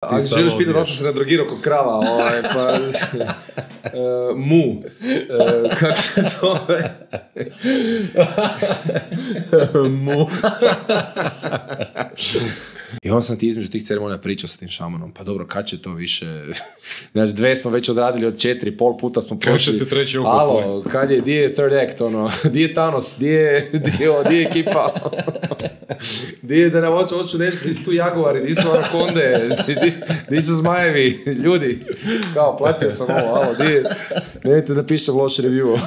Ako želiš pitati da sam se nadrogirao kod krava, pa... mu. Kako se zove? Mu. I on sam ti između tih ceremonija pričao s tim šamanom. Pa dobro, kad će to više... Znači, 2 smo već odradili od 4, pol puta smo prošli. Kad će se treći oko tvoj? Alo, kad je, di je third act, ono? Di je Thanos? Di je ekipa? Di je da nam hoću nešto, di su tu jaguari, di su anakonde, di su zmajevi, ljudi. Kao, platio sam ovo, alo, di je... Nemojte da pišem loš review.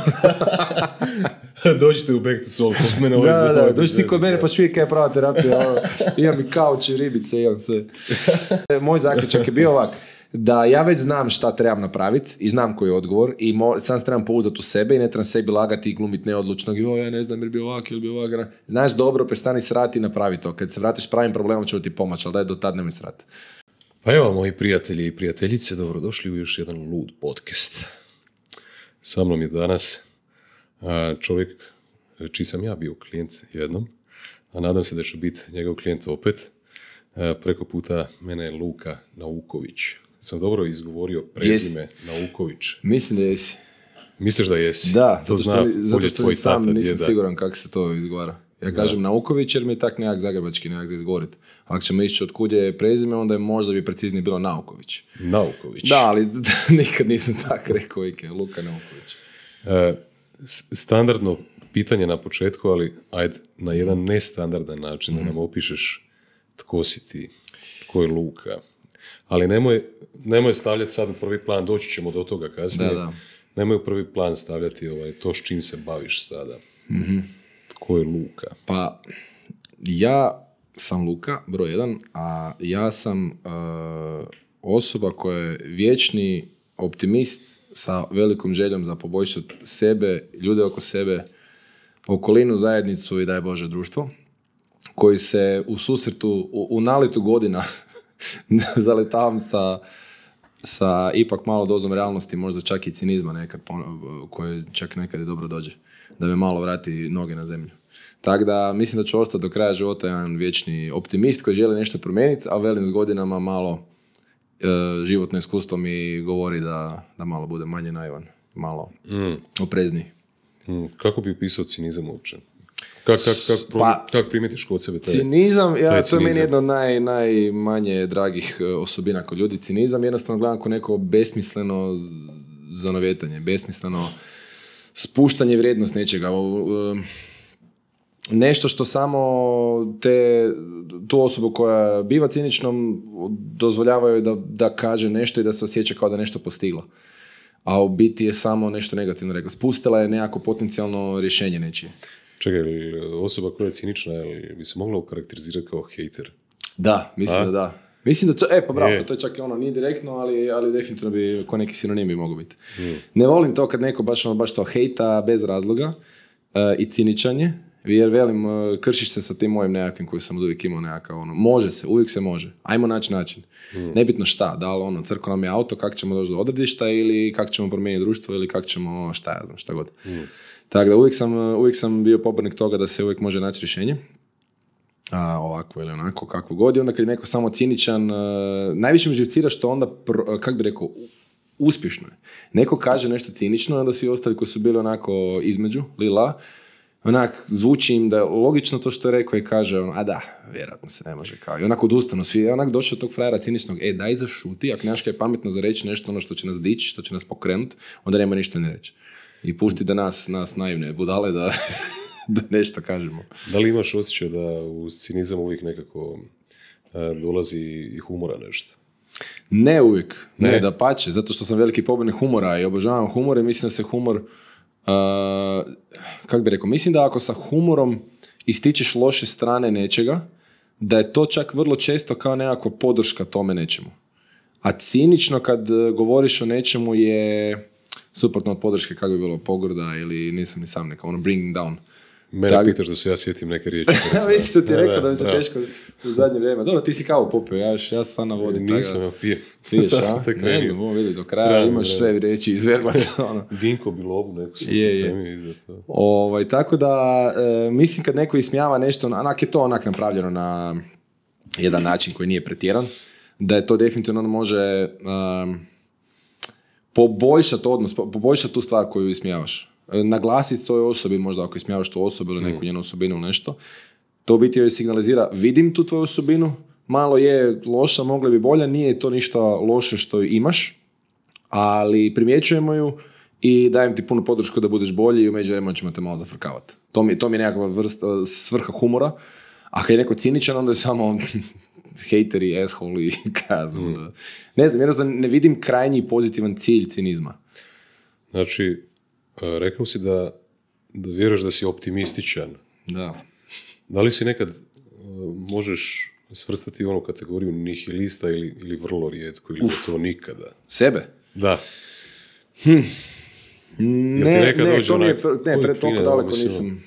Dođite u Back to Soul, kod mene ovaj za Da, dođi ti kod mene pa švije kaj je prava terapija. Imam i kauč i ribice, imam sve. Moj zaključak je bio ovak, da ja već znam šta trebam napraviti i znam koji je odgovor i sam se trebam pouzdati u sebe i ne trebam sebi lagati i glumiti neodlučnog i ja ne znam ili bi ovak ili bi ovak. Znaš dobro, prestani srati i napravi to. Kad se vratiš pravim problemom ću ti pomoći, ali daj do tad nemoj srati. Pa evo, moji prijatelji i prijateljice, dobrodošli u još jedan lud podcast. Sa mnom je danas čovjek čiji sam ja bio klijent jednom, a nadam se da ću biti njegov klijent opet. Preko puta mene je Luka Nauković. Sam dobro izgovorio prezime Nauković? Mislim da jesi. Misliš da jesi? Da, to zato što sam nisam siguran kako se to izgovara. Ja kažem Nauković jer mi je tak nekak zagrebački nekak za izgovoriti. Ako ćemo ići od kud je prezime, onda je možda bi preciznije bilo Nauković. Nauković. Da, ali nikad nisam tak rekao, Luka Nauković. Standardno pitanje na početku, ali ajde na jedan nestandardan način da nam opišeš tko si ti, tko je Luka. Ali nemoj stavljati sad u prvi plan, doći ćemo do toga kasnije. Da. Nemoj u prvi plan stavljati to s čim se baviš sada. Mm-hmm. Tko je Luka? Pa, ja sam Luka, broj 1, a ja sam osoba koja je vječni optimist sa velikom željom za poboljšati sebe, ljude oko sebe, okolinu, zajednicu i daj Bože društvo, koji se u susretu, u naletu godina zaletavam sa ipak malo dozom realnosti, možda čak i cinizma nekad, koje čak nekad i dobro dođe, da me malo vrati noge na zemlju. Tako da mislim da ću ostati do kraja života jedan vječni optimist koji želi nešto promijeniti, a velim s godinama malo životno iskustvo mi govori da malo bude manje naivan, malo oprezniji. Kako bi upisao cinizam uopće? Kako primetiš kod sebe taj cinizam? To je meni jedno od najmanje dragih osobina kod ljudi. Cinizam jednostavno gledam kao neko besmisleno zanovetanje, besmisleno spuštanje vrijednost nečega. Nešto što samo tu osobu koja biva ciničnom dozvoljavaju da kaže nešto i da se osjeća kao da nešto postigla. A u biti je samo nešto negativno rekla. Spustila je nekako potencijalno rješenje nečije. Čekaj, osoba koja je cinična, bi se mogla okarakterizirati kao hejter? Da, mislim da. Mislim da to, pa bravo, to je čak nije direktno, ali definitivno bi ko neki sinonim bi mogao biti. Ne volim to kad neko baš to hejta bez razloga i ciničanje, jer velim, kršiš se sa tim mojim nekakvim koji sam uvijek imao nekakav može se, uvijek se može, ajmo naći način. Nebitno šta, da li crko nam je auto, kako ćemo doći do odredišta ili kako ćemo promijeniti društvo ili kako ćemo, šta god. Tako da uvijek sam bio pobornik toga da se uvijek može naći rješenje. Ovako ili onako, kako god. I onda kad je neko samo ciničan, najviše mi živcira što onda, kako bi rekao, uspješno je. Neko kaže nešto cinično, onda svi ostali koji su bili onako između, onak zvuči im da je logično to što je rekao i kaže, vjerojatno se ne može kao. I onako odustanu svi, onak došao tog frajera ciničnog, daj zašuti, ako nemaš kaj pametno za reći nešto što će nas dići, što će nas pokrenuti, onda nema ništa ne reći. I pusti da nas naivne budale da nešto kažemo. Da li imaš osjećaj da u cinizam uvijek nekako dolazi i humora nešto? Ne uvijek, ne dapače, zato što sam veliki pobornik humora i obožavam humor i mislim da se humor, kako bi rekao, mislim da ako sa humorom ističeš loše strane nečega, da je to čak vrlo često kao nekakva podrška tome nečemu. A cinično kad govoriš o nečemu je suprotno od podrške, kako bi bilo pogrda ili nisam ni sam neka, bringing down. Mene pitaš da se ja sjetim neke riječi. Vidim se ti rekao da mi se teško u zadnje vrijeme. Dobro, ti si kao popio, ja sam navodim. Nisam, pijem. Sad sam te krenio. Ne znam, ovo vidi, do kraja imaš sve riječi izverbati. Ginko bilobu, neku sam premio iza to. Tako da, mislim kad neko ismijava nešto, onak je to napravljeno na jedan način koji nije pretjeran. da je to definitivno može poboljšati odnos, poboljšati tu stvar koju ismijavaš. Naglasiti toj osobi, možda ako ismijavaš tu osobu ili neku njenu osobinu ili nešto, to biti joj signalizira, vidim tu tvoju osobinu, malo je loša, mogla bi bolja, nije to ništa loše što ju imaš, ali primjećujemo ju i dajem ti punu podršku da budeš bolji i u međuvremenu ćemo te malo zafrkavati. To mi je nekakva vrsta svrha humora, a kad je neko ciničan, onda je samo hejteri, asshole i kazno. Ne znam, jednostavno ne vidim krajnji pozitivan cilj cinizma. Znači, rekao si da vjeruješ da si optimističan. Da. Da li si nekad možeš svrstati u onu kategoriju nihilista ili vrlo rijetko, ili to nikada? Sebe? Da. Ne, to mi je pred toliko daleko nisam.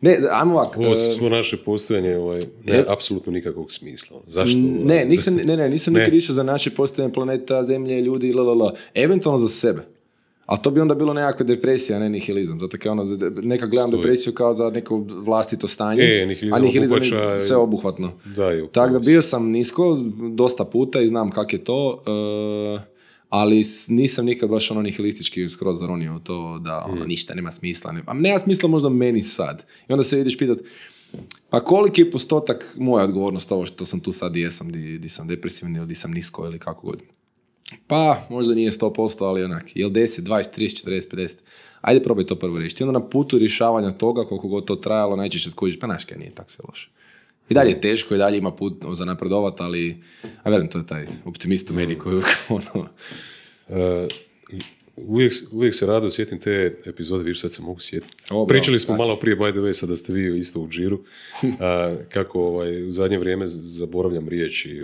Ne, ajmo ovak. Ovo svo naše postojanje apsolutno nikakvog smisla. Zašto? Nisam nikad išao za naše postojanje planeta, zemlje, ljudi, eventualno za sebe. Ali to bi onda bilo nekakva depresija, a ne nihilizam. Zato kao nekad gledam depresiju kao za neko vlastito stanje, a nihilizam je sve obuhvatno. Tako da bio sam nisko dosta puta i znam kak je to, ali nisam nikad baš nihilistički skroz zaronio u to da ništa nema smisla. Nema smisla možda meni sad. I onda se vidiš pitat, pa koliki je postotak moja odgovornost ovo što sam tu sad i jesam, di sam depresivan ili di sam nisko ili kako god. Pa, možda nije 100%, ali onak, jel 10, 20, 30, 40, 50. Ajde probaj to prvo riješiti. I onda na putu rješavanja toga, koliko god to trajalo, najčešće skužiš, pa znaš kaj, nije tako sve loše. I dalje je teško, i dalje ima put za napredovat, ali, a velim, to je taj optimist u meni koji Uvijek se rado sjetim te epizode, vidiš, sad se mogu sjetiti. Pričali smo malo prije, by the way, sad da ste vi isto u džiru, kako u zadnje vrijeme zaboravljam riječi,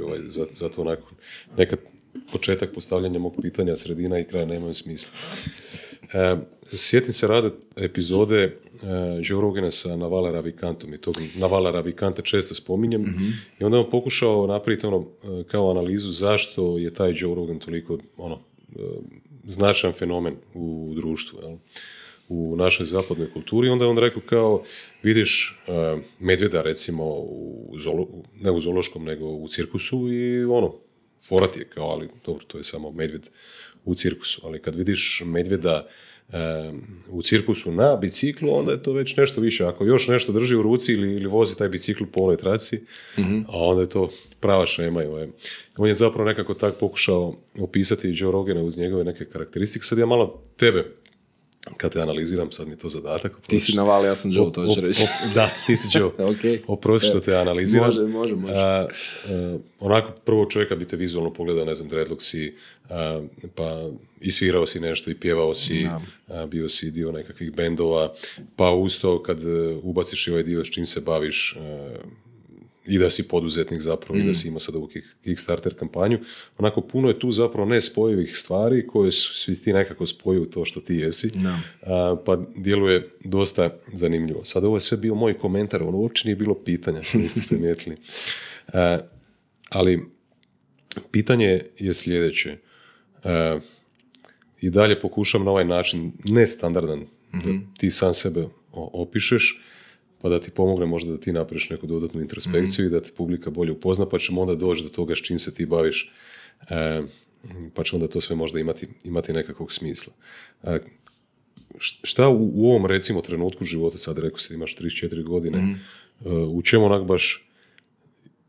zato onako nekad početak postavljanja mog pitanja, sredina i kraja nemaju smisla. Sjetim se rado epizode Joe Rogana sa Navala Ravikantom i tog Navala Ravikanta često spominjem i onda on pokušao napraviti kao analizu zašto je taj Joe Rogan toliko značajan fenomen u društvu, jel? U našoj zapadnoj kulturi. Onda je on rekao kao, vidiš medvjeda recimo ne u zoološkom nego u cirkusu i forat je kao, ali dobro, to je samo medvjed u cirkusu, ali kad vidiš medvjeda u cirkusu na biciklu, onda je to već nešto više. Ako još nešto drži u ruci ili vozi taj bicikl po onoj traci, a onda je to prava šema. On je zapravo nekako tako pokušao opisati Joe Rogana uz njegove neke karakteristike. Sad ja malo tebe, kad te analiziram, sad mi je to zadatak. Ti si Naval, ja sam Joe, to ću reći. Da, ti si Joe. Okay. Oprosti što te analiziram. Može. Onako, prvo čovjeka bi te vizualno pogledao, ne znam, dreadlock si, pa i svirao si nešto i pjevao si, bio si dio nekakvih bendova, pa uz to kad ubaciš i ovaj dio s čim se baviš, i da si poduzetnik zapravo, i da si imao sad ovu Kickstarter kampanju. Onako, puno je tu zapravo nespojivih stvari koje svi ti nekako spojuju to što ti jesi, pa djeluje dosta zanimljivo. Sad ovo je sve bio moj komentar, uopće nije bilo pitanja, što niste primijetili. Ali pitanje je sljedeće. I dalje pokušam na ovaj način, nestandardan, da ti sam sebe opišeš, pa da ti pomogne možda da ti napraviš neku dodatnu introspekciju i da ti publika bolje upozna, pa ćemo onda doći do toga s čim se ti baviš, pa će onda to sve možda imati nekakvog smisla. Šta u ovom, recimo, trenutku života, sad rekao si da imaš 34 godine, u čemu onak baš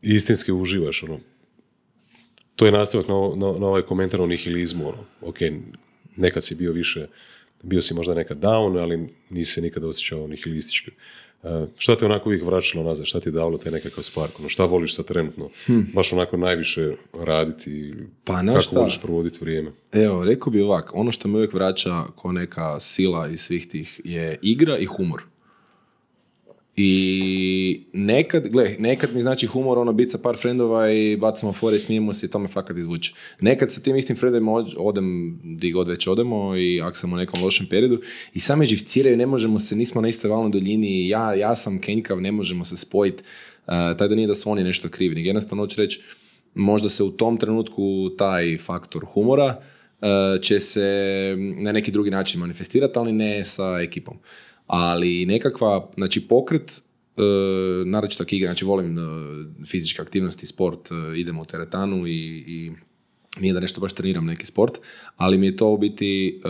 istinski uživaš? To je nastavak na ovaj komentar o nihilizmu. Ok, nekad si bio si možda nekad down, ali nisi se nikada osjećao nihilistički. Šta te onako uvijek vraćalo nazad? Šta ti je davalo te nekakav spark? Šta voliš sad trenutno? Baš onako najviše raditi? Pa kako voliš provoditi vrijeme? Evo, rekao bi ovak, ono što me uvijek vraća ko neka sila iz svih tih je igra i humor. I nekad mi znači humor, biti sa par frendova i bacamo fore i smijemo se i to me fakat izvuče. Nekad sa tim istim frendovima odem di god već odemo i ako sam u nekom lošem periodu i same živciraju, ne možemo se, nismo na istoj valnoj duljini, ja sam kenjkav, ne možemo se spojiti, taj da nije da su oni nešto krivi, nego jednostavno hoću reći, možda se u tom trenutku taj faktor humora će se na neki drugi način manifestirati, ali ne sa ekipom. Ali nekakva, znači pokret naročito igram, znači volim fizičke aktivnosti, sport, idemo u teretanu i nije da nešto baš treniram neki sport, ali mi je to u biti,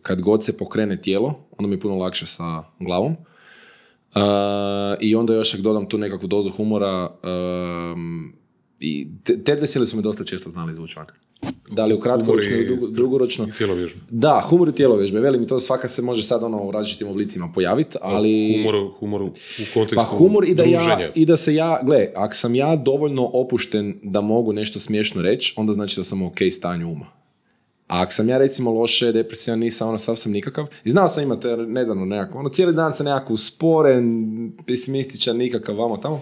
kad god se pokrene tijelo, onda mi je puno lakše sa glavom. I onda još ako dodam tu nekakvu dozu humora, i te dve sile su me dosta često znali izvući van. Da li u kratkoročno ili dugoročno. I tjelovježbe. Da, humor i tjelovježbe. Veli mi to svaka se može sad u različitim oblicima pojaviti, ali... Humor u kontekstu pa humor druženja. I da se ja, gle, ako sam ja dovoljno opušten da mogu nešto smiješno reći, onda znači da sam u ok stanju uma. A ako sam ja recimo loše, depresivan, nisam, sav sam nikakav. I znao sam imati nedavno nekako, cijeli dan sam nekako usporen, pesimističan, nikakav, vamo tamo.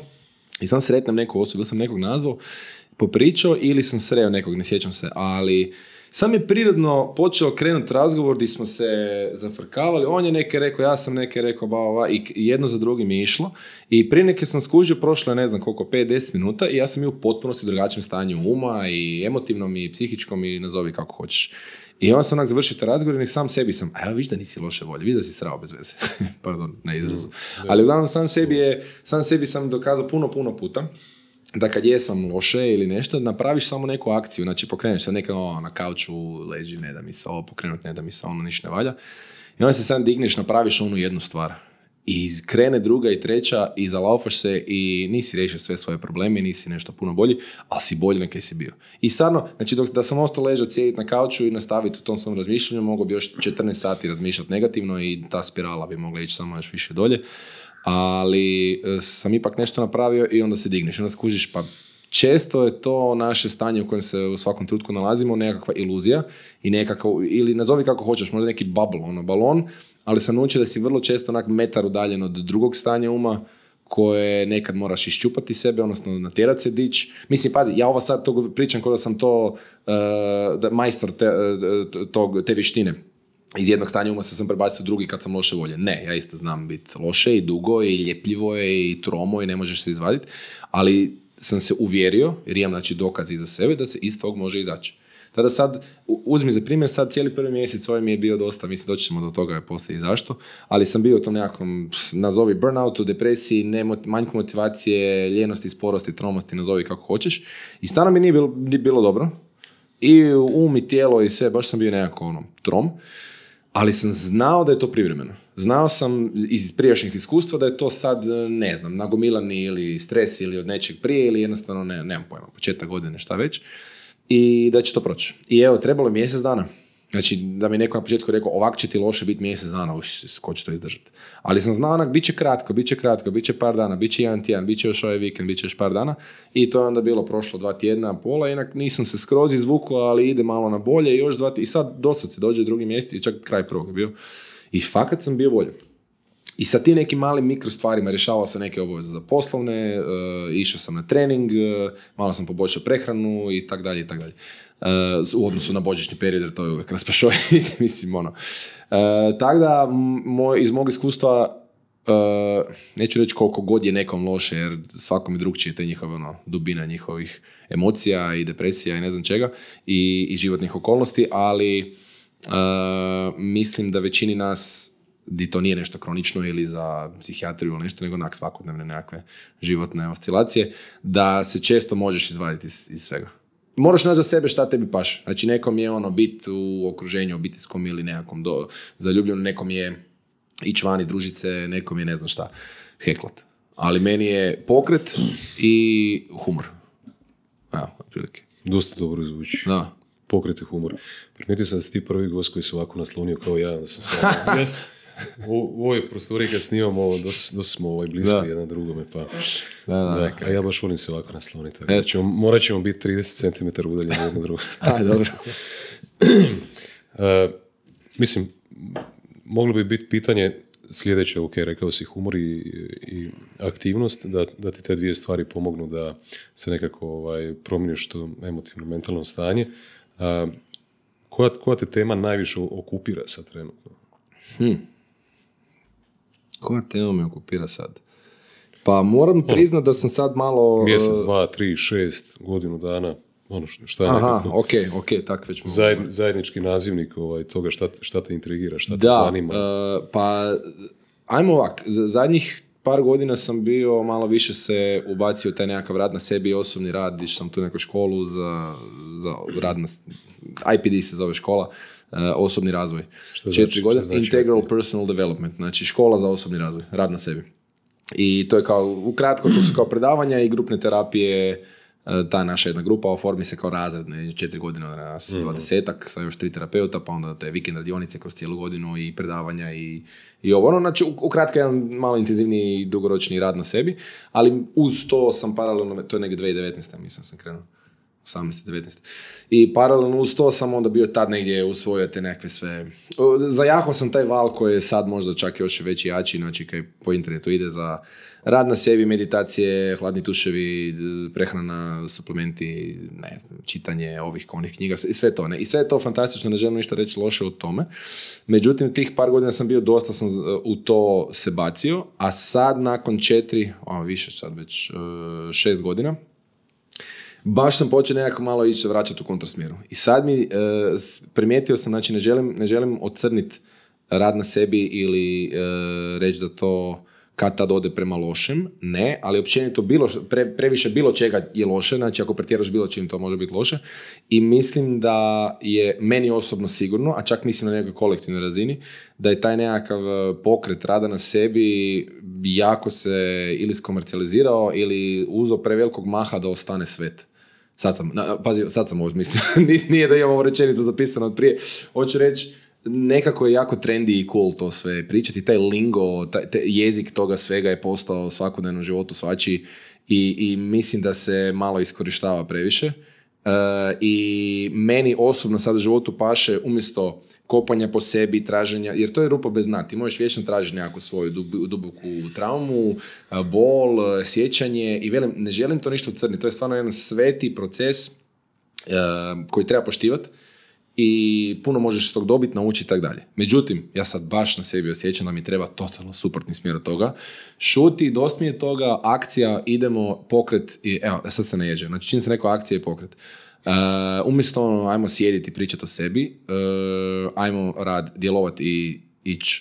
I sam sretnem neku osobu, da sam nekog nazvao, popričao ili sam sreo nekog, ne sjećam se, ali sam je prirodno počeo krenuti razgovor gdje smo se zafrkavali, on je neke rekao, ja sam neke rekao, i jedno za drugim je išlo. I prije neke sam skužio, prošlo je ne znam koliko, 5-10 minuta i ja sam bio u potpunosti drugačijem stanju uma i emotivnom i psihičkom i nazovi kako hoćeš. I onda sam završio te razgovor i sam sebi sam, a ja viš da nisi loše volje, viš da si srao bez veze. Pardon, na izrazu. Ali uglavnom sam sebi sam dokazao puno puta da kad jesam loše ili nešto, napraviš samo neku akciju, znači pokreneš se nekako na kauču, leži, ne da mi se ovo pokrenut, ne da mi se ono ništa ne valja. I onda se sam digneš, napraviš onu jednu stvar. I krene druga i treća i zalaufaš se i nisi riješio sve svoje probleme, nisi nešto puno bolji, ali si bolji nego si bio. I stvarno, znači da sam ostao ležati, sjediti na kauču i nastaviti u tom svom razmišljanju, mogu bi još 14 sati razmišljati negativno i ta spirala bi mogla ići samo još više dolje. Ali sam ipak nešto napravio i onda se digneš, onda skužiš, pa često je to naše stanje u kojem se u svakom trenutku nalazimo, nekakva iluzija i ili nazovi kako hoćeš, možda neki bubble, balon, ali sam naučio da si vrlo često onak metar udaljen od drugog stanja uma koje nekad moraš iščupati sebe, odnosno natjerat se dić. Mislim, pazi, ja ovo sad to pričam kao da sam to majstor te vještine. Iz jednog stanja uma sam prebacio u drugi kad sam loše volje. Ne, ja isto znam biti loše i dugo i ljepljivo je i tromo i ne možeš se izvaditi, ali sam se uvjerio, jer imam znači dokaz iza sebe, da se iz tog može izaći. Tada sad, uzmi za primjer, sad cijeli prvi mjesec ovaj mi je bio dosta, mislim doći ćemo do toga poslije i zašto, ali sam bio u tom nekakvom, nazovi burnoutu, depresiji, manjku motivacije, ljenosti, sporosti, tromosti, nazovi kako hoćeš. I stvarno mi nije bilo dobro. I um i tijelo i sve, baš sam bio nekako trom. Ali sam znao da je to privremeno. Znao sam iz prijašnjih iskustva da je to sad, ne znam, nagomilani ili stres ili od nečeg prije ili jednostavno, nemam pojma, početak godine, šta već. I da će to proći. I evo, trebalo je mjesec dana. Znači, da mi neko na početku rekao, ovak će ti loše biti mjesec dana, ko će to izdržati. Ali sam znao onak, bit će kratko, bit će par dana, bit će jedan tjedan, bit će još ovaj vikend, bit će još par dana. I to je onda bilo prošlo 2 tjedna, pola, inak nisam se skroz izvukao, ali ide malo na bolje i još 2 tjedna. I sad dosad se dođe drugi mjesec i čak kraj prvog je bio. I fakat sam bio bolje. I sa tim nekim malim mikro stvarima rješavao sam neke obaveze za poslovne, išao sam na trening, malo sam poboljšao prehranu i tak dalje. U odnosu na božićni period, jer to je uvijek raspašoj, mislim, tako da, iz mog iskustva, neću reći koliko god je nekom loše, jer svakom je drugčije te njihove dubina njihovih emocija i depresija i ne znam čega i životnih okolnosti, ali mislim da većini nas di to nije nešto kronično ili za psihijatriju ili nešto, nego onak svakodnevne nekakve životne oscilacije, da se često možeš izvaditi iz svega. Moraš naći za sebe šta tebi paše. Znači, nekom je biti u okruženju obiteljskom ili nekakvom zaljubljenom, nekom je ići vani družice, nekom je ne znam šta, heklat. Ali meni je pokret i humor. Evo, otprilike. Dosta dobro zvuči. Da. Pokret i humor. Primijetio sam da si ti prvi gost koji se ovako naslonio kao ja. Da sam u ovoj prostoriji kad snimamo, dosta smo blisko jedan drugome, pa da, a ja baš volim se ovako nasloniti. Morat ćemo biti 30 cm udaljeni jedno drugo. Dobro. Mislim, moglo bi biti pitanje sljedeće, ok, rekao si humor i aktivnost, da ti te dvije stvari pomognu da se nekako promijeniš to emotivno, mentalno stanje. Koja te tema najviše okupira sad trenutno? Koja tema me okupira sad? Pa moram priznat da sam sad malo... Mjesec, 2, 3, 6, godinu dana, šta je nekako... Ok, tako već mogu... Zajednički nazivnik toga šta te intrigira, šta te zanima. Pa, ajmo ovak, zadnjih par godina sam bio, malo više se ubacio taj nekakav rad na sebi i osobni rad, išao sam tu neku školu za rad na, IPD se zove škola, osobni razvoj. 4 godine, znači? Integral Personal Development, znači škola za osobni razvoj, rad na sebi. I to je kao, ukratko, to su kao predavanja i grupne terapije, ta naša jedna grupa oformi se kao razred, 4 godine od nas, 20-ak, sa još 3 terapeuta, pa onda te vikend radionice kroz cijelu godinu i predavanja i ovo. Znači, ukratko, jedan malo intenzivniji i dugoročni rad na sebi, ali uz to sam paralelno, to je negdje 2019. mislim sam krenuo. 18. 19. I paralelno uz to sam onda bio tad negdje usvojio te nekakve sve... Zajahao sam taj val koji je sad možda čak još veći jači, znači kaj po internetu ide za rad na sebi, meditacije, hladni tuševi, prehrana, suplementi, ne znam, čitanje ovih onih knjiga i sve to. Ne? I sve je to fantastično, ne želim ništa reći loše o tome. Međutim, tih par godina sam bio, dosta sam u to se bacio, a sad nakon 6 godina, baš sam počeo nekako malo ići vraćati u kontrasmjeru. I sad mi primijetio sam, znači ne želim ocrniti rad na sebi ili reći da to kad tad ode prema lošem, ne, ali općenito previše bilo čega je loše, znači ako pretjeraš bilo čim to može biti loše. I mislim da je meni osobno sigurno, a čak mislim na nekoj kolektivnoj razini, da je taj nekakav pokret rada na sebi jako se ili skomercijalizirao ili uzeo prevelikog maha da ostane svet. Sad sam ovo mislio, nije da imam ovu rečenicu zapisano od prije. Hoću reći, nekako je jako trendy i cool to sve pričati, taj lingo, taj jezik toga svega je postao u svakodnevnom životu svačiji i mislim da se malo iskorištava previše. I meni osobno sad u životu paše umjesto kopanja po sebi, traženja, jer to je rupa bez dna. Ti možeš vječno tražiti nekakvu svoju duboku traumu, bol, sjećanje i velim, ne želim to ništa crniti. To je stvarno jedan sveti proces koji treba poštivati i puno možeš s tog dobiti, naučiti i tako dalje. Međutim, ja sad baš na sebi osjećam da mi treba totalno suprotni smjer od toga. Šuti, dosta mi je toga, akcija, idemo, pokret i evo, sad se najeđe. Znači, čim se neko akcija i pokret. Umjesto ajmo sjediti, pričati o sebi, ajmo djelovati i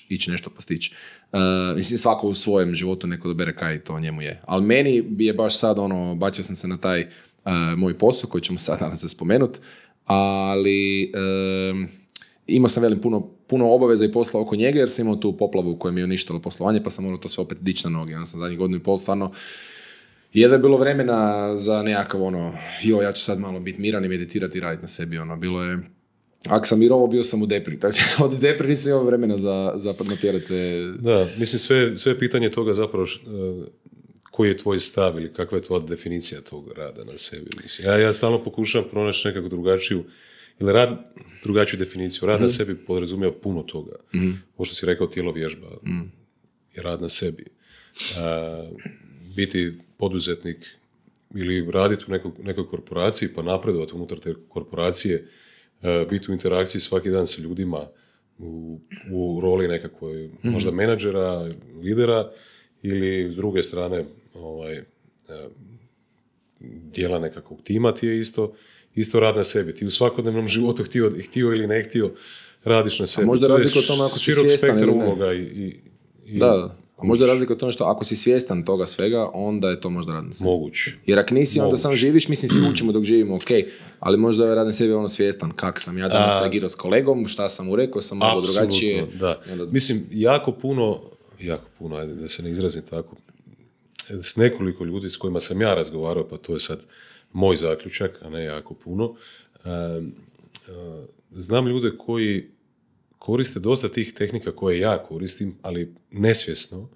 ići nešto postići. Mislim, svako u svojem životu neko dobere kaj to njemu je. Ali meni je baš sad bacio sam se na taj moj posao koji ćemo sad danas spomenuti, ali imao sam puno obaveza i posla oko njega jer sam imao tu poplavu koja mi je uništila poslovanje, pa sam morao to sve opet dići na noge. Ja sam zadnjih godinu i pol stvarno jedva je bilo vremena za nekakav ja ću sad malo biti miran i meditirati i raditi na sebi. Bilo je, ako sam mirovo, bio sam u depri. Znači, od depri nisam imao vremena za natjerati se. Da, mislim, sve pitanje toga zapravo koji je tvoj stav ili kakva je tvoja definicija tog rada na sebi. Mislim. Ja stalno pokušavam pronaći nekako drugačiju definiciju. Rad na sebi podrazumijeva puno toga. Ovo što si rekao, tijelo vježba je rad na sebi. Biti poduzetnik ili raditi u nekoj korporaciji pa napredovati unutar te korporacije, biti u interakciji svaki dan sa ljudima u roli nekakvoj možda menadžera, lidera ili s druge strane dijela nekakvog tima, ti je isto rad na sebi. Ti u svakodnevnom životu htio ili ne htio radiš na sebi. A možda razlika o tome ako si svjestan ili ne. Uloga Da. A možda razlika o tome što ako si svjestan toga svega, onda je to možda rad na sebi. Moguće. Jer ako nisi, onda sam živiš, mislim svi učimo dok živimo, ok, ali možda je rad na sebi svjestan kak sam ja danas reagirao s kolegom, šta sam mu rekao, sam malo drugačije. Da. Mislim, jako puno, ajde da se ne izrazim tako, s nekoliko ljudi s kojima sam ja razgovarao, pa to je sad moj zaključak, a ne jako puno, znam ljude koji koriste dosta tih tehnika koje ja koristim, ali nesvjesno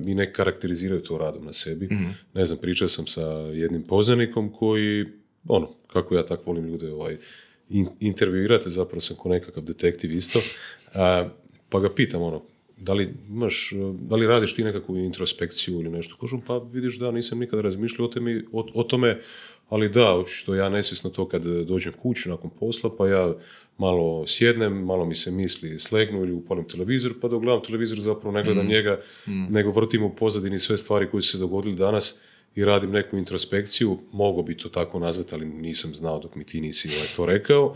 i ne karakteriziraju to radom na sebi. Ne znam, pričao sam sa jednim poznanikom koji, kako ja tako volim ljude intervjuirati, zapravo sam ko nekakav detektiv isto, pa ga pitam, da li radiš ti nekakvu introspekciju ili nešto? Kažem, pa vidiš da nisam nikada razmišljao o tome, ali da, što ja nesvjesno to kad dođem kući nakon posla, pa ja malo sjednem, malo mi se misli slegnu ili upalim televizor, pa dok gledam televizor zapravo ne gledam njega, nego vrtim u pozadini sve stvari koje su se dogodili danas i radim neku introspekciju, mogu bi to tako nazvati, ali nisam znao dok mi ti nisi to rekao.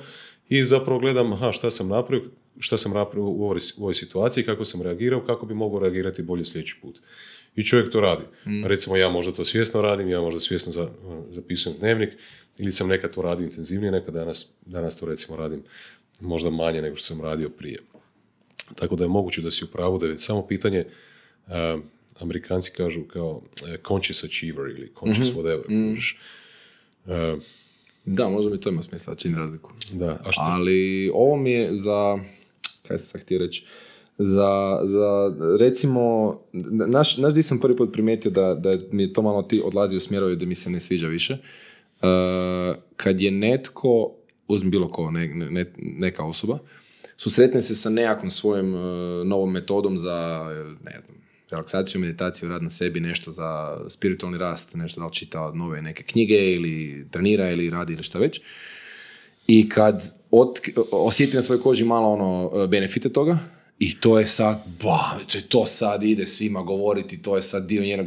I zapravo gledam, šta sam napravio, šta sam napravio u ovoj situaciji, kako sam reagirao, kako bi mogao reagirati bolje sljedeći put. I čovjek to radi. Recimo, ja možda to svjesno radim, ja možda svjesno zapisujem dnevnik, ili sam nekad to radio intenzivnije, nekad danas to recimo radim možda manje nego što sam radio prije. Tako da je moguće da si u pravu, da je samo pitanje, Amerikanci kažu kao conscious achiever ili conscious whatever. Da, možda bi to ima smisla, čini razliku. Da, a što? Ali ovo mi je za, kaj sam htio reći, za recimo, naš di sam prvi put primijetio da mi je to malo odlazi u smjerovi da mi se ne sviđa više. Kad je netko, uzmi bilo ko, neka osoba, susretne se sa nekakvom svojom novom metodom za, ne znam, relaksaciju, meditaciju, rad na sebi, nešto za spiritualni rast, nešto da li čita nove neke knjige ili trenira ili radi ili šta već. I kad osjeti na svojoj koži malo benefite toga, i to je sad, to sad ide svima govoriti, to je sad dio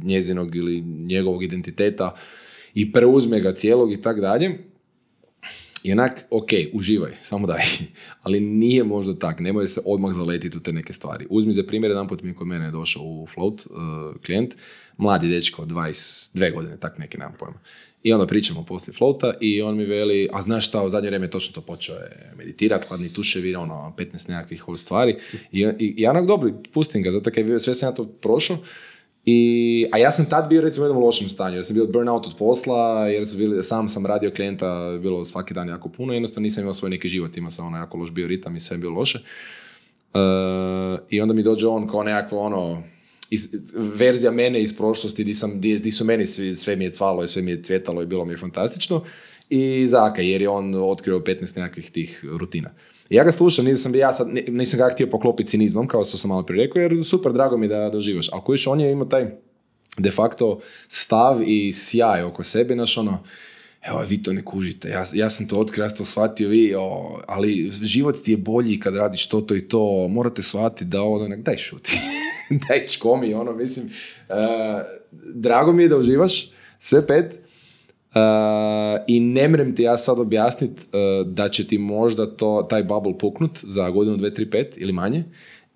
njezinog ili njegovog identiteta i preuzme ga cijelog i tak dalje. I onak, ok, uživaj, samo daj. Ali nije možda tak, nemoj se odmah zaletiti u te neke stvari. Uzmi za primjer, jedan put mi kod mene je došao u Float klijent, mladi dečko, 22 godine, tak neki, nemam pojma. I onda pričamo poslije Floata i on mi veli, a znaš šta, u zadnje vrijeme točno to počeo je meditirati, hladni tuševi, 15 nekakvih stvari. I ja onak dobro, pustim ga, zato kaj sve sam ja to prošao. A ja sam tad bio recimo u jednom lošem stanju, jer sam bio burnout od posla, jer sam radio klijenta, bilo svaki dan jako puno, jednostavno nisam imao svoj neki život, imao sam jako loš bioritam i sve je bilo loše. I onda mi dođe on kao nekakvo verzija mene iz prošlosti di su meni sve mi je cvalo i sve mi je cvjetalo i bilo mi je fantastično, i Zaka, jer je on otkrio 15 nekakvih tih rutina. I ja ga slušam, nisam ga htio poklopiti cinizmom, kao što sam malo prije rekao, jer super, drago mi da doživaš. Ali kojiš, on je imao taj de facto stav i sjaj oko sebe, evo, vi to ne kužite, ja sam to otkrio, ja sam to shvatio, ali život ti je bolji kad radiš to i to, morate shvatiti da daj šuti, daj čkomi, mislim, drago mi je da uživaš, sve pet, i ne mrem ti ja sad objasniti da će ti možda taj bubble puknut za godinu, 2, 3, 5 ili manje,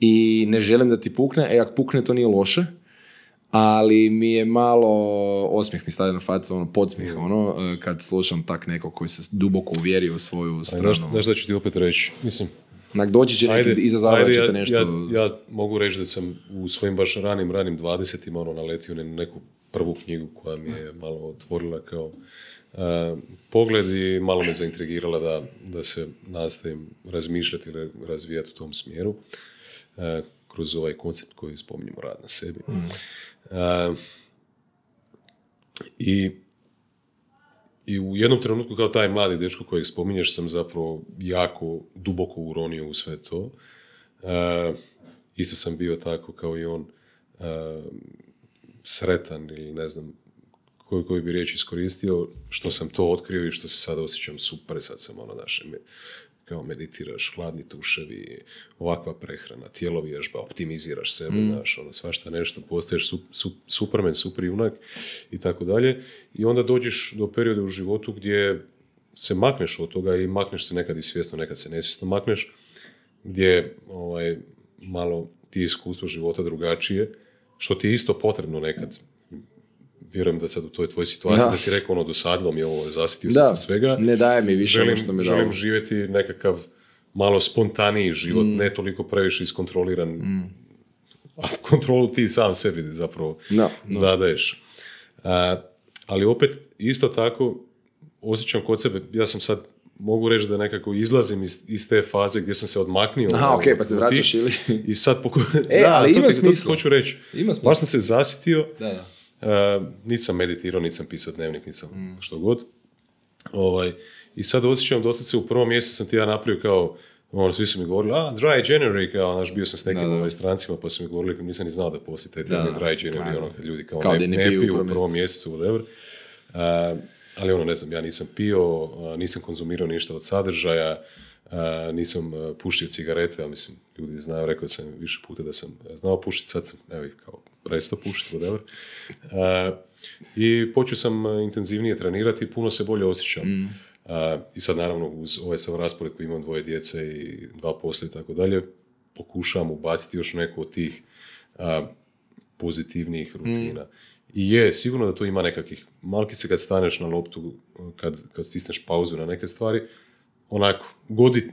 i ne želim da ti pukne, ako pukne to nije loše, ali mi je malo osmijeh mi stavlja na facu, podsmijeh, kad slušam tak neko koji se duboko uvjerio u svoju stranu. Znaš da ću ti opet reći, mislim, doći će neki izazavajući te nešto. Ja mogu reći da sam u svojim baš ranim 20-ima naletio na neku prvu knjigu koja mi je malo otvorila kao pogled i malo me zaintrigirala da se nastavim razmišljati ili razvijati u tom smjeru kroz ovaj koncept koji spominjemo, rad na sebi. I u jednom trenutku kao taj mladi dečko kojeg spominješ sam zapravo jako duboko uronio u sve to. Isto sam bio tako kao i on sretan ili ne znam koji bi riječ iskoristio, što sam to otkrio i što se sada osjećam super, sad sam kao meditiraš, hladni tuševi, ovakva prehrana, tijelo vježba, optimiziraš sebe, svašta nešto, postaješ superman, super junak i tako dalje. I onda dođeš do perioda u životu gdje se makneš od toga i makneš se nekad i svjesno, nekad se nesvjesno makneš, gdje malo ti iskustvo života drugačije, što ti je isto potrebno nekad. Vjerujem da sad u toj tvojoj situaciji da si rekao dosadilo mi je ovo, zasitio sam sa svega. Ne daje mi više što mi dao. Želim živjeti nekakav malo spontaniji život, ne toliko previše iskontroliran. A kontrolu ti sam sebi zapravo zadaješ. Ali opet, isto tako, osjećam kod sebe, ja sam sad, mogu reći da nekako izlazim iz te faze gdje sam se odmaknio. Aha, ok, pa se vraćaš ili... I sad ali ima smisla. To ti hoću reći. Baš sam se zasitio. Nisam meditirao, nisam pisao dnevnik, nisam što god. I sad osjećam, dosta se u prvom mjesecu sam ti ja napravio kao, svi su mi govorili, dry January, kao, bio sam s nekim strancima, pa su mi govorili, nisam ni znao da postoji taj termin dry January, kad ljudi kao ne piju u prvom mjesecu, whatever. Ali ne znam, ja nisam pio, nisam konzumirao ništa od sadržaja, nisam puštio cigarete, ali mislim, ljudi znaju, rekao sam više puta da sam znao puštiti, sad sam, kao, prestao puštiti, whatever. I počeo sam intenzivnije trenirati i puno se bolje osjećam. I sad naravno uz ovaj sam raspored koji imam 2 djece i 2 posla i tako dalje, pokušavam ubaciti još neku od tih pozitivnijih rutina. I je, sigurno da to ima nekakvih, malkice kad staneš na loptu, kad stisneš pauzu na neke stvari, onako,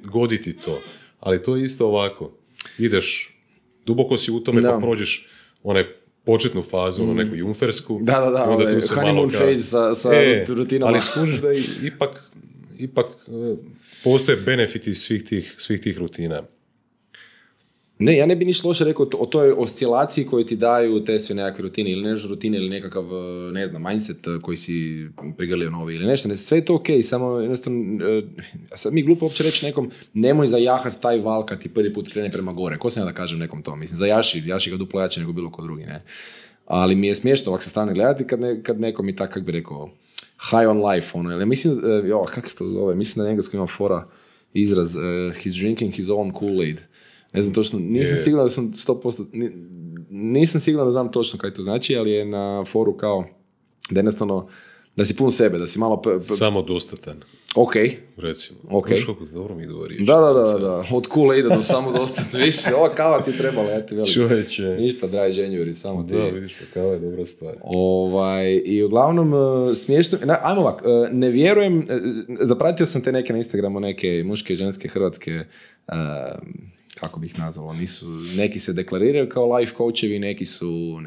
goditi to. Ali to je isto ovako, ideš, duboko si u tome, pa prođeš one početnu fazu, ono neku jumfersku. Da, onda tu se honeymoon phase sa rutinama. Ali skužiš da ipak postoje benefiti svih tih rutina. Ne, ja ne bi ništa loše rekao o toj oscilaciji koju ti daju te sve nekakve rutine ili nešto rutine ili nekakav, ne znam, mindset koji si prigrlio novi ili nešto. Sve je to okej, samo jednostavno, sad mi glupo uopće reći nekom nemoj zajahat taj val kad ti prvi put krene prema gore. Ko sam ja da kažem nekom to? Mislim, zajaši ga duplo jače nego bilo ko drugi, ne? Ali mi je smiješno ovak sa strane gledati kad neko mi tak, kak bi rekao, high on life, ono, ili mislim, kako se to zove, mislim da na engleskom ima fora izraz, he's drinking his own Kool-Aid. Ne znam točno, nisam siguran da sam 100%, nisam siguran da znam točno kaj to znači, ali je na foru kao da jednostavno, da si pun sebe, da si malo... Samodostatan. Ok. Recimo. Ok. Dobro mi govoriš. Da. Od Kool-Aida do samodostatan. Više, ova kava ti trebala, ja ti velim. Čovječe. Ništa, dry January, samo ti. Da, vidiš, kava je dobra stvar. I uglavnom, smiješno... Ajmo ovak, ne vjerujem, zapratio sam te neke na Instagramu, neke muške, ženske, hrvatske... kako bih nazvalo, neki se deklariraju kao life coachevi, neki su,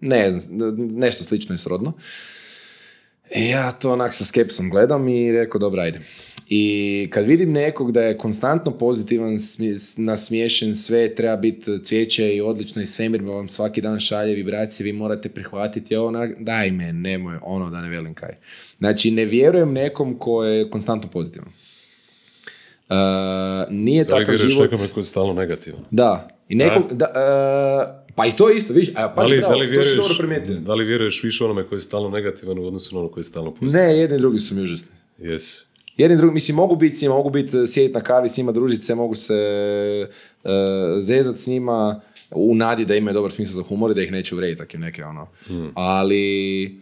ne znam, nešto slično i srodno. Ja to onak sa skepsom gledam i rekao, dobro, ajde. I kad vidim nekog da je konstantno pozitivan, nasmiješen, sve treba biti cvijeće i odlično i svemir vam svaki dan šalje vibracije, vi morate prihvatiti ovo, daj me, nemoj, ono da ne velim kaj. Znači, ne vjerujem nekom ko je konstantno pozitivan. Nije takav život... Da li vjeruješ nekome koji je stalno negativan? Da. I nekog, pa i to isto, viš, to si dobro primijetio. Da li vjeruješ više onome koji je stalno negativan u odnosu na ono koji je stalno pozitivan? Ne, jedni i drugi su mi užasni. Yes. Jedni drugi, mislim, mogu biti s njima, mogu biti sjediti na kavi s njima, družiti se, mogu se zezati s njima u nadi da imaju dobar smisao za humor i da ih neće uvrediti, tako neke ono. Ali...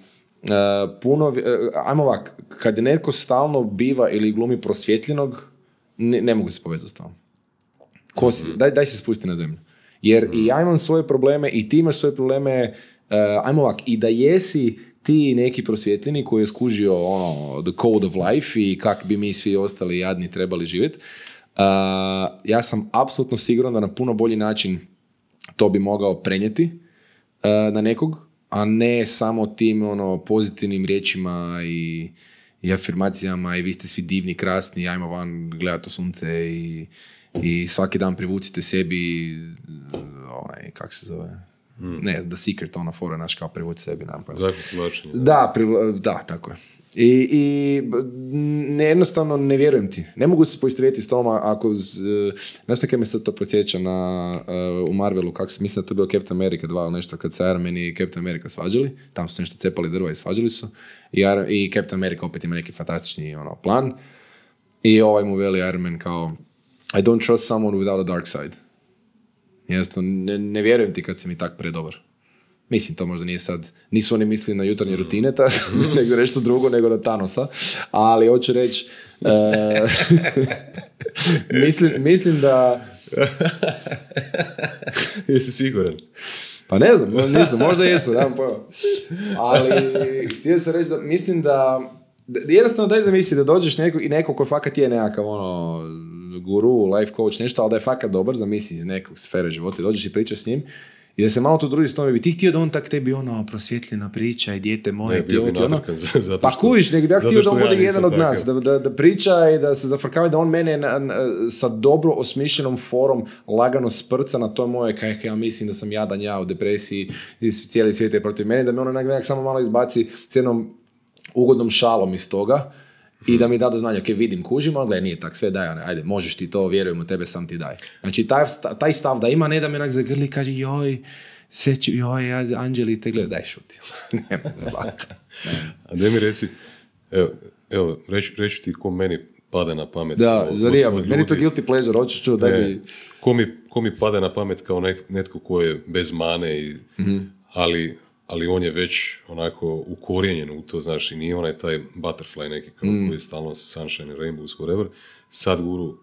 ajmo ovak, kad netko stalno biva ili glumi prosvjetljenog, ne mogu se povezati s tom. Daj se spusti na zemlju. Jer i ja imam svoje probleme i ti imaš svoje probleme, ajmo ovak, i da jesi ti neki prosvjetljeni koji je skužio ono, the code of life i kak bi mi svi ostali jadni trebali živjeti, ja sam apsolutno siguran da na puno bolji način to bi mogao prenijeti na nekog, a ne samo tim ono, pozitivnim riječima i afirmacijama i vi ste svi divni, krasni, ajmo van gledati u sunce i svaki dan privucite sebi kak se zove, ne, The Secret, ona fora, naš kao privuci sebi. Da, tako je. I jednostavno ne vjerujem ti. Ne mogu se poistovjetiti s tom ako... Znaš što kaj me sad to podsjeća u Marvelu, kako se mislim da to bio Captain America 2 ili nešto, kad se Iron Man i Captain America svađali, tam su nešto cepali drva i svađali su, i Captain America opet ima neki fantastični plan, i ovaj mu veli Iron Man kao I don't trust someone without a dark side. Jednostavno, ne vjerujem ti kad si mi tak predobar. Mislim, to možda nije sad, nisu oni mislili na jutarnje rutine, nego nešto drugo, nego na Thanosa, ali hoću reći, mislim da... Jesi siguran? Pa ne znam, možda jesu, nemam pojma. Ali htio sam reći da mislim da jednostavno daj zamisli da dođeš neko koji fakat je nekakav guru, life coach, nešto, ali da je fakat dobar, zamisli iz nekog sfere života i dođeš i pričaš s njim i da se malo to druži s tome, bi ti htio da on tak tebi prosvjetljena priča i dijete moje, ne, ti ovo ti ono, pa kuviš, nego ja htio da on bude jedan od nas, da priča i da se zafrkava, da on mene sa dobro osmišljenom forom lagano sprca na to moje, kaj ja mislim da sam jadan, ja u depresiji i cijeli svijet je protiv mene, da me ono nekak samo malo izbaci s jednom ugodnom šalom iz toga i da mi da do znanja, ok, vidim, kužim, ali nije tak, sve daj, ajde, možeš ti to, vjerujem u tebe, sam ti daj. Znači, taj stav da ima, ne da me onak zagrli i kaže, joj, Anđeli te gleda, daj šuti. Nema glata. A da mi reci, evo, reći ti ko meni pada na pamet. Da, zarija, meni to guilty pleasure, hoću čuo, daj mi... Ko mi pada na pamet kao netko ko je bez mane, ali ali on je već onako ukorijenjen u to, znaš, i nije onaj taj butterfly neki koji je stalno sa Sunshine, Rainbows, whatever. Sadhguru.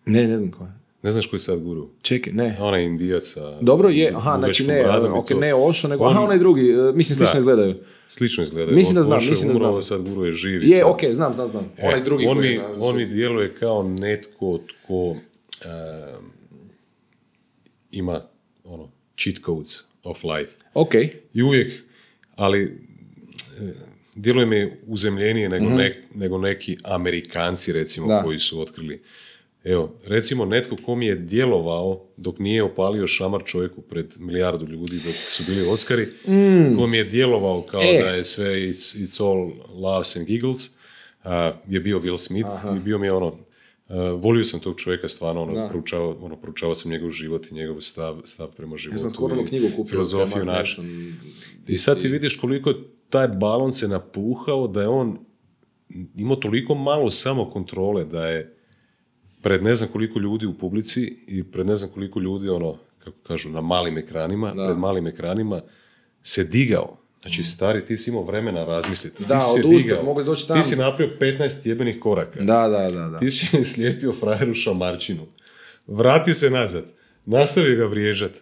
Ne znam ko je. Ne znaš koji je Sadhguru? Čekaj, ne. Onaj Indijac. Dobro je, znači ne Osho, nego, onaj drugi, mislim slično izgledaju. Slično izgledaju. Mislim da znam. Sadhguru je živ. Je, okej, znam. Onaj drugi on mi djeluje kao netko tko ima cheat codes of life. Ok. I uvijek, ali djeluje mi uzemljenije nego neki Amerikanci, recimo, koji su otkrili. Evo, recimo netko ko mi je djelovao dok nije opalio šamar čovjeku pred milijardu ljudi dok su bili Oscari, ko mi je djelovao kao da je sve it's all laughs and giggles, je bio Will Smith. I bio mi je volio sam tog čovjeka stvarno, proučavao sam njegov život i njegov stav prema životu. Ja sam skoro knjigu kupio. Filozofiju našu. I sad ti vidiš koliko taj balon se napuhao da je on imao toliko malo samokontrole da je pred ne znam koliko ljudi u publici i pred ne znam koliko ljudi, kako kažu, na malim ekranima, pred malim ekranima, se digao. Znači, stari, ti si imao vremena razmisliti. Da, odustao, mogli doći tamo. Ti si napravio 15 jebenih koraka. Da. Ti si slijepio frajeru šamarčinu. Vratio se nazad. Nastavio ga vriježat.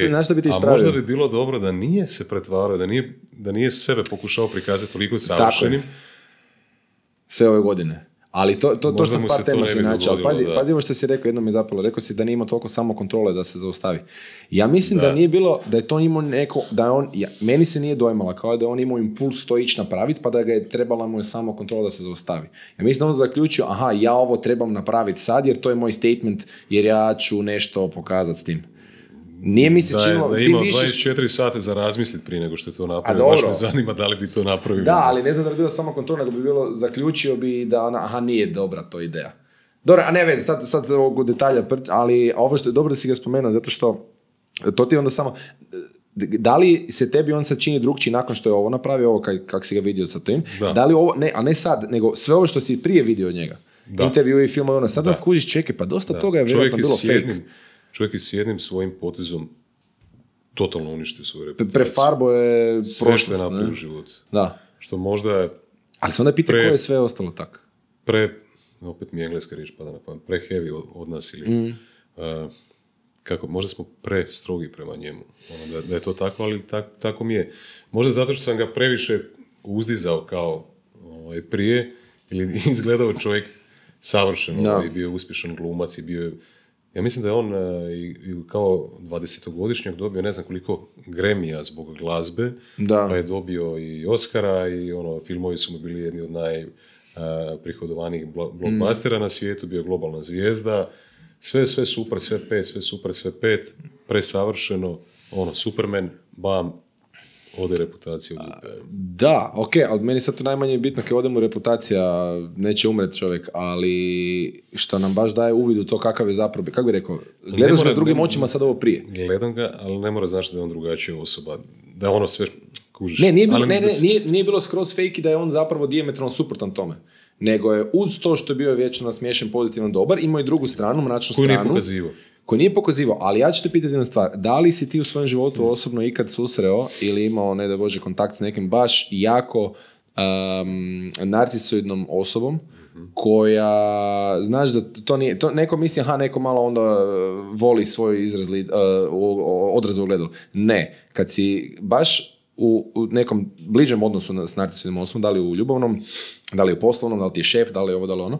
Na što bi ti ispravio? A možda bi bilo dobro da nije se pretvarao, da nije sebe pokušao prikazati toliko savršenim. Sve ove godine. Ali to sam par tema si načao. Pazi ovo što si rekao, jedno mi je zapalo. Rekao si da nije imao toliko samokontrole da se zaustavi. Ja mislim da nije bilo, da je to imao neko, meni se nije dojmala kao da on imao impuls to ići napraviti, pa da ga je trebala mu je samokontrola da se zaustavi. Ja mislim da on zaključio, ja ovo trebam napraviti sad, jer to je moj statement, jer ja ću nešto pokazati s tim. Nije mi se činilo... Da je imao 24 sata za razmisliti prije nego što je to napravio. Baš me zanima da li bi to napravio. Da, ali ne znam da bi bilo samo kontrol, nego bi bilo, zaključio bi da nije dobra to ideja. Dobro, a ne veze, sad ovog detalja, ali ovo što je dobro da si ga spomenuo, zato što to ti onda samo... Da li se tebi on sad čini drugčiji nakon što je ovo napravio, ovo kak si ga vidio sa tim? Da li ovo, a ne sad, nego sve ovo što si prije vidio od njega. Intervju i film, sad nas kužiš, čekaj, pa dosta toga je vjerojatno bilo fake. Čovjek je s jednim svojim potezom totalno uništio svoju reputaciju. Prefarbo je prošlost. Sve što je napravio u životu. Da. Što možda je... Ali se onda pita ko je sve ostalo tako. Opet mi je engleska riječ pada na pamet, pre-heavy od nas ili... možda smo prestrogi prema njemu. Da je to tako, ali tako mi je. Možda zato što sam ga previše uzdizao kao prije, ili izgledao čovjek savršeno i bio uspješan glumac i bio... Ja mislim da je on kao 20-godišnjak dobio ne znam koliko Grammy-a zbog glazbe, pa je dobio i Oscara i filmovi su mu bili jedni od najprihodovanijih blockbustera na svijetu, bio globalna zvijezda, sve super, sve pet, presavršeno, Superman, bam, ode reputacija u dupe. Da, ok, ali meni sad to najmanje bitno kad odemo reputacija, neće umreti čovjek, ali što nam baš daje uvid u to kakav je zapravo, kako bi rekao, gledaš ga s drugim očima sad ovo prije. Gledam ga, ali ne mora znaći da je on drugačija osoba, da je sve kužiš. Nije bilo skroz fake da je on zapravo dijametralno suprotan tome. Nego je uz to što je bio vječno nasmiješen, pozitivan, dobar, imao i drugu stranu, mračnu stranu. Koji nije pokazivao, ali ja ću te pitati jednu stvar. Da li si ti u svojem životu osobno ikad susreo ili imao, ne da Bože, kontakt s nekim baš jako narcisoidnom osobom koja, znaš da to nije, to neko misli, neko malo onda voli svoj odraz u ogledalu. Ne, kad si baš u nekom bližem odnosu s narcisoidnom osobom, da li u ljubavnom, da li u poslovnom, da li ti je šef, da li ovo, da li ono,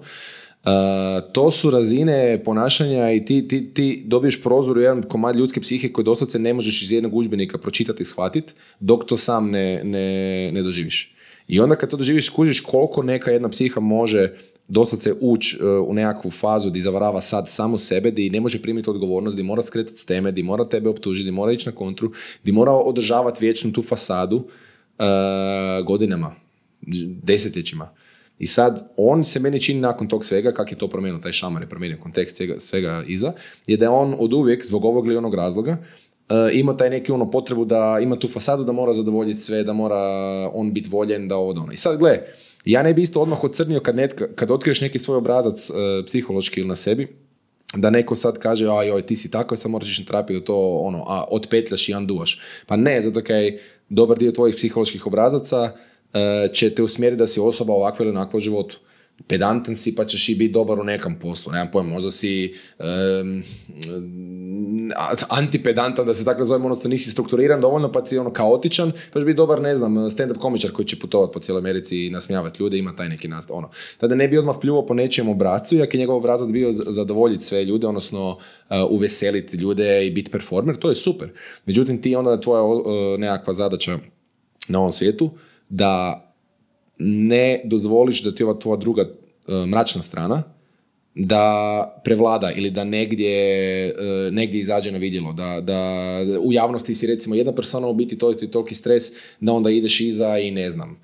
to su razine ponašanja i ti dobiješ prozor u jedan komad ljudske psihe koji doslovce ne možeš iz jednog udžbenika pročitati i shvatiti dok to sam ne doživiš. I onda kad to doživiš skužiš koliko neka jedna psiha može doslovce ući u nekakvu fazu di zavarava sad samo sebe, di ne može primiti odgovornost, di mora skretati s teme, di mora tebe optužiti, di mora ići na kontru, di mora održavati vječnu tu fasadu godinama, desetljećima. I sad, on se meni čini nakon tog svega, kak je to promijenio, taj šamar je promijenio kontekst svega iza, je da je on od uvijek, zbog ovog ili onog razloga, ima taj neki potrebu da ima tu fasadu, da mora zadovoljiti sve, da mora on biti voljen, da ovo da ono. I sad, gle, ja ne bi isto odmah ocrnio kad otkriješ neki svoj obrazac psihološki ili na sebi, da neko sad kaže, joj, ti si tako, sad moraš ići na terapiju da to otpetljaš i unduaš. Pa ne, zato kaj dobar dio tvojih psiholoških obrazaca će te usmjeriti da si osoba ovakva ili onakva u životu. Pedantan si, pa ćeš i biti dobar u nekom poslu. Nemam pojma, možda si antipedantan, da se tako zovem, odnosno nisi strukturiran dovoljno, pa si kaotičan, pa ćeš biti dobar, ne znam, stand-up komičar koji će putovati po cijeloj Americi i nasmijavati ljude, ima taj neki nastav. Tada ne bi odmah pljuvao po nečijem obrazcu, jak je njegov obrazac bio zadovoljiti sve ljude, odnosno uveseliti ljude i biti performer, to je super. Međutim, ti onda tvoja nekakva zadaća na ovom svijetu, da ne dozvoliš da ti ova tvoja druga mračna strana da prevlada ili da negdje izađe na vidjelo, da u javnosti si recimo jedna persona u biti toliki stres da onda ideš iza i ne znam,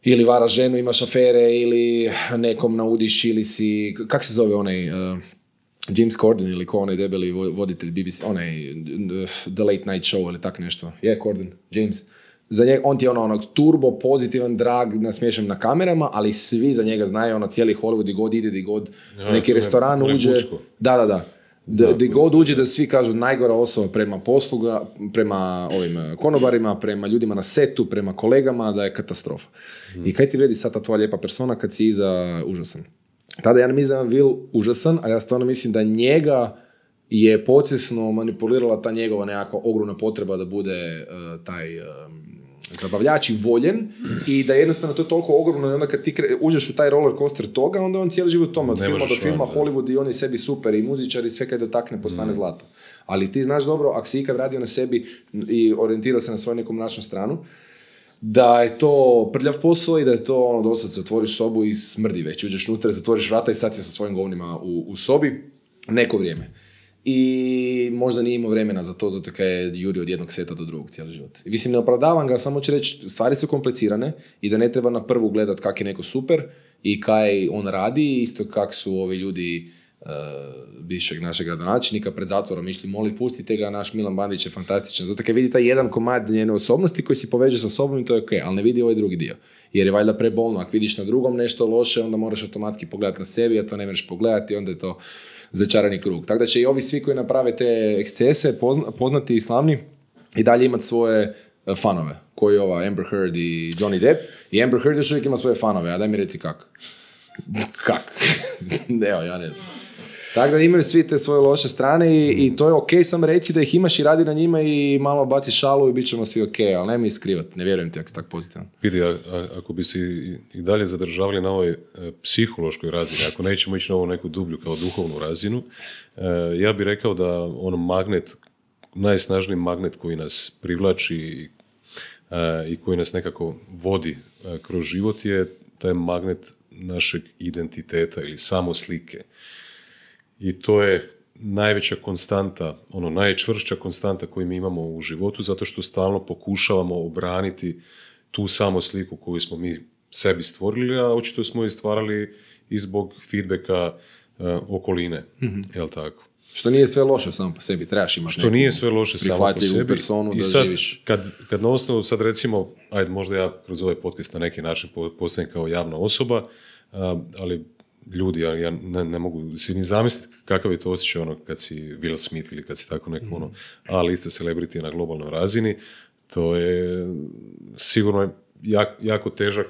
ili varaš ženu, imaš afere ili nekom naudiš ili si, kak se zove onaj James Corden ili ko onaj debeli voditelj BBC, onaj The Late Night Show ili tak nešto, Corden, James. Za njega, on ti je onog turbo, pozitivan, drag, nasmiješan na kamerama, ali svi za njega znaju, cijeli Hollywood, di god neki restoran uđe. Da. Di god uđe da svi kažu najgora osoba prema posluga, prema ovim konobarima, prema ljudima na setu, prema kolegama, da je katastrofa. I kaj ti vredi sad ta tvoja lijepa persona kad si iza užasan? Tada ja ne mislim da je Will užasan, ali ja stvarno mislim da njega je podsvjesno manipulirala ta njegova nekakva ogromna potreba da bude taj zabavljač i voljen i da jednostavno to je toliko ogromno i onda kad ti uđeš u taj roller coaster toga, onda on cijeli život tome, od filma do filma, Hollywood i on je sebi super i muzičar i sve kad dotakne postane zlato. Ali ti znaš dobro, ako si ikad radio na sebi i orijentirao se na svoju neku mračnu stranu, da je to prljav posao i da je to dosad otvoriš sobu i smrdi već, uđeš unutra, zatvoriš vrata i sad si sa svojim govnima u sobi neko vrijeme. I možda nije imao vremena za to, zato kaj je juri od jednog seta do drugog cijeli život. I mislim, ne opravdavam ga, samo ću reći, stvari su komplicirane i da ne treba na prvu gledat kak je neko super i kaj on radi, isto kak su ovi ljudi bivšeg našeg gradonačelnika pred zatvorom išli molit, pustite ga, naš Milan Bandić je fantastičan. Zato kaj vidi taj jedan komad njene osobnosti koji si poveže sa sobom i to je ok, ali ne vidi ovaj drugi dio. Jer je valjda prebolno, ako vidiš na drugom nešto loše, onda moraš automatski pogledati na sebi, a to ne možeš pogledati, onda je to začarani krug. Tako da će i ovi svi koji naprave te ekscese, poznati i slavni, i dalje imati svoje fanove, koji ova Amber Heard i Johnny Depp. I Amber Heard još uvijek ima svoje fanove, a daj mi reci kako. Kak? Evo, ja ne znam. Tako da imaju svi te svoje loše strane i to je ok, sam reci da ih imaš i radi na njima i malo baci šalu i bit ćemo svi ok, ali nemoj iskrivati, ne vjerujem ti ako si tako pozitivan. Vidi, ako bi se i dalje zadržavali na ovoj psihološkoj razini, ako nećemo ići na ovu neku dublju kao duhovnu razinu, ja bih rekao da ono magnet, najsnažniji magnet koji nas privlači i koji nas nekako vodi kroz život je taj magnet našeg identiteta ili samoslike. I to je najveća konstanta, najčvršća konstanta koju mi imamo u životu, zato što stalno pokušavamo obraniti tu samosliku koju smo mi sebi stvorili, a očito smo je stvarali i zbog feedbacka okoline, jel tako? Što nije sve loše samo po sebi, trebaš imati što nije sve loše samo po sebi. Personu da i sad, živiš. Kad na osnovu, sad recimo, ajde, možda ja kroz ovaj podcast na neki način postajem kao javna osoba, ali ljudi, ja ne mogu si ni zamisliti kakav je to osjećaj kad si Will Smith ili kad si tako neko A-lista celebrity na globalnoj razini, to je sigurno jako težak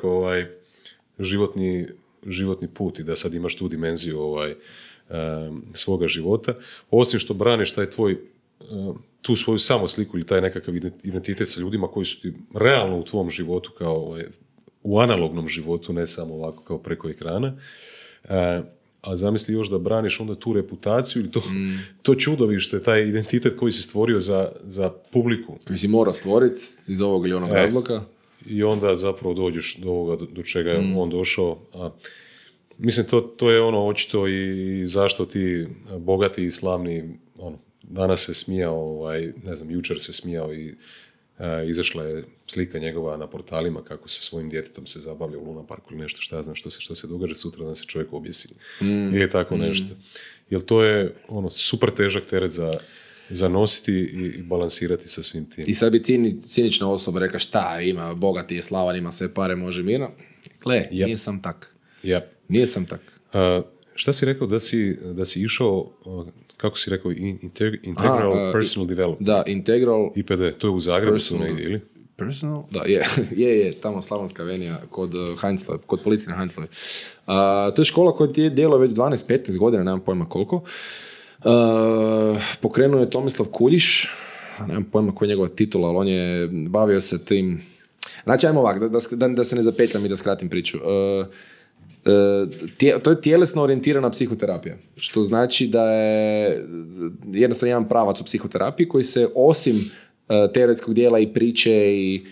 životni put i da sad imaš tu dimenziju svoga života. Osim što braniš taj tvoj tu svoju samosliku ili taj nekakav identitet sa ljudima koji su ti realno u tvom životu kao u analognom životu, ne samo ovako kao preko ekrana. A zamisli još da braniš onda tu reputaciju ili to čudovište, taj identitet koji si stvorio za publiku. Koji si mora stvoriti iz ovog ili onog razloga. I onda zapravo dođeš do ovoga do čega je on došao. Mislim, to je očito i zašto ti bogati i slavni, danas se smijao, ne znam, jučer se smijao i izašla je slika njegova na portalima kako sa svojim djetetom se zabavlja u Luna Parku ili nešto, šta znam što se događa sutra da se čovjek objesi. Ili tako nešto. Jer to je super težak teret za nositi i balansirati sa svim tim. I sad bi cinična osoba reka šta ima, bogati je, slavan, ima sve pare, može mirno. Gle, nije sam tak. Yep. Nije sam tak. Šta si rekao da si išao, kako si rekao, Integral Personal Development? Da, Integral... IPD, to je u Zagrebu su negdje, ili? Personal? Da, je, tamo Slavonska avenija, kod Heinzlove, kod policije na Heinzlove. To je škola koja ti je djeluje već 12-15 godina, nemam pojma koliko. Pokrenuo je Tomislav Kuljiš, nemam pojma koja je njegova titula, ali on je bavio se tim... Znači, ajmo ovak, da se ne zapetljam i da skratim priču. To je tjelesno orijentirana psihoterapija, što znači da je jednostavno jedan pravac u psihoterapiji koji se osim teoretskog dijela i priče i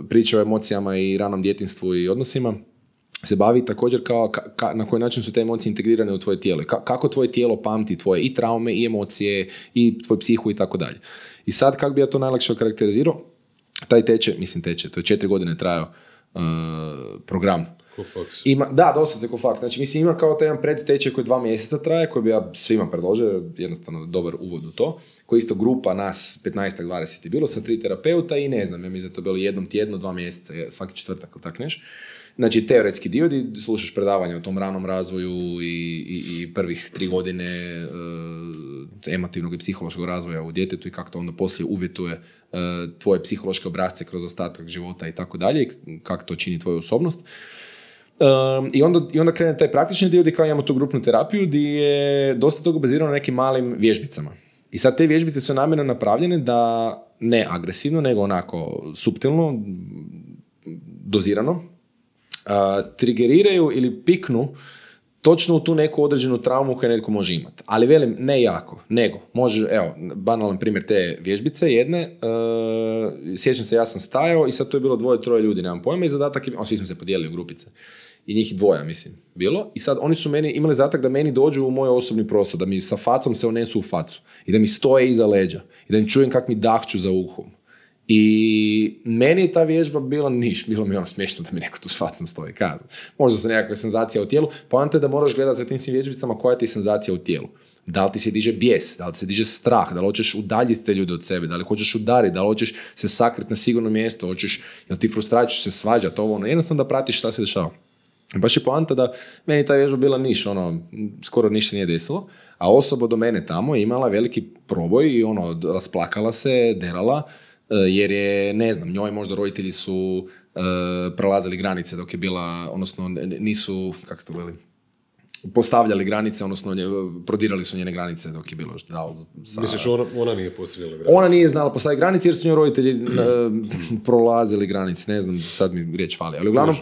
priče o emocijama i ranom djetinjstvu i odnosima se bavi također kao na koji način su te emocije integrirane u tvoje tijelo. Kako tvoje tijelo pamti tvoje i traume i emocije i tvoj psihu i tako dalje. I sad kako bi ja to najlakše okarakterizirao, taj teče, to je 4 godine trajao program. Da, doslovce ko faks. Znači, ima kao taj jedan predtečaj koji 2 mjeseca traje, koji bi ja svima predložio, jednostavno dobar uvod u to, koji isto grupa nas 15-20 je bilo sa 3 terapeuta i ne znam, ja mislim da to bilo jednom tjedno, 2 mjeseca, svaki četvrtak ili tak neš. Znači, teoretski dio gdje slušaš predavanja o tom ranom razvoju i prvih 3 godine emotivnog i psihološkog razvoja u djetetu i kako to onda poslije uvjetuje tvoje psihološke obrasce kroz ostatak života i tako dalje i kako to čini tvoju osobnost. I onda krene taj praktični dio gdje kao imamo tu grupnu terapiju gdje je dosta toga bazirano na nekim malim vježbicama. I sad te vježbice su namjerno napravljene da ne agresivno, nego onako suptilno, dozirano, trigeriraju ili piknu točno u tu neku određenu traumu koju netko može imati. Ali velim, ne jako, nego može, evo, banalan primjer te vježbice jedne, sjećam se, ja sam stajao i sad tu je bilo 2-3 ljudi, nemam pojma, i zadatak je, svi smo se podijelili u grupice. I njih 2, mislim, bilo. I sad oni su meni imali zadatak da meni dođu u moj osobni prostor, da mi sa facom se unesu u facu i da mi stoje iza leđa i da im čujem kak mi dahću za uhom. I meni je ta vježba bila bilo mi ono smiješno da mi neko tu s facom stoji. Možda se nekakva senzacija u tijelu, poanta je da moraš gledati za tim svim vježbicama koja ti je senzacija u tijelu. Da li ti se diže bijes, da li ti se diže strah, da li hoćeš udaljiti te ljude od sebe, da li hoćeš udariti, da li hoćeš se sakriti na sigurno mjesto, jel ti frustracija se svađati, jednostavno da pratiš šta se dešava. Baš je poanta da meni ta vježba bila skoro ništa nije desilo, a osoba do mene tamo je imala veliki proboj i rasplakala se, derala, jer je, ne znam, njoj možda roditelji su prelazili granice dok je bila, odnosno nisu, kako se to veli, postavljali granice, odnosno prodirali su njene granice dok je bilo još dao. Misliš, ona nije postavljala granice? Ona nije znala postaviti granice jer su njoj roditelji prolazili granice, ne znam, sad mi riječ fali, ali uglavnom,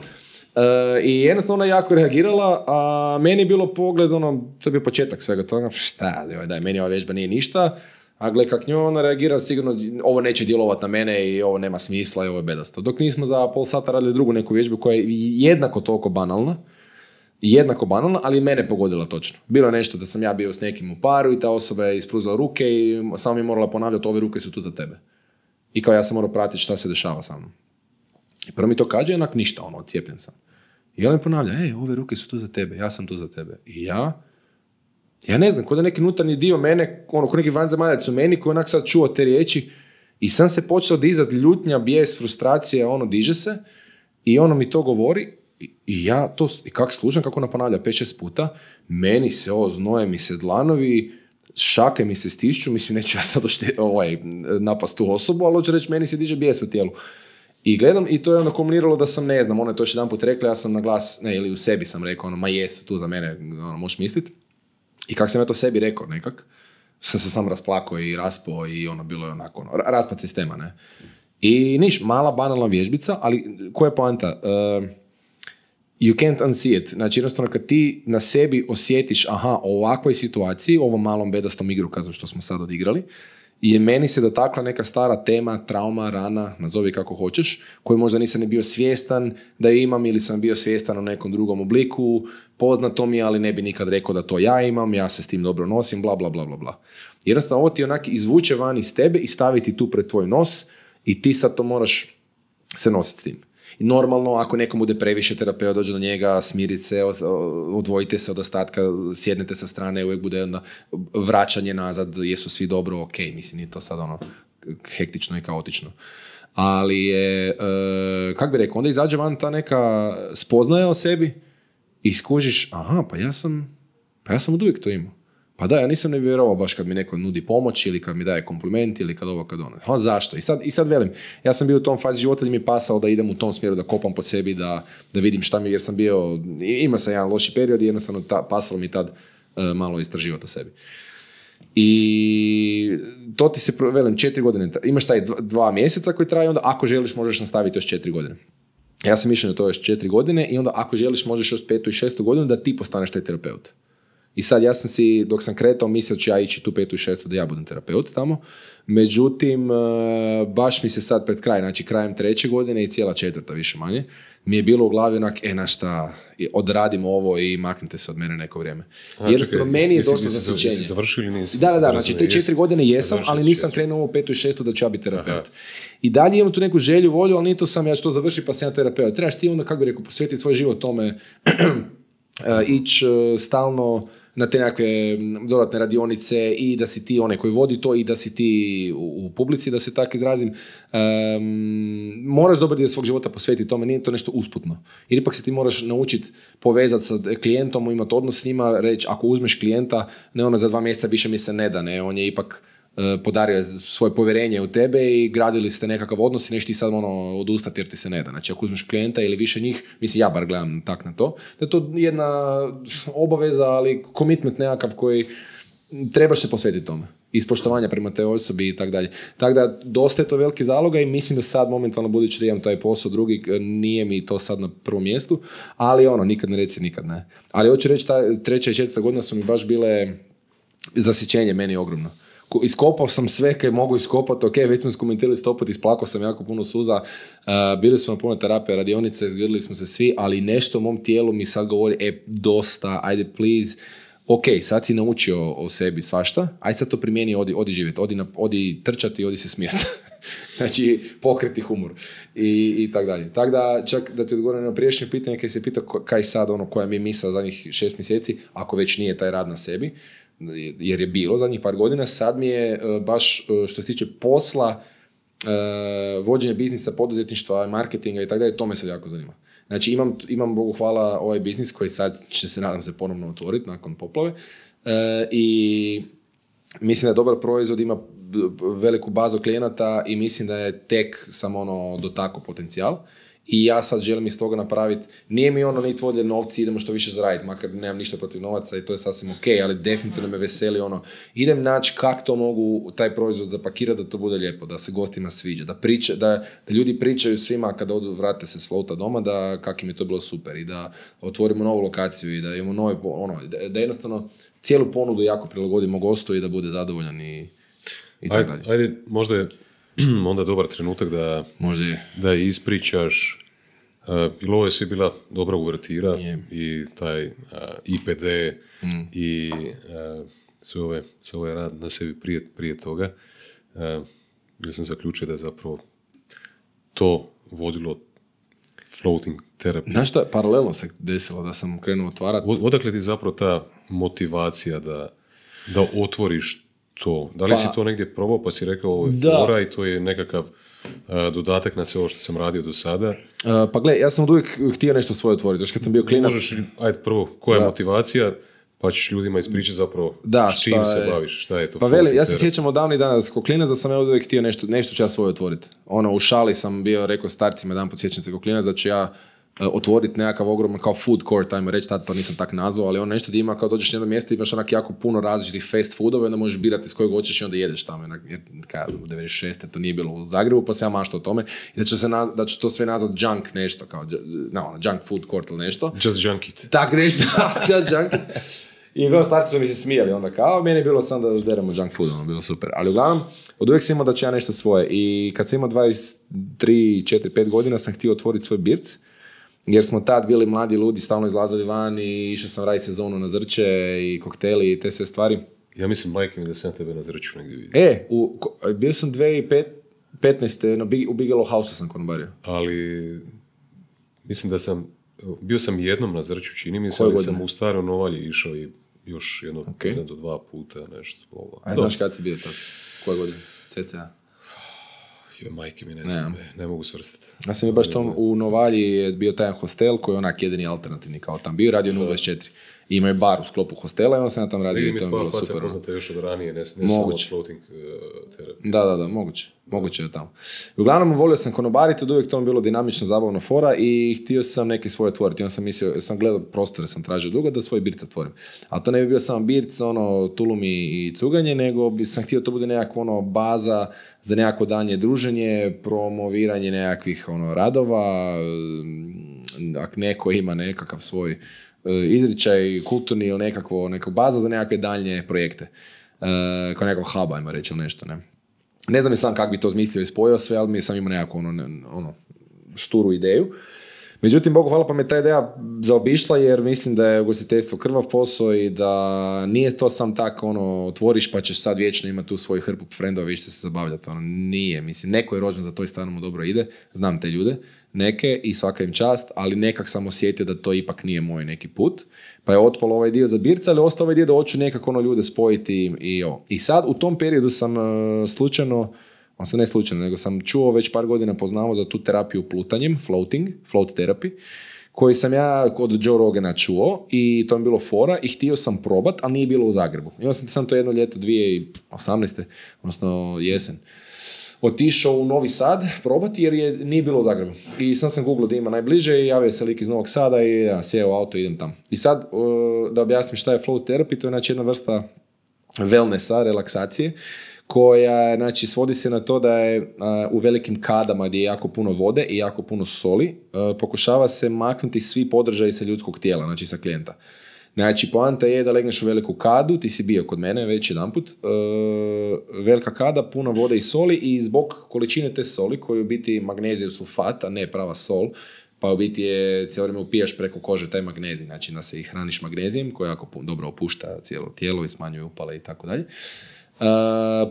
i jednostavno ona jako reagirala, a meni je bilo pogled, to je bio početak svega toga, meni ova vježba nije ništa, a gle kak njoj ona reagira, sigurno ovo neće djelovati na mene i ovo nema smisla i ovo je bedasto. Dok nismo za pol sata radili drugu neku vježbu koja je jednako toliko banalna, ali mene pogodila točno. Bilo je nešto da sam ja bio s nekim u paru i ta osoba je ispruzila ruke i samo mi je morala ponavljati, ove ruke su tu za tebe. I kao ja sam morao pratiti šta se dešava sa mnom. I prvo mi to kaže, jednak ništa, ocijepljen sam. I ona mi ponavlja, ove ruke su tu za tebe, ja sam tu za tebe. I ja ne znam, kod je neki unutarnji dio mene, kod neki vanzemaljac u meni koji onak sad čuo te riječi i sam se počeo dizati ljutnja, bijes, frustracija, diže se i mi to govori i ja to, i kak slušam kako ona ponavlja 5-6 puta, meni se znoje mi se dlanovi, šake mi se stišću, mislim neću ja sad napast tu osobu, ali hoću reći meni se diže bijes u tijelu. I gledam i to je onda kombiniralo da sam, ne znam, ona je to još jedan put rekla, ja sam na glas, ili u sebi sam rekao, ma jesu tu za mene, možeš misliti. I kako sam ja to sebi rekao nekak, sam se sam rasplakao i raspao i bilo je onako, raspad sistema, ne. I mala banalna vježbica, ali koja je poanta? You can't unsee it. Znači, jednostavno kad ti na sebi osjetiš, u ovakvoj situaciji, u ovom malom bedastom igrokazu što smo sad odigrali, je meni se dotakla neka stara tema, trauma, rana, nazovi kako hoćeš, koju možda nisam ni bio svjestan da ju imam ili sam bio svjestan u nekom drugom obliku, poznato mi, ali ne bi nikad rekao da to ja imam, ja se s tim dobro nosim, bla, bla, bla, bla, bla. Jednostavno, ovo ti onak izvuče van iz tebe i staviti tu pred tvoj nos i ti sad to moraš se nositi s tim. I normalno, ako nekom bude previše, terapeut dođe do njega, smirite se, odvojite se od ostatka, sjednete sa strane, uvijek bude vraćanje nazad, jesu svi dobro, ok, mislim, nije to sad hektično i kaotično. Ali je, kak bi rekao, onda izađe van ta neka spoznaja o sebi i skužiš, pa ja sam od uvijek to imao. Pa da, ja nisam ne vjerovao baš kad mi neko nudi pomoć ili kad mi daje kompliment ili kad ovo, kad ono. Zašto? I sad velim, ja sam bio u tom fazi života gdje mi je pasalo da idem u tom smjeru, da kopam po sebi, da vidim šta mi, jer sam bio, imao sam jedan loši period i jednostavno pasalo mi tad malo istraživati o sebi. I to ti se, velim, 4 godine, imaš taj 2 mjeseca koji traje, onda ako želiš možeš nastaviti još 4 godine. Ja sam mišljen da to još 4 godine i onda ako želiš možeš još 5. i 6. godinu da ti postaneš taj terapeut. I sad ja sam si, dok sam kretao, mislio ću ja ići tu 5. i 6. da ja budem terapeut tamo. Međutim, baš mi se sad pred kraj, znači krajem 3. godine i cijela 4. više manje, mi je bilo u glavi onak, našta, odradimo ovo i maknite se od mene neko vrijeme. Jednostavno, meni je došlo zasićenje. Jesi završio ili nisi? Da, znači te 4 godine jesam, ali nisam krenuo ovo 5. i 6. da ću ja biti terapeut. Aha. I dalje imam tu neku želju, volju, ali nije to sam, ja ću to završiti pa sam ja terapeut. Trebaš ti onda, kako bi rekao, posvetiti svoj život tome, ići stalno na te nekakve dodatne radionice i da si ti onaj koji vodi to i da si ti u publici, da se tako izrazim. Moraš dobar dio svog života posvetiti tome, nije to nešto usputno. Jer ipak se ti moraš naučiti povezati sa klijentom, imati odnos s njima, reći ako uzmeš klijenta, ne ono za 2 mjeseca više mi se ne da, ne, on je ipak podario svoje povjerenje u tebe i gradili ste nekakav odnos i nešto ti sad odustati jer ti se ne da. Znači ako uzmeš klijenta ili više njih, mislim ja bar gledam tak na to, da je to jedna obaveza, ali commitment nekakav koji trebaš se posvetiti tome. Ispoštovanja prema te osobi i tako dalje. Tako da dosta je to veliki zaloga i mislim da sad momentalno budući da imam taj posao drugi, nije mi to sad na prvom mjestu, ali nikad ne reci nikad ne. Ali hoću reći, ta 3. i 4. godina su mi baš bile zasićenje meni ogromno. Iskopao sam sve kaj mogu iskopati, ok, već smo skomentirali 100 puta, isplakao sam jako puno suza, bili smo na puno terapije, radionice, izgrdili smo se svi, ali nešto u mom tijelu mi sad govori, dosta, ajde please, ok, sad si naučio o sebi svašta, aj sad to primijeni, odi živjeti, odi trčati, odi se smijeti. Znači, pokreti humor i tako dalje. Tako da, čak da ti odgovorim na prijašnje pitanje, kaj se pitao kaj sad, koja mi je misao zadnjih 6 mjeseci, ako već nije taj rad na sebi, jer je bilo zadnjih par godina, sad mi je baš što se tiče posla, vođenja biznisa, poduzetništva, marketinga i tako dalje, to me sad jako zanima. Znači imam Bogu hvala ovaj biznis koji sad će se, nadam se, ponovno otvoriti nakon poplave i mislim da je dobar proizvod, ima veliku bazu klijenata i mislim da je tek samo dotakao potencijal. I ja sad želim iz toga napraviti, nije mi ni tvoje novci, idemo što više zaraditi, makar nemam ništa protiv novaca i to je sasvim ok, ali definitivno me veseli idem naći kako to mogu taj proizvod zapakirati da to bude lijepo, da se gostima sviđa, da ljudi pričaju svima kada odu, vrate se s flota doma, da kak im je to bilo super i da otvorimo novu lokaciju i da imamo nove, da jednostavno cijelu ponudu jako prilagodimo gostu i da bude zadovoljan i tako dalje. Ajde, možda je onda dobar trenutak da ispričaš, jer ovo je sve bila dobra uvertira i taj IPD i sve ovaj rad na sebi prije toga. Jer sam zaključio da je zapravo to vodilo floating terapiju. Znaš šta, paralelno se desilo da sam krenuo otvarati. Odakle ti zapravo ta motivacija da otvoriš to? Da li si to negdje probao pa si rekao ovo je fora i to je nekakav dodatak na sve ovo što sam radio do sada? Pa gle, ja sam od uvijek htio nešto svoje otvoriti. Još kad sam bio klinac... Ajde prvo, koja je motivacija? Pa ćeš ljudima ispričati zapravo s čim se baviš, šta je to? Pa veli, ja se sjećam od davnih dana kao klinac da sam ja uvijek htio nešto ću ja svoje otvoriti. U šali sam bio, rekao starcima jedan podsjećam se kao klinac da ću ja otvoriti nekakav ogroman kao food court, ajmo reći, tad to nisam tak nazvao, ali nešto da ima kao dođeš na jedno mjesto i imaš onak jako puno različitih fast foodova i onda možeš birati s kojeg hoćeš i onda jedeš tamo. Jer u 96. to nije bilo u Zagrebu, pa se ja maštao o tome i da ću to sve nazvat junk nešto, kao junk food court ili nešto. Just junk it. Tak nešto, just junk it. I uglavnom starci su mi se smijali onda kao, meni je bilo sam da deramo junk food, bilo super. Ali uglavnom, od uvijek sam imao da ću ja nešto svoje i kad sam imao 23, 4, 5 godina sam htio otvoriti svoj birc. Jer smo tad bili mladi ljudi, stalno izlazili van i išao sam raditi sezonu na Zrče i kokteli i te sve stvari. Ja mislim, majke mi, da sam tebe na Zrču negdje vidio. Bio sam 2015. U Bigelow House-u sam konobario. Ali, mislim da bio sam jednom na Zrču, čini mi se, ali sam u Staroj Novalji išao i još jedno do 2 puta nešto. A znaš kad si bio tad? Koje godine? CCA? Majke mi ne mogu svrstati. Ja sam je baš tom u Novalji je bio taj hostel koji je onak jedini alternativni kao tam bio, radio 024. I imaju bar u sklopu hostela i on sam tam radio i to je bilo super. Vidim, poznate još od ranije, ne samo od floating terapije. Da, moguće je tamo. Uglavnom, volio sam konobariti, od uvijek to bilo dinamično, zabavno fora i htio sam neke svoje otvoriti. On sam mislio, sam gledao prostore, sam tražio dugo da svoj birc otvorim. Ali to ne bi bio samo birc, tulumi i cuganje, nego bi sam htio to bude nekakva baza za nekako danje druženje, promoviranje nekakvih radova, ako neko ima nekakav svoj izričaj, kulturni ili nekakva baza za nekakve daljnje projekte. Kao nekakav hub, ajmo reći, ili nešto, ne. Ne znam sam kako bi to zmislio i spojio sve, ali mi sam imao nekakvu šturu ideju. Međutim, Bogu hvala, pa me ta ideja zaobišla jer mislim da je ugostiteljstvo krvav posao i da nije to sam tako otvoriš pa ćeš sad vječno imati tu svoju hrpu frendova i ćete se zabavljati. Nije, mislim, neko je rođen za to i stvarno mu dobro ide, znam te ljude, neke i svaka im čast, ali nekak sam osjetio da to ipak nije moj neki put. Pa je otpalo ovaj dio za birca, ali ostao ovaj dio da hoću nekako ljude spojiti i ovo. I sad u tom periodu sam slučajno, ne slučajno, nego sam čuo već par godina poznavao za tu terapiju plutanjem, float therapy, koji sam ja od Joe Rogana čuo i to mi je bilo fora i htio sam probat, ali nije bilo u Zagrebu. I onda sam to jedno ljeto 2018. odnosno jesen otišao u Novi Sad probati jer nije bilo u Zagrebu. I sam googlao da ima najbliže i javio se lik iz Novog Sada i ja sjeo u auto i idem tamo. I sad da objasnim šta je float therapy, to je jedna vrsta wellnessa, relaksacije, koja svodi se na to da je u velikim kadama gdje je jako puno vode i jako puno soli, pokušava se maknuti svi podržaji sa ljudskog tijela, sa klijenta. Poanta je da legneš u veliku kadu, ti si bio kod mene već jedanput, velika kada, puno vode i soli i zbog količine te soli, koju u biti magneziju sulfat, a ne prava sol, pa u biti je cijelo vrijeme upijaš preko kože taj magnezij, da se i hraniš magnezijem koji jako dobro opušta cijelo tijelo i smanjuje upale i tako dalje.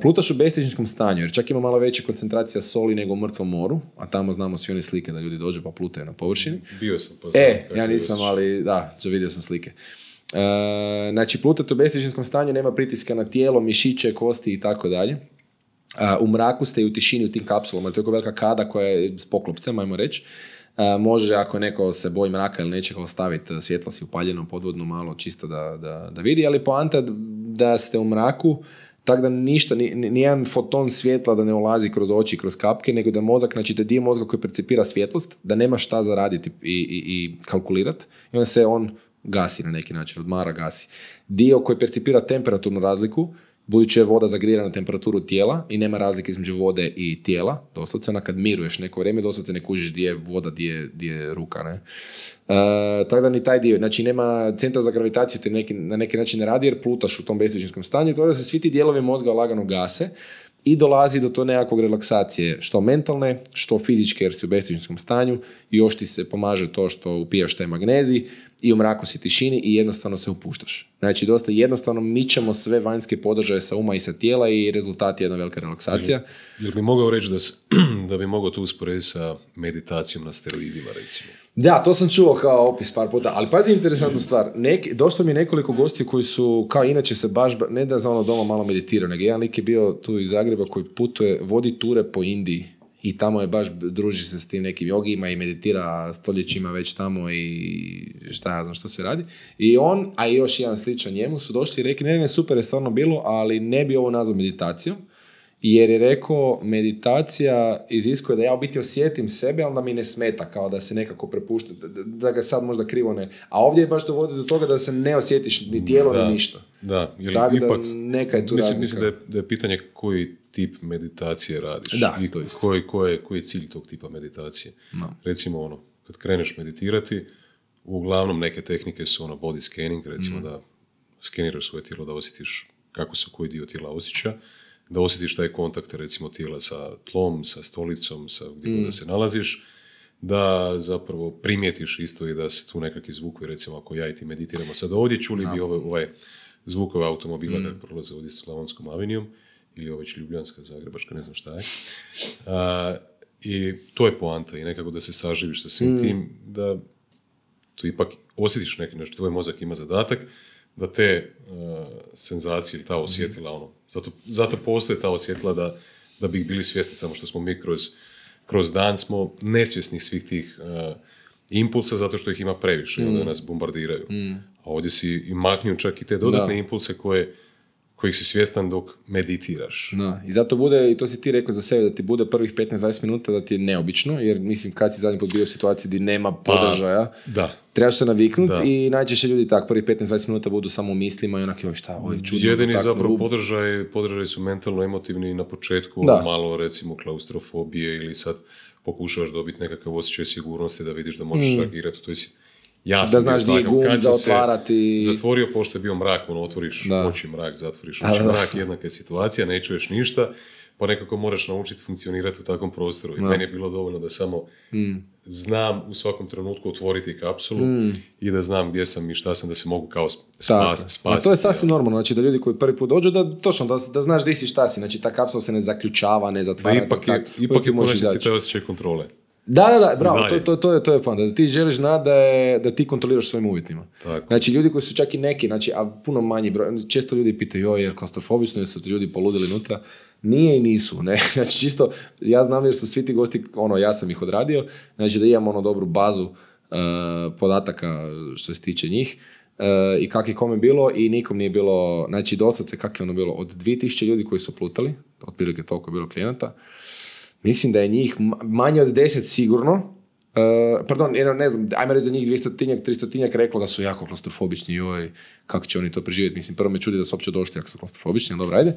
Plutaš u bestihničkom stanju, jer čak ima malo veća koncentracija soli nego u mrtvom moru, a tamo znamo svi one slike da ljudi dođu pa plutaju na površini. Bio sam ja nisam, ali vidio sam slike. Plutati u bestihničkom stanju, nema pritiska na tijelo, mišiće, kosti i tako dalje. U mraku ste i u tišini u tim kapsulama, to je velika kada koja je s poklopcem, ajmo reći. Može, ako neko se boji mraka ili nečega, ostaviti svjetlo si upaljeno podvodno malo čisto da vidi, ali poanta da ste u mraku, tako da ništa, nijedan foton svjetla da ne ulazi kroz oči, kroz kapke, nego da mozak, da dio mozga koji percipira svjetlost, da nema šta zaraditi i kalkulirati, i onda se on gasi na neki način, odmara, gasi. Dio koji percipira temperaturnu razliku, budući je voda zagrijana na temperaturu tijela i nema razlike između vode i tijela, doslovce, kad miruješ neko vrijeme, doslovce ne kužiš gdje je voda, gdje je ruka, ne? Tako da ni taj dio, nema centar za gravitaciju, te na neki način ne radi jer plutaš u tom bestihničkom stanju, tako da se svi ti dijelovi mozga lagano gase i dolazi do to nekakvog relaksacije, što mentalne, što fizičke jer si u bestihničkom stanju i još ti se pomaže to što upijaš taj magnezij i u mraku si tišini i jednostavno se upuštaš. Dosta jednostavno mičemo sve vanjske podržaje sa uma i sa tijela i rezultat je jedna velika relaksacija. Jel bi mogao reći da bi mogao to usporediti sa meditacijom na steroidima, recimo? Da, to sam čuo kao opis par puta, ali pazi interesantnu stvar. Došlo mi je nekoliko gostiju koji su, kao inače se baš, ne da za doma malo meditirao, nego jedan lik je bio tu iz Zagreba koji putuje, vodi ture po Indiji. I tamo je baš, druži se s tim nekim jogijima i meditira stoljećima već tamo i šta ja znam šta sve radi. I on, a i još jedan sličan njemu, su došli i rekli, ne, super je stvarno bilo, ali ne bi ovo nazvao meditacijom, jer je rekao, meditacija iziskuje da ja u biti osjetim sebe, ali da mi ne smeta, kao da se nekako prepušta, da ga sad možda krivo ne... A ovdje je baš dovodi do toga da se ne osjetiš ni tijelo, ni ništa. Da, jer tako ipak, da neka je tu razlika. Mislim da je pitanje koji tip meditacije radiš. Da, i to isto. Koji je cilj tog tipa meditacije. No. Recimo, kad kreneš meditirati, uglavnom neke tehnike su body scanning, recimo da skeniraš svoje tijelo, da osjetiš kako se koji dio tijela osjeća, da osjetiš taj kontakt, recimo, tijela sa tlom, sa stolicom, sa gdje da se nalaziš, da zapravo primijetiš isto i da se tu nekakvi zvukovi, recimo, ako ja i ti meditiramo sad ovdje, čuli bi ovaj zvukove automobila kako prolaze ovdje s Slavonskom avenijom, ili već Ljubljanska, Zagrebačka, ne znam šta je. I to je poanta i nekako da se saživiš sa svim tim, da tu ipak osjetiš neki, znači tvoj mozak ima zadatak, da te senzacije ili ta osjetila, zato postoje ta osjetila da bi ih bili svjesni, samo što smo mi kroz dan smo nesvjesni svih tih impulsa zato što ih ima previše i onda nas bombardiraju. A ovdje si i maknju čak i te dodatne impulse kojih si svjestan dok meditiraš. Da. I zato bude, i to si ti rekao za sebe, da ti bude prvih 15-20 minuta da ti je neobično, jer mislim kad si zadnji put bio u situaciji gdje nema podržaja, trebaš se naviknuti i najčešće ljudi tak prvih 15-20 minuta budu samo u mislima i onako, šta, ovo je čudno. Jedini zapravo podržaj su mentalno-emotivni na početku, malo recimo klaustrofobije ili sad pokušavaš dobiti nekakav osjećaj sigurnosti da vidiš da možeš reagirati, to je ja da znaš gdje je gum za otvarati. Zatvorio, pošto je bio mrak, otvoriš oči, mrak, zatvoriš oči, mrak, jednaka je situacija, ne čuješ ništa, pa nekako moraš naučiti funkcionirati u takvom prostoru. I meni je bilo dovoljno da samo znam u svakom trenutku otvoriti kapsulu i da znam gdje sam i šta sam, da se mogu kao spasiti. To je sasvim normalno, znači da ljudi koji prvi put dođu, da znaš gdje si, šta si, znači ta kapsula se ne zaključava, ne zatvara. Ipak je konačnici taj osjećaj kontrole. Da, bravo, to je plan, da ti želiš znati da ti kontroliraš svojim uvjetima. Tako. Znači, ljudi koji su čak i neki, znači, a puno manji broj, često ljudi pitaju, jer klaustrofobično, jer su ti ljudi poludili unutra, nije i nisu, ne, znači čisto, ja znam jer su svi ti gosti, ja sam ih odradio, znači da imam dobru bazu podataka što se tiče njih, i kak je kome bilo i nikom nije bilo, znači doslovce kak je bilo, od 2000 ljudi koji su plutali, otprilike toliko je bilo klijenata, mislim da je njih manje od 10 sigurno, ne znam, ajme reći da njih 200-300 reklo da su jako klaustrofobični, joj, kako će oni to preživjeti, mislim, prvo me čudi da su uopće došli ako su klaustrofobični, dobro, ajde,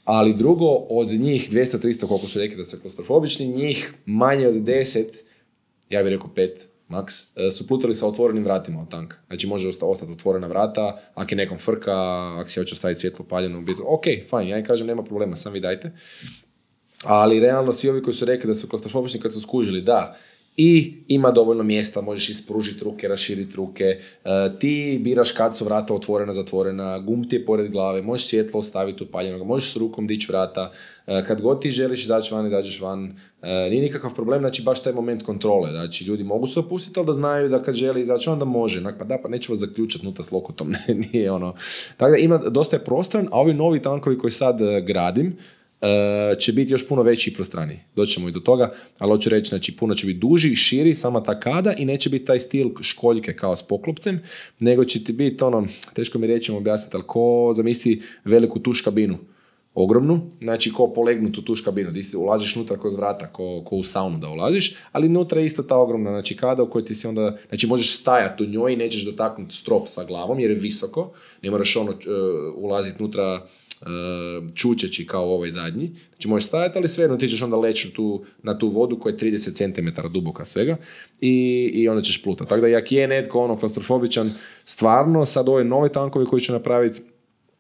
ali drugo, od njih 200-300 koliko su rekli da su klaustrofobični, njih manje od 10, ja bih rekao 5, maks, su plutali sa otvorenim vratima od tanka. Znači može ostati otvorena vrata, ako je nekom frka, ako se hoće ostaviti svjetlo paljeno, ok, fajn, ja im kažem nema problema, sam vi dajte. Ali realno svi ovi koji su rekli da su klaustrofobični kad su skužili, da, i ima dovoljno mjesta, možeš ispružiti ruke, raširiti ruke, ti biraš kad su vrata otvorena, zatvorena, gum ti je pored glave, možeš svjetlo ostaviti upaljeno, možeš s rukom dići vrata, kad god ti želiš izaći van, izađeš van, nije nikakav problem, znači baš taj moment kontrole, znači ljudi mogu se opustiti, ali da znaju da kad želi izaći van da može, pa neću vas zaključati nutra s lokotom, nije ono. Tako da ima, dosta je prostran, a ovi novi tankovi koji sad gradim, će biti još puno veći i prostraniji. Doćemo i do toga, ali hoću reći, znači puno će biti duži, širi, sama ta kada i neće biti taj stil školjke kao s poklopcem, nego će ti biti teško mi reći objasniti, ali ko zamisli veliku tuš kabinu, ogromnu, znači ko polegnutu tuš kabinu, gdje si ulaziš unutra kroz vrata, ko u saunu da ulaziš, ali unutra je isto ta ogromna, znači kada u kojoj ti si onda, znači možeš stajati u njoj i nećeš dotaknuti strop sa glavom jer je visoko, ne moraš ulaziti unutra čučeći kao ovaj zadnji. Znači možeš stajati, ali svejedno ti ćeš onda leći na tu vodu koja je 30 cm duboka svega i onda ćeš plutati. Tako da jak je netko klaustrofobičan, stvarno sad ove nove tankovi koji će napraviti,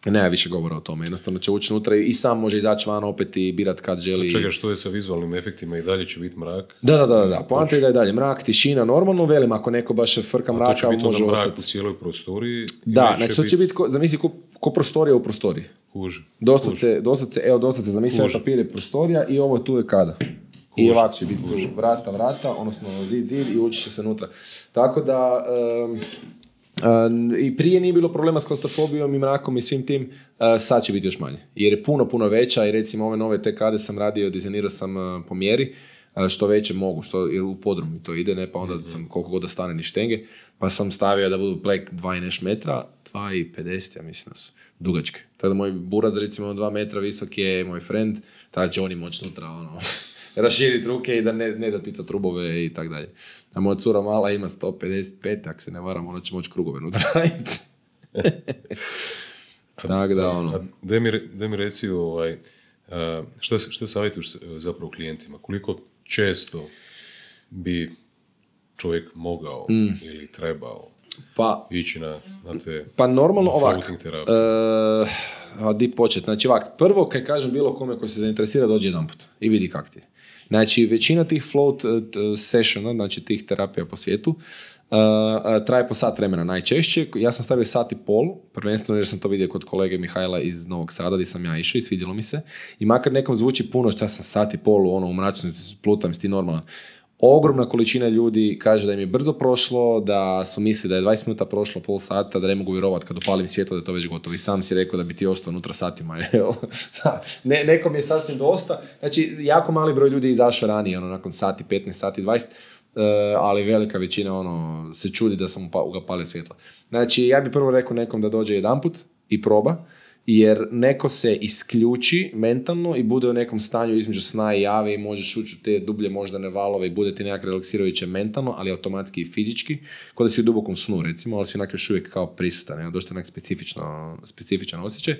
nema više govora o tome. Jednostavno će ući unutra i sam može izaći van opet i birat kad želi. Čekaj, što je sa vizualnim efektima i dalje će biti mrak? Da. Poanta je da je dalje mrak, tišina, normalno, velim, ako neko baš frka mraka, može ostati. To će biti mrak u cijeloj prostoriji? Da, znači to će biti, zamisli ko prostorija u prostoriji. Kuži. Doslovce, zamisli papir je prostorija i ovo tu je kada. I ovako će biti tu vrata, odnosno zid i ući će se unutra. Tako da... i prije nije bilo problema s klaustrofobijom i mrakom i svim tim, sad će biti još manje. Jer je puno veća i recimo ove nove te kade sam radio, dizajnirao sam po mjeri, što veće mogu, jer u podrumu to ide, ne, pa onda sam koliko god da stane ni štenge, pa sam stavio da budu plek 2 i neš metra, 2,50 ja mislim da su dugačke. Tako da moj buraz recimo 2 metra visok je moj friend, tada će oni moći nutra raširiti ruke i da ne dotica trubove i tak dalje. A moja cura mala ima 155, ako se ne varam, ona će moći krugove nutra raditi. Tako da, Da mi reci, šta savjetuješ zapravo klijentima? Koliko često bi čovjek mogao ili trebao ići na te normalno floating terapije? Di početi? Znači ovak, prvo kad kažem bilo kome ko se zainteresira dođe jedan put i vidi kak ti je. Znači većina tih float sessiona, znači tih terapija po svijetu, traje po sat vremena najčešće. Ja sam stavio 1.5 sata, prvenstveno jer sam to vidio kod kolege Mihajla iz Novog Sada gdje sam ja išao i svidjelo mi se. I makar nekom zvuči puno, šta sam 1.5 sata, u mračnosti plutam, si ti normalan. ogromna količina ljudi kaže da im je brzo prošlo, da su misli da je 20 minuta prošlo, pol sata, da ne mogu vjerovati kad upalim svjetlo da je to već gotovo. I sam si rekao da bi ti ostao unutra satima. Nekom je sasvim dosta. Znači, jako mali broj ljudi je izašao ranije, nakon sati, 15 sati, 20, ali velika većina se čudi da sam upalio svjetlo. Znači, ja bih prvo rekao nekom da dođe jedanput i proba, jer neko se isključi mentalno i bude u nekom stanju između sna i jave i možeš ući u te dublje moždane valove i bude ti nekak relaksirajuće mentalno, ali automatski i fizički, kod da si u dubokom snu recimo, ali si onak još uvijek kao prisutan, dosta onak specifičan osjećaj.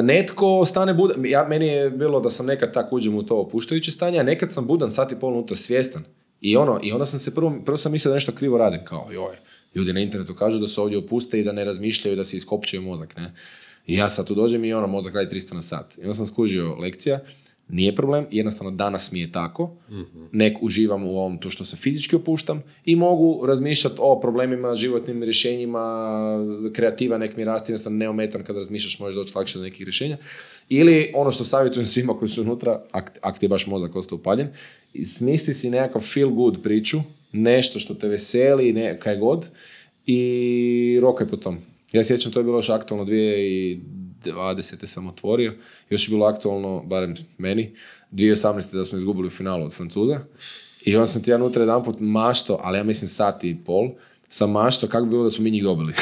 Netko stane budan, meni je bilo da sam nekad tak uđem u to opuštajuće stanje, a nekad sam budan sat i pol unutra svjestan. I onda sam se prvo sam mislio da nešto krivo radim, kao joj. Ljudi na internetu kažu da se ovdje opuste i da ne razmišljaju, da se iskopčaju mozak, ne? I ja sad tu dođem i mozak radi 300 na sat. I onda sam skužio lekcija, nije problem, jednostavno danas mi je tako, nek uživam u ovom to što se fizički opuštam i mogu razmišljati o problemima, životnim rješenjima, kreativa nek mi rasti, jednostavno neometan kada razmišljaš možeš doći lakše do nekih rješenja. Ili ono što savjetujem svima koji su unutra, ak ti je baš mozak ostao upaljen, smisli si nekakav feel good priču, nešto što te veseli, kaj god, i rokaj po tom. Ja sjećam, to je bilo još aktualno 2020. sam otvorio, još je bilo aktualno, barem meni, 2018. da smo izgubili u finalu od Francuza. I onda sam ti ja unutra jedanput mašto, ali ja mislim sat i pol, sam mašto kako bi bilo da smo mi njih dobili.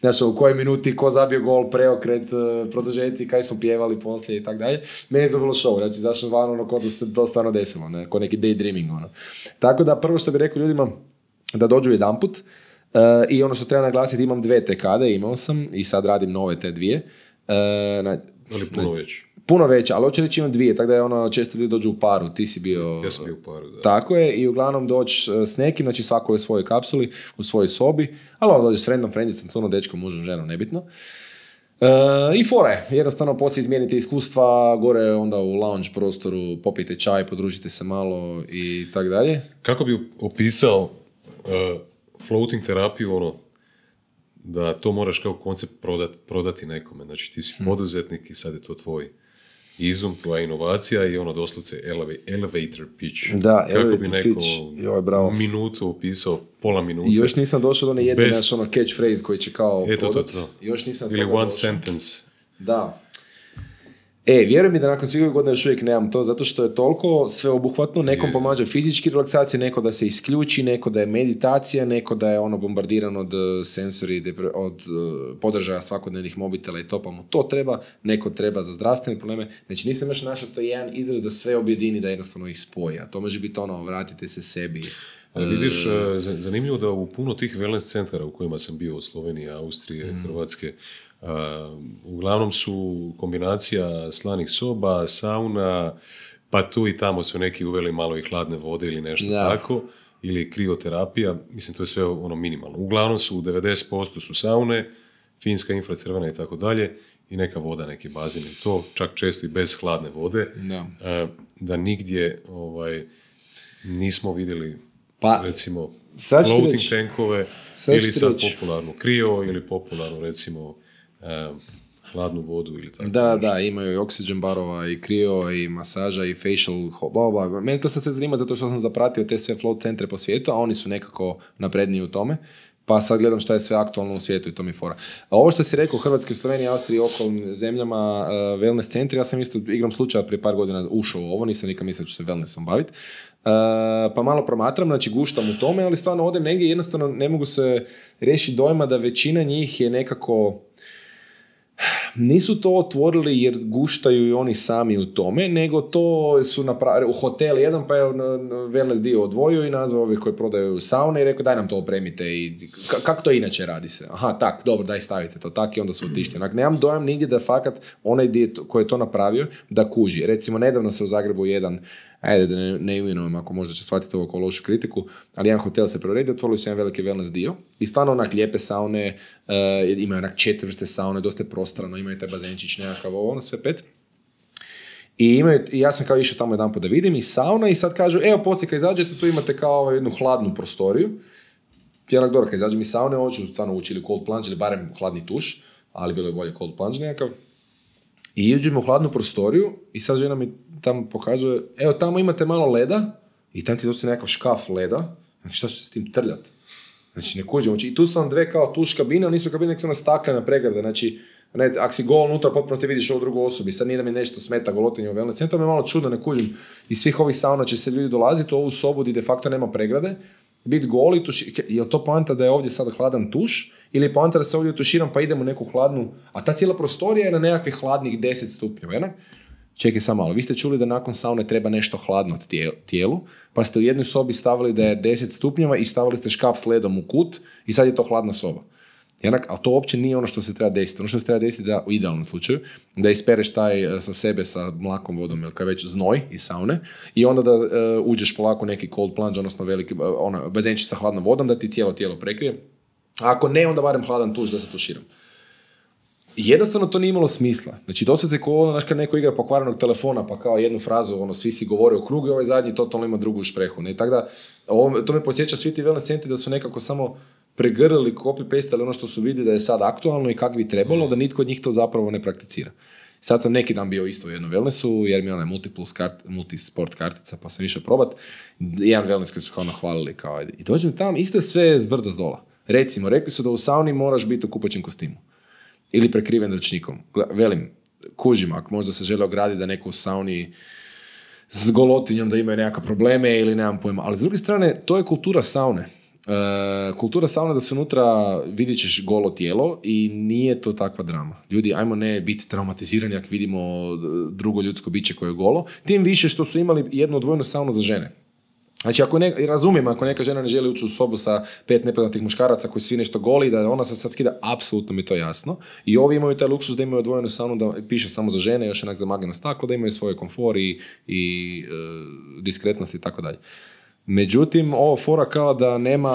Znaš, u kojoj minuti, ko zabio gol, preokret, produžeci, kaj smo pjevali poslije i tak dalje. Meni je to bilo show, znači zašto van kod da se to stvarno desilo, ne? Ko neki daydreaming. Tako da prvo što bih rekao ljudima da dođu jedanput, i ono što treba naglasiti, imam 2 tekade, imao sam i sad radim nove te 2. Ali puno veće. Puno veće, ali hoće reći imam 2, tako da je često ljudi dođu u paru, ti si bio... Ja sam bio u paru, da. Tako je, i uglavnom doći s nekim, znači svako je u svojoj kapsuli, u svojoj sobi, ali dođe s friendom, frendicom, cunom, dečkom, mužem, ženom, nebitno. I fora je, jednostavno poslije izmijenite iskustva, gore onda u lounge prostoru, popijte čaj, podružite se malo i tak dalje. Kako bi opisao floating terapiju, da to moraš kao koncept prodati nekome. Znači ti si poduzetnik i sad je to tvoj izum, tvoja inovacija i doslovce elevator pitch. Da, kako bi neko minutu opisao, pola minute. I još nisam došao do nejedne naš catchphrase koji će kao prodati. Još nisam ili one sentence. Da. Vjeruj mi da nakon svih godina još uvijek nemam to, zato što je toliko sveobuhvatno, nekom pomaže fizički relaksacija, neko da se isključi, neko da je meditacija, neko da je bombardiran od sensori, od podržaja svakodnevnih mobitela i to, pa mu to treba, neko treba za zdravstvene probleme. Znači nisam još našao to jedan izraz da sve objedini, da jednostavno ih spoji, a to može biti vratite se sebi. Ali vidiš, zanimljivo da u puno tih wellness centara u kojima sam bio, od Slovenije, Austrije, Hrvatske, uglavnom su kombinacija slanih soba, sauna, pa tu i tamo su neki uveli malo i hladne vode ili nešto tako, ili krioterapija, mislim to je sve minimalno. Uglavnom su 90% su saune, finska, infracrvena i tako dalje, i neka voda, neki bazen, to čak često i bez hladne vode, da nigdje nismo vidjeli recimo floating tankove, ili sad popularnu krio, ili popularnu recimo hladnu vodu ili tako. Da, imaju i oxygen barova, i krio, i masaža, i facial, bla. Mene to sad sve zanima zato što sam zapratio te sve float centre po svijetu, a oni su nekako napredniji u tome. Pa sad gledam šta je sve aktualno u svijetu i to mi je fora. A ovo što si rekao u Hrvatskoj, Sloveniji, Austriji i okolnim zemljama, wellness centri, ja sam isto igrom slučaja prije par godina ušao u ovo, nisam nikad mislio da ću se wellnessom baviti. Pa malo promatram, znači guštam u tome, ali stvarno odem negdje, jednostavno ne mogu se riješiti dojma da većina njih je nekako... Nisu to otvorili jer guštaju i oni sami u tome, nego to su napravili u hotel jedan, pa je wellness dio odvojio i nazvao ovi koji prodaju saune i rekao daj nam to opremite i kako to inače radi se? Aha, tak, dobro, daj stavite to tak i onda su otišli. Onak, nemam dojam nigdje da fakat onaj dio koji je to napravio da kuži. Recimo, nedavno se u Zagrebu jedan, ajde da ne imenujem ako možda će shvatiti ovo kao lošu kritiku, ali jedan hotel se preuredio, otvorili su jedan veliki wellness dio i stvarno onak lijepe saune, imaju onak 4 vrste saune, dosta je prostrano, imaju taj bazenčić nekakav, sve 5. I ja sam kao išao tamo jedan put da vidim i sauna i sad kažu, evo poslije kad izađete, tu imate kao jednu hladnu prostoriju. Ja onak dobro, kad izađem iz saune, hoću stvarno ući ili cold plunge ili barem hladni tuš, ali bilo je bolje cold plunge nekakav. I uđemo u hladnu prostoriju i sad žena mi tamo pokazuje, evo tamo imate malo leda i tam ti dosta nekakav škaf leda, znači šta će se s tim trljati? Znači ne kužimo, i tu su vam dve kao tuš kabine, ali nisu kabine, nek su ona staklena pregrada, znači ako si gol unutra, potpuno ste vidiš ovu drugu osobu, sad nije da mi nešto smeta golotinje u wellness centru, mi je malo čudno, ne kužim, iz svih ovih sauna će se ljudi dolaziti u ovu sobu gdje de facto nema pregrade, biti gol i je li to poanta da je ovdje sad hladan tuš, ili je poanta da se ovdje tuširam pa idem u neku hladnu, a ta cijela prostorija je na nekakvih hladnih 10 stupnjeva, jednak? Čekaj samo malo, vi ste čuli da nakon saune treba nešto hladno tijelu, pa ste u jednoj sobi stavili da je 10 stupnjeva i stavili ste škaf s ledom u kut i sad je to hladna soba. Jednak, ali to uopće nije ono što se treba desiti. Ono što se treba desiti da, u idealnom slučaju, da ispereš taj sa sebe sa mlakom vodom ili kao već znoj iz saune i onda da uđeš polako neki cold plunge, odnosno veliki bazenčić sa hladnom vodom da ti cijelo tijelo prekrije. A ako ne, onda barem hladan tuš da se tuširam. Jednostavno to nije imalo smisla. Znači, dosad se znaš kad neko igra pokvarenog telefona, pa kao jednu frazu, svi si govore u krugu i ovaj zadnji totalno ima drugu šprehu. Ne? Tako da, to me podsjeća svi ti wellness centri da su nekako samo pregrlili, copy-pastali ono što su vidjeli da je sad aktualno i kako bi trebalo, da nitko od njih to zapravo ne prakticira. Sad sam neki dan bio isto u jednom wellnessu, jer mi je onaj multisport kartica, pa sam išao probat. Jedan wellness koji su kao nahvalili. I dođem tam, isto je sve zbrda zdola. Recimo, rekli su da u sauni moraš biti u kupaćem kostimu. Ili prekriven ručnikom. Velim, kužim, ako možda se žele ograditi da neko u sauni s golotinjom da imaju nekakve probleme ili nemam pojma. Ali s druge strane, to je kultura saune. Kultura saune da se unutra vidit ćeš golo tijelo i nije to takva drama. Ljudi, ajmo ne biti traumatizirani ako vidimo drugo ljudsko biće koje je golo. Tim više što su imali jednu odvojenu saunu za žene. Znači, razumijem, ako neka žena ne želi ući u sobu sa 5 nepoznatih muškaraca koji svi nešto goli, da ona se sad skida, apsolutno mi je to jasno. I ovi imaju taj luksus da imaju odvojenu saunu, da piše samo za žene, još onak zamagljeno staklo, da imaju svoje komfor i diskretnost i tako dalje. Međutim, ovo fora kao da nema,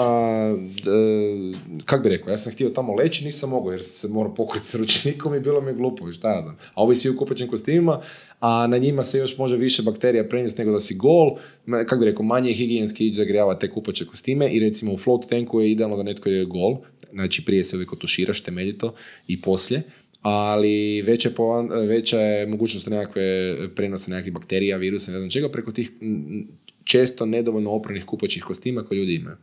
kak bi rekao, ja sam htio tamo leći, nisam mogao jer se morao pokriti s ručnikom i bilo mi je glupo, šta ja znam. A ovi svi u kupaćim kostimima, a na njima se još može više bakterija prenijeti nego da si gol, kak bi rekao, manje je higijenski ići zagrijavati te kupaće kostime i recimo u float tanku je idealno da netko je gol, znači prije se uvijek otuširaš temeljito i poslije, ali veća je mogućnost nekakve prenose nekakvih bakterija, virusa, ne znam čega, preko tih često nedovoljno opranih kupaćih kostima koje ljudi imaju.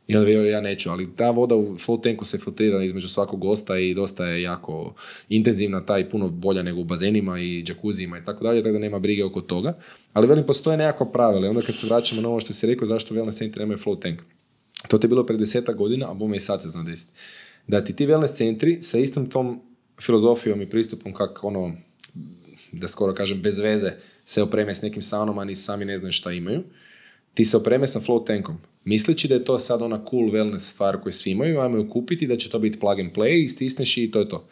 I onda ja neću, ali ta voda u float tanku se filtrira između svakog gosta i dosta je jako intenzivna, ta i puno bolja nego u bazenima i džakuzijima i tako dalje, tako da nema brige oko toga. Ali velim, postoje nekakva pravila i onda kad se vraćamo na ovo što si rekao, zašto wellness centri nemaju float tank. To je bilo pred 10 godina, a bome i sad se zna desiti. Da ti wellness centri sa istom tom filozofijom i pristupom kako da skoro kažem bez veze se opreme s nekim saunama, a ni sami ne znaju šta imaju, ti se opreme sa float tankom. Misleći da je to sad ona cool wellness stvar koju svi imaju, ajmo ju kupiti, da će to biti plug and play, istisneš i to je to.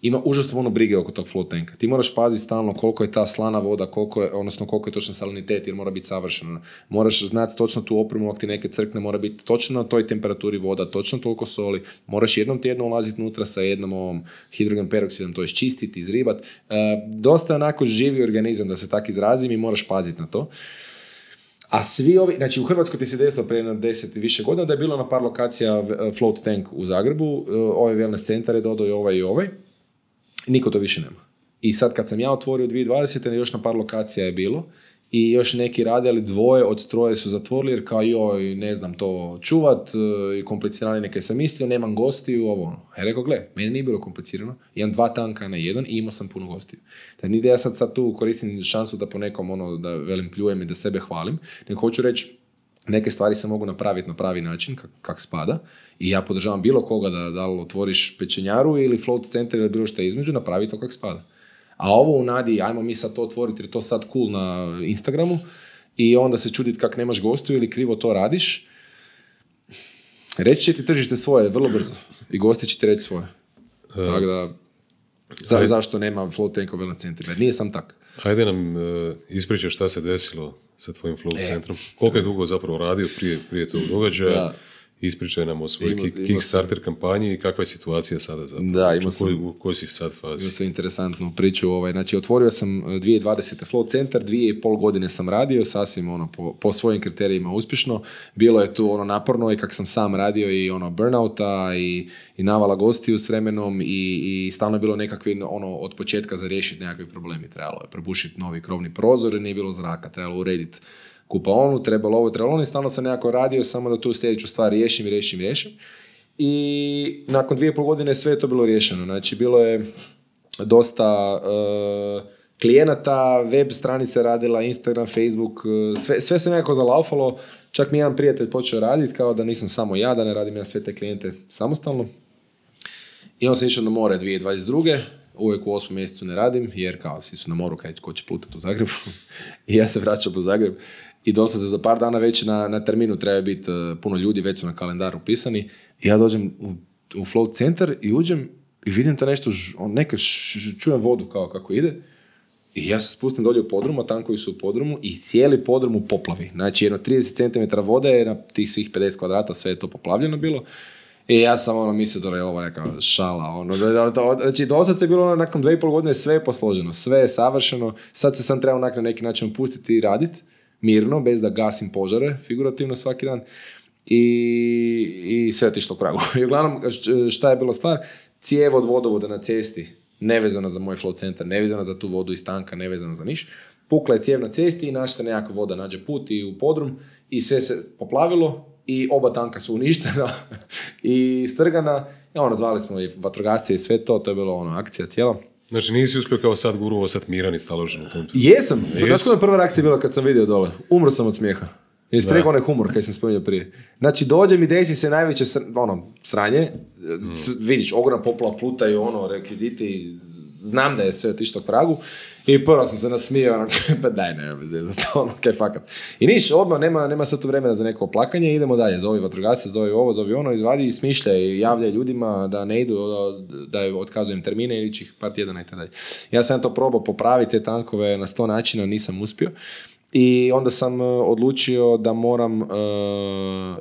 Ima užasno puno brige oko tog float tanka. Ti moraš paziti stalno koliko je ta slana voda, koliko je točno salinitet, jer mora biti savršeno. Moraš znati točno tu opremu, ako ti neke crkne, mora biti točno na toj temperaturi voda, točno toliko soli. Moraš jednom tjedno ulaziti unutra sa jednom ovom hidrogen peroksidom, to je čistiti, izribati. Dosta onako živi organizam, da se tako izrazim, i moraš paziti na to. A svi ovi, znači u Hrvatskoj ti se desilo prije 10 i više godina da je bilo na par lokacija float tank u Zagrebu, ovaj wellness centar je dodao i ovaj. Niko to više nema. I sad kad sam ja otvorio 2020. još na par lokacija je bilo i još neki rade, ali 2 od 3 su zatvorili jer kao joj, ne znam to čuvat, i komplicirani neke sam mislio, nemam gostiju, ovo ono. Ja rekao, gle, meni nije bilo komplicirano, imam 2 tanka na jedan i imao sam puno gostiju. Tako nije da ja sad tu koristim šansu da po nekom da velim pljujem i da sebe hvalim, nego hoću reći, neke stvari se mogu napraviti na pravi način, kak spada, i ja podržavam bilo koga da li otvoriš pečenjaru ili float center ili bilo što između, napravi to kak spada. A ovo u nadi, ajmo mi sad to otvoriti jer je to sad cool na Instagramu i onda se čuditi kak nemaš gostiju ili krivo to radiš, reći će ti tržište svoje vrlo brzo i gosti će ti reći svoje. Tako da, zašto nema float tank u wellness centrima? Nije sam tak. Ajde nam ispričaj šta se desilo sa tvojim float centrom. Koliko je dugo zapravo radio prije tog događaja? Da. Ispričaj nam o svojoj Kickstarter kampanji i kakva je situacija sada zapravo. Da, u kojoj si sad fazi? Imao sam interesantnu priču. Znači, otvorio sam 2020. float centar, 2,5 godine sam radio, sasvim po svojim kriterijima uspješno. Bilo je tu naporno i kak sam sam radio i burnouta i navala gostiju s vremenom i stalno je bilo nekakvi od početka za riješiti nekakvi problemi. Trebalo je probušiti novi krovni prozor, nije bilo zraka, trebalo urediti kupaonu, trebalo ovo, trebalo ono, i stalno sam nekako radio samo da tu sljedeću stvar riješim. I nakon 2,5 godine sve je to bilo riješeno. Znači, bilo je dosta klijenata, web stranice radila, Instagram, Facebook, sve se nekako zalaufalo. Čak mi jedan prijatelj počeo raditi, kao da nisam samo ja, da ne radim ja sve te klijente samostalno. I on sam išao na more 2022. Uvijek u 8. mjesecu ne radim, jer kao svi su na moru, ko će plutati u Zagrebu. I ja se vraćam u Zagreb. I doslovce za par dana već na terminu treba biti puno ljudi, već su na kalendaru upisani. I ja dođem u float centar i uđem i vidim to nešto, čujem vodu kao kako ide. I ja se spustim dolje u podrumu, a tankovi su u podrumu i cijeli podrum u poplavi. Znači, jedno 30 cm vode je na tih svih 50 kvadrata, sve je to poplavljeno bilo. I ja sam mislio da je ovo neka šala. Znači, dosad se bilo nakon 2,5 godine sve je posloženo, sve je savršeno. Sad se sam trebao na neki način pustiti i raditi mirno, bez da gasim požare, figurativno svaki dan. I sve je otišlo u pragu. I uglavnom, šta je bila stvar? Cijev od vodovoda na cesti, nevezana za moj float centar, nevezana za tu vodu iz tanka, nevezana za niš. Pukla je cijev na cesti i našta nekakva voda nađe put i u podrum i sve se poplavilo i oba tanka su uništena i strgana. Zvali smo i vatrogasce i sve to je bilo akcija cijela. Znači nisi uspio kao sad guru ostat miran i staložen u tom tu? Jesam. Znači, prva reakcija bila kad sam vidio dole. Umro sam od smijeha. Jesi rekao onaj humor koji sam spomenuo prije. Znači, dođe mi, desi se najveće sranje. Vidiš, ogromna poplava, plutaju, rekviziti. Znam da je sve otišlo k pragu. I prvo sam se nasmijao, pa daj, nema veze za to, kaj fakat. I niš, odmah, nema sad tu vremena za neko oplakanje, idemo dalje. Zovi vatrogasce, zovi ovo, zovi ono, izvadi i smišlja i javlja ljudima da ne idu, da otkazujem termine ili ih par tjedana i tako dalje. Ja sam to probao popraviti te tankove na 100 načina, nisam uspio. I onda sam odlučio da moram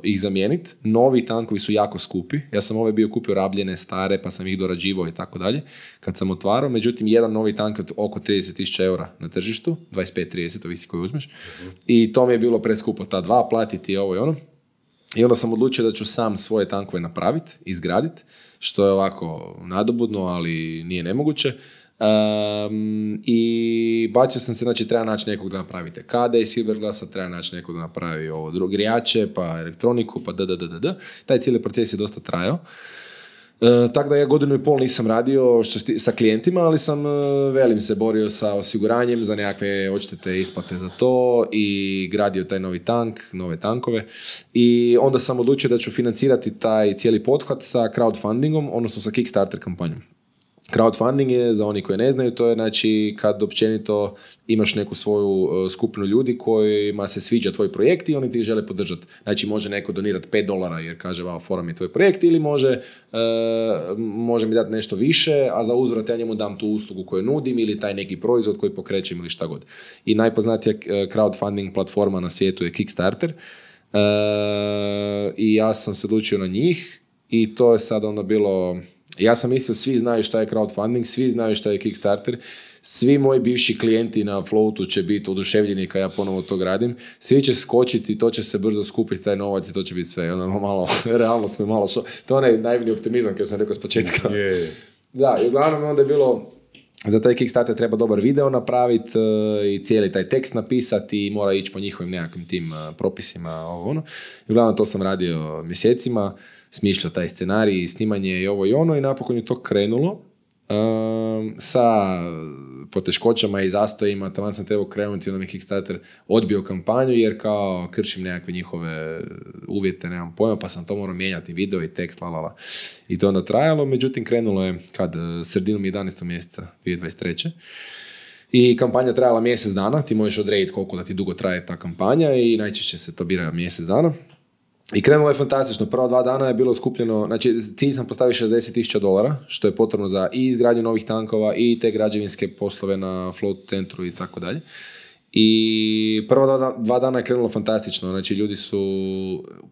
ih zamijeniti. Novi tankovi su jako skupi. Ja sam ove bio kupio rabljene, stare, pa sam ih dorađivao i tako dalje kad sam otvarao. Međutim, jedan novi tank je oko 30.000 eura na tržištu, 25-30, ovisi koji uzmeš. I to mi je bilo preskupo, ta dva, platiti ovo i ono. I onda sam odlučio da ću sam svoje tankove napraviti, izgraditi, što je ovako nadobudno, ali nije nemoguće. I bacio sam se, znači treba naći nekog da napravite kade iz fiberglasa, treba naći nekog da napravi ovo grijače, pa elektroniku, pa taj cijeli proces je dosta trajao. Tako da ja 1,5 godinu nisam radio sa klijentima, ali sam se borio sa osiguranjem za nekakve odštete isplate za to i gradio taj novi tank, nove tankove. I onda sam odlučio da ću financirati taj cijeli pothvat sa crowdfundingom, odnosno sa Kickstarter kampanjom. Crowdfunding je, za oni koji ne znaju, to je znači kad općenito imaš neku svoju skupinu ljudi kojima se sviđa tvoj projekt i oni ti žele podržati. Znači može neko donirati $5 jer kaže fora mi je tvoj projekt, ili može mi dati nešto više, a za uzvrat ja njemu dam tu uslugu koju nudim ili taj neki proizvod koji pokrećem ili šta god. I najpoznatija crowdfunding platforma na svijetu je Kickstarter. I ja sam se odlučio na njih i to je sad onda bilo... Ja sam mislio, svi znaju šta je crowdfunding, svi znaju šta je Kickstarter, svi moji bivši klijenti na Floatu će biti oduševljeni kad ja ponovo to gradim, svi će skočiti, to će se brzo skupiti taj novac i to će biti sve. Realno smo malo to je onaj najbolji optimizam koji sam rekao s početka. Yeah. Da, i uglavnom onda je bilo, za taj Kickstarter treba dobar video napraviti i cijeli taj tekst napisati i mora ići po njihovim nekakvim tim propisima. I uglavnom to sam radio mjesecima, smišljao taj scenarij, snimanje i ovo i ono i napokon je to krenulo sa poteškoćama i zastojima. Taman sam trebao krenuti, onda mi Kickstarter odbio kampanju jer kao kršim nekakve njihove uvjete, nemam pojma, pa sam to morao mijenjati, video i tekst, i to onda trajalo. Međutim, krenulo je sredinom 11. mjeseca 2023. I kampanja trajala mjesec dana, ti možeš odrediti koliko da ti dugo traje ta kampanja i najčešće se to bira mjesec dana. I krenulo je fantastično. Prva 2 dana je bilo skupljeno, znači cilj sam postavio $60,000, što je potrebno za i izgradnju novih tankova i te građevinske poslove na float centru i tako dalje. I prva 2 dana je krenulo fantastično, znači ljudi su,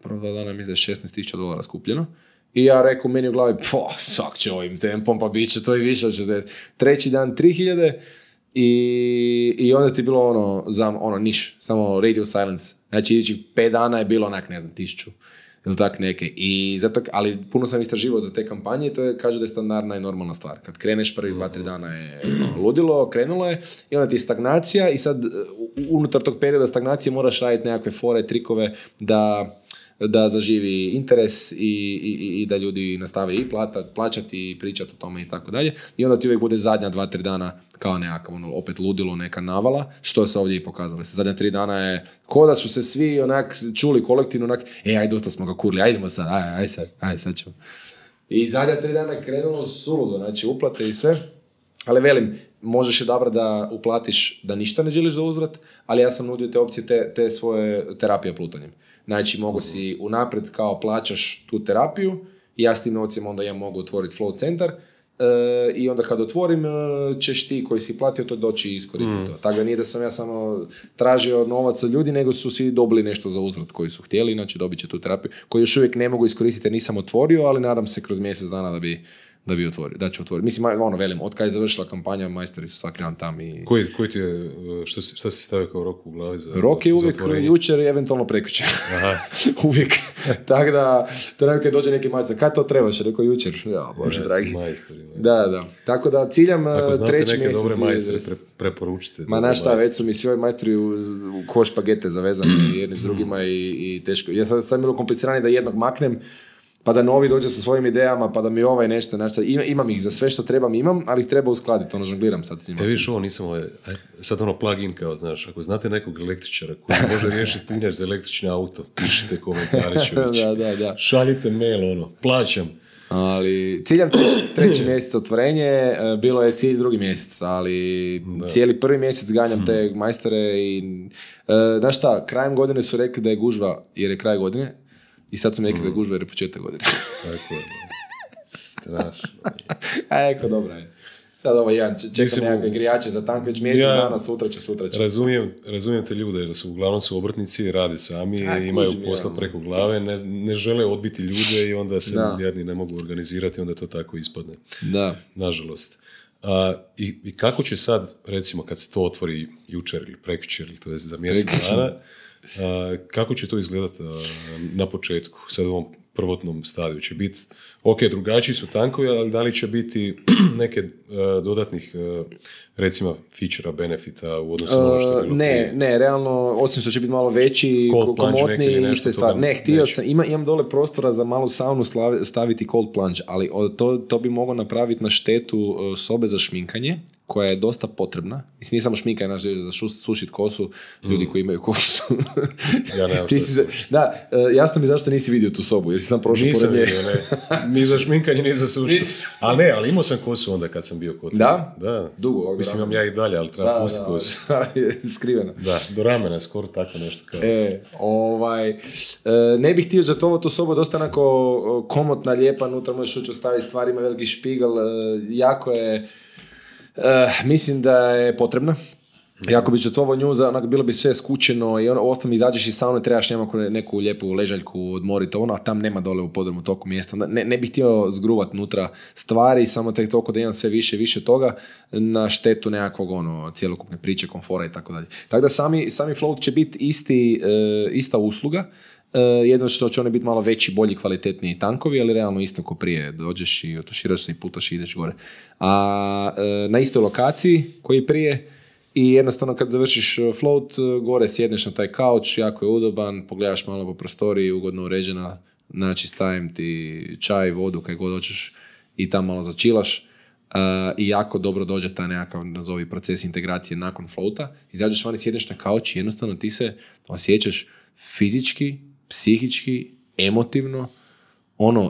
prva 2 dana mislim da je $16,000 skupljeno. I ja rekao meni u glavi, sak će ovim tempom, pa bit će to i više od 60. Treći dan 3.000 i onda ti je bilo niš, samo radio silence. Znači, idućih 5 dana je bilo 1,000. ili tak neke. I zato, ali puno sam istraživao za te kampanje i to je, kažu da je standardna i normalna stvar. Kad kreneš prvih 2-3 dana je ludilo, krenulo je i onda ti je stagnacija i sad unutar tog perioda stagnacije moraš raditi nekakve fore, trikove da zaživi interes i da ljudi nastave i plaćati i pričati o tome i tako dalje. I onda ti uvijek bude zadnja 2-3 dana kao nekakav opet ludilo, neka navala, što se ovdje i pokazalo. Zadnja 3 dana je ko da su se svi onak čuli kolektivno onak, aj dosta smo ga kurli, ajdemo sad, aj sad ćemo. I zadnja 3 dana je krenulo suludo, znači uplate i sve. Ali velim, možeš odabrati da uplatiš da ništa ne želiš za uzvrat, ali ja sam nudio te opcije, te svoje terapije plutanjem. Znači, mogu si unaprijed kao plaćaš tu terapiju i ja s tim novcima onda ja mogu otvoriti flow centar i onda kad otvorim ćeš ti koji si platio to doći i iskoristiti to. Tako da nije da sam ja samo tražio novac od ljudi, nego su svi dobili nešto za uzvrat koji su htjeli, znači dobit će tu terapiju koju još uvijek ne mogu iskoristiti jer nisam otvorio, ali nadam se kroz mjesec dana da bi otvorio, da ću otvoriti. Mislim, velim, od kada je završila kampanja, majstori su svaki dan tam i... Koji ti je, šta si stavio kao rok u glavi za rok je uvijek jučer i eventualno prekjučer. Uvijek. Tako da, to nekaj dođe neki majstor, kada to trebaš? Rekao jučer. Ja, Bože, dragi. Majstori. Da. Tako da ciljam treći mjesec... Ako znate neke dobre majstore, preporučite. Ma znaš šta, već su mi svi ovi majstori u koš pagete zavezani jedni s drugima i teško. Ja sad bilo kompliciranije da jednog maknem, pa da novi dođe sa svojim idejama, pa da mi nešto. Imam ih za sve što imam, ali ih treba uskladiti, žongliram sad s njima. Viš, ovo nisam sad plug-in kao, znaš, ako znate nekog električara koji može riješiti punjač za električni auto, pišite komentare, da. Šaljite mail, plaćam. Ali ciljam treći mjesec otvorenje, bilo je cilj drugi mjesec, ali cijeli prvi mjesec ganjam te majstore i, znaš šta, krajem godine su rekli da je gužva jer je kraj godine, i sad su mi rekli da je gužva jer je početak godine. Tako je. Strašno. Eko, dobra je. Sad čekam nekakve grijače za tank, već mjesec dana, sutra će. Razumijem te ljude, jer su uglavnom su obrtnici, rade sami, imaju posla preko glave, ne žele odbiti ljude i onda se jedni ne mogu organizirati, onda to tako ispadne. Da. Nažalost. I kako će sad, recimo, kad se to otvori jučer ili prekjučer, ili to je za mjesec dana, kako će to izgledati na početku, sad u ovom prvotnom stadiju? Će biti, drugačiji su tankovi, ali da li će biti neke dodatnih, recimo, feature-a, benefita u odnosu na ono što je bilo prije? Ne, realno, osim što će biti malo veći, komotniji, iste stvari. Ne, htio sam, imam dole prostora za malu saunu staviti cold plunge, ali to bi moglo napraviti na štetu sobe za šminkanje, koja je dosta potrebna. Mislim, nije samo šminkanje, za sušit kosu, ljudi koji imaju kosu. Ja nemam što da, jasno mi zašto nisi vidio tu sobu, jer si sam prošao pored nje. Nisam vidio, ne. Ni za šminkanje, ni za sušit. Ali imao sam kosu onda kad sam bio kod. Da? Dugo. Mislim, imam ja i dalje, ali treba pustiti kosu. Skriveno. Da, do ramena, skoro tako nešto kao. Ne bih htio žrtvovati tu sobu, dosta onako komotna, lijepa, unutra možeš ući ostaviti stvari, ima veliki špigel, jako je... mislim da je potrebna. Jako bi žrtvovao nju, bilo bi sve skučeno i ostalo mi izađeš iz saune, trebaš neku lijepu ležaljku odmoriti, a tam nema dole u podrumu toliko mjesta. Ne bih htio zgruvat nutra stvari, samo tek toliko da imam sve više toga na štetu nekakvog cjelokupne priče, komfora i tako dalje. Tako da sami float će biti ista usluga, jedno što će one biti malo veći, bolji, kvalitetniji tankovi, ali realno isto ko prije. Dođeš i otuširaš se i putaš i ideš gore. A na istoj lokaciji koji prije i jednostavno kad završiš float, gore sjedneš na taj kauč, jako je udoban, pogledaš malo po prostoriji, ugodno uređena, znači stavim ti čaj, vodu, kaj god hoćeš i tam malo začilaš. I jako dobro dođe taj nekakav, nazovi, proces integracije nakon floata. Izađeš van i sjedneš na kauč i jednostavno ti se osjećaš fizički, psihički, emotivno,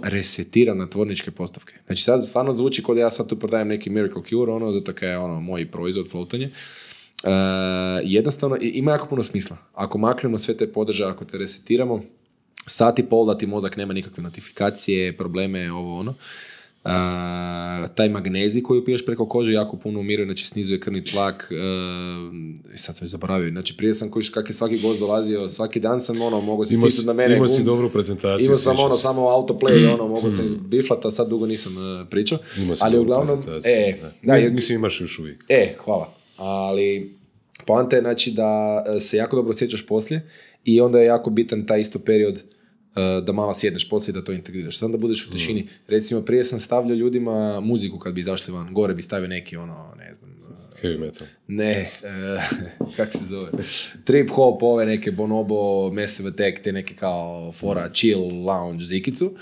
resetira na tvorničke postavke. Znači sad stvarno zvuči kao da ja sad tu prodajem neki Miracle Cure, zato kaj je moj proizvod floatanje. Jednostavno, ima jako puno smisla. Ako maknemo sve te podržaje, ako te resetiramo, sat i pol da ti mozak nema nikakve notifikacije, probleme, taj magnezij koji piješ preko kože jako puno umiruje, znači snizuje krvni tlak, sad sam zaboravio, znači prije sam kak je svaki gost dolazio, svaki dan sam mogao se stisnuti na mene. Imao si dobru prezentaciju. Imao sam samo autoplay, mogao sam izbiflati, a sad dugo nisam pričao. Imao si dobru prezentaciju. Mislim imaš još uvijek. Hvala. Ali poanta je znači da se jako dobro osjećaš poslije i onda je jako bitan taj isto period da malo sjedneš poslije da to integriraš. Onda budeš u tišini. Recimo, prije sam stavljao ljudima muziku kad bi izašli van. Gore bi stavio neki ne znam... Heavy metal. Ne, kak se zove? Trip hop, ove neke Bonobo, Massive Attack, te neke kao fora, chill, lounge, zikicu.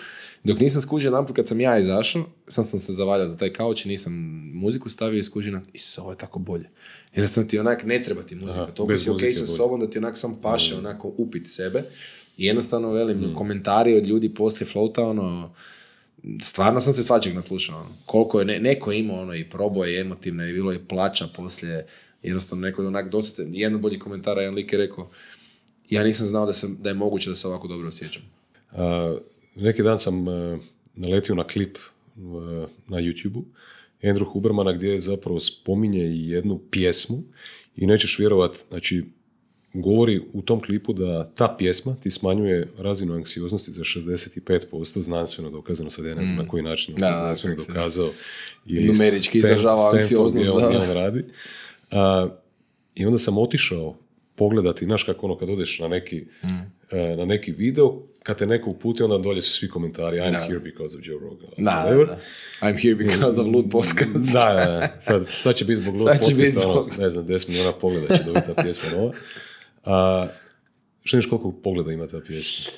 Dok nisam skužio namput kad sam ja izašao, sam se zavaljao za taj kauč i nisam muziku stavio i skužio ovo je tako bolje. Jednostavno ti onak ne treba ti muzika. Toliko si okej sa sobom da ti onak sam paše onako upit sebe. I jednostavno velim komentari od ljudi poslije floata, stvarno sam se svačeg naslušao. Koliko je neko imao i proboje emotivne i bilo je plaća poslije. Jednostavno neko onak dosta jedan bolji komentar, jedan lik je rekao ja nisam znao da je moguće da se ovako dobro osjećam. Neki dan sam naletio na klip na YouTube-u Andrew Hubermana gdje je zapravo spominje jednu pjesmu i nećeš vjerovat, znači govori u tom klipu da ta pjesma ti smanjuje razinu anksioznosti za 65%, znanstveno dokazano, sad ja ne znam na koji način je znanstveno dokazao. Ili numerički izražava anksioznost. On radi. I onda sam otišao pogledati, znaš kako kad odeš na neki video, kad te neko uputi, onda dolje su svi komentari I'm here because of Joe Rogan. I'm here because of Lud podcast. Sad će biti zbog Lud podcasta, ne znam, 10 miliona pogleda će dobiti ta pjesma nova. Što koliko pogleda ima ta pjesma?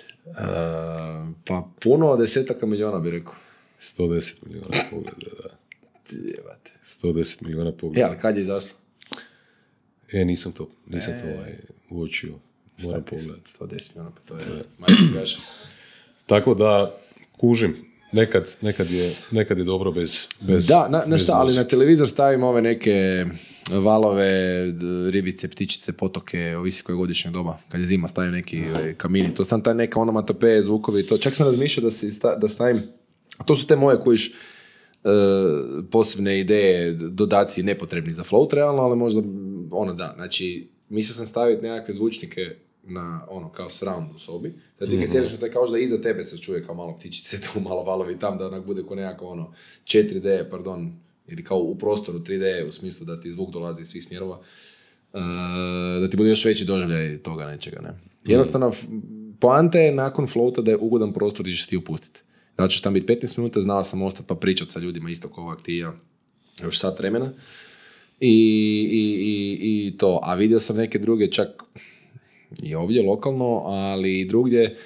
Pa puno, desetaka miliona bi rekao. 110 miliona pogleda, da. 110 miliona pogleda. Ali kad je izašlo? Nisam to uočio. Moram pogledati. 110 miliona, pa to je majke gaša. Tako da, kužim, nekad je dobro bez ali na televizor stavimo ove neke valove, ribice, ptičice, potoke, ovisi koje godišnje doba. Kad je zima stavim neki kamini, to sam taj neka onomatopeje, zvukovi, to. Čak sam razmišljao da stavim, a to su te moje kojiš posebne ideje, dodaci nepotrebni za float realno, ali možda znači mislio sam staviti nekakve zvučnike na kao surround u sobi, da ti kad sjediš na taj kao da iza tebe se čuje kao malo ptičice, tu malo valovi tam, da onak bude ko nekako 4D, ili kao u prostoru 3D, u smislu da ti zvuk dolazi iz svih smjerova, da ti bude još veći doživljaj toga nečega, ne. Jednostavno, poanta je nakon floata da je ugodan prostor gdje ćeš ti upustiti. Da ćeš tam biti 15 minuta, znao sam ostati pa pričati sa ljudima isto kao ovak ti i ja, još sat vremena. I to, a vidio sam neke druge čak i ovdje lokalno, ali i drugdje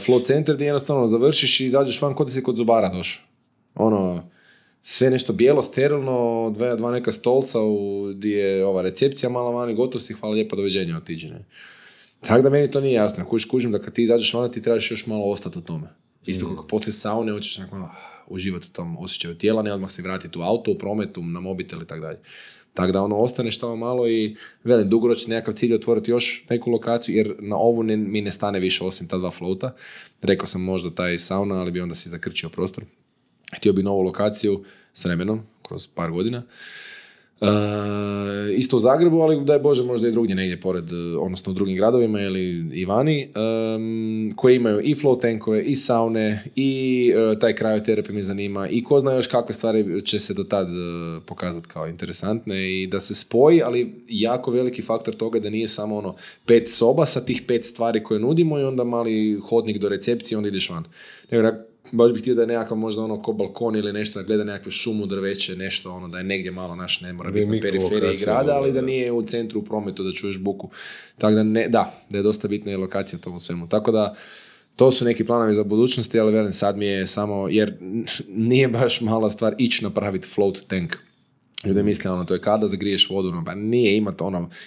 float center gdje jednostavno završiš i izađeš van kod da si kod zubara došao. Sve nešto bijelo, sterilno, dva neka stolca gdje je ova recepcija mala vani, gotov si, hvala lijepa, doviđenja, otiđi. Tako da meni to nije jasno. Kužim da kad ti izađeš van, ti trebaš još malo ostati u tome. Isto kako poslije saune hoćeš uživati u tom osjećaju tijela, ne odmah se vratiti u auto, u prometu, na mobitel i tako dalje. Tako da ostaneš tamo malo i velim, dugoročno nekakav cilj otvoriti još neku lokaciju, jer na ovu mi ne stane više osim ta 2 floata. Rekao sam možda taj sauna, ali bi onda si zakrčio prostor. Htio bi novu lokaciju s vremenom, kroz par godina. Isto u Zagrebu, ali daj Bože možda i drugdje negdje pored, odnosno u drugim gradovima ili i vani, koji imaju i float tankove, i saune, i taj cryoterapija me zanima, i ko zna još kakve stvari će se do tad pokazati kao interesantne i da se spoji, ali jako veliki faktor toga da nije samo 5 soba sa tih 5 stvari koje nudimo i onda mali hodnik do recepcije, onda ideš van. Baš bih htio da je nekakav možda ko balkon ili nešto, da gleda nekakvu šumu, drveće, nešto, da je negdje malo ne mora biti na periferiji grada, ali da nije u centru, u prometu, da čuješ buku. Tako da je dosta bitna i lokacija tomu svemu. Tako da, to su neki planovi za budućnosti, ali velim, sad mi je samo, jer nije baš mala stvar ići napraviti float tank. Ljudi misle, to je kada zagriješ vodu, pa nije imati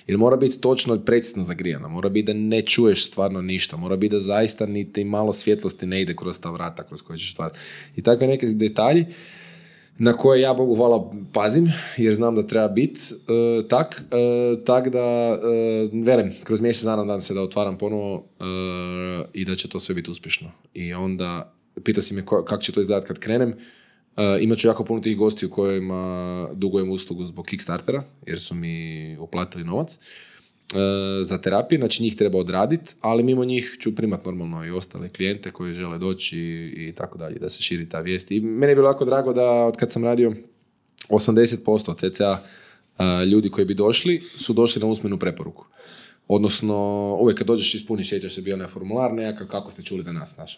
jer mora biti točno i precizno zagrijana, mora biti da ne čuješ stvarno ništa, mora biti da zaista niti malo svjetlosti ne ide kroz ta vrata kroz koje ćeš stvarati. I takve neke detalji na koje ja, Bogu hvala, pazim, jer znam da treba biti tak da, velim, kroz mjesec dana nadam se da otvaram ponovo i da će to sve biti uspješno. I onda, pitao si me kako će to izgledati kad krenem. Imat ću jako puno tih gostiju kojima dugujem uslugu zbog Kickstartera, jer su mi uplatili novac za terapiju, znači njih treba odraditi, ali mimo njih ću primati normalno i ostale klijente koji žele doći i tako dalje, da se širi ta vijest. I meni je bilo jako drago da od kad sam radio 80% cca ljudi koji bi došli su došli na usmenu preporuku. Odnosno, uvijek kad dođeš ispuniš, sjećaš se bio na formular nekakav, kako ste čuli za nas, znaš,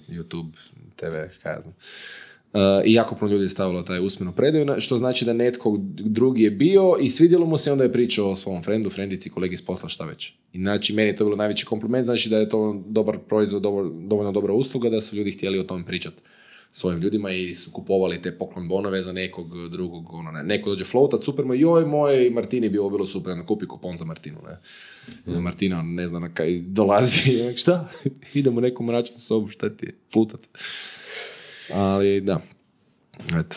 YouTube, TV, kaj ja znam. I jako puno ljudi je stavilo taj usmenu predaju, što znači da netko drugi je bio i svidjelo mu se, onda je pričao o svom frendici, kolegi s posla, šta već. I znači, meni je to bilo najveći kompliment, znači da je to dobar proizvod, dovoljno dobra usluga, da su ljudi htjeli o tome pričati svojim ljudima i su kupovali te poklon bonove za nekog drugog, neko dođe floatat, super, joj, moj Martini bi ovo bilo super, kupi kupon za Martinu, ne. Martina, ne znam na kaj dolazi, šta? Idemo u neku mračnu sobu, šta ti je, flutat. Ali da, eto.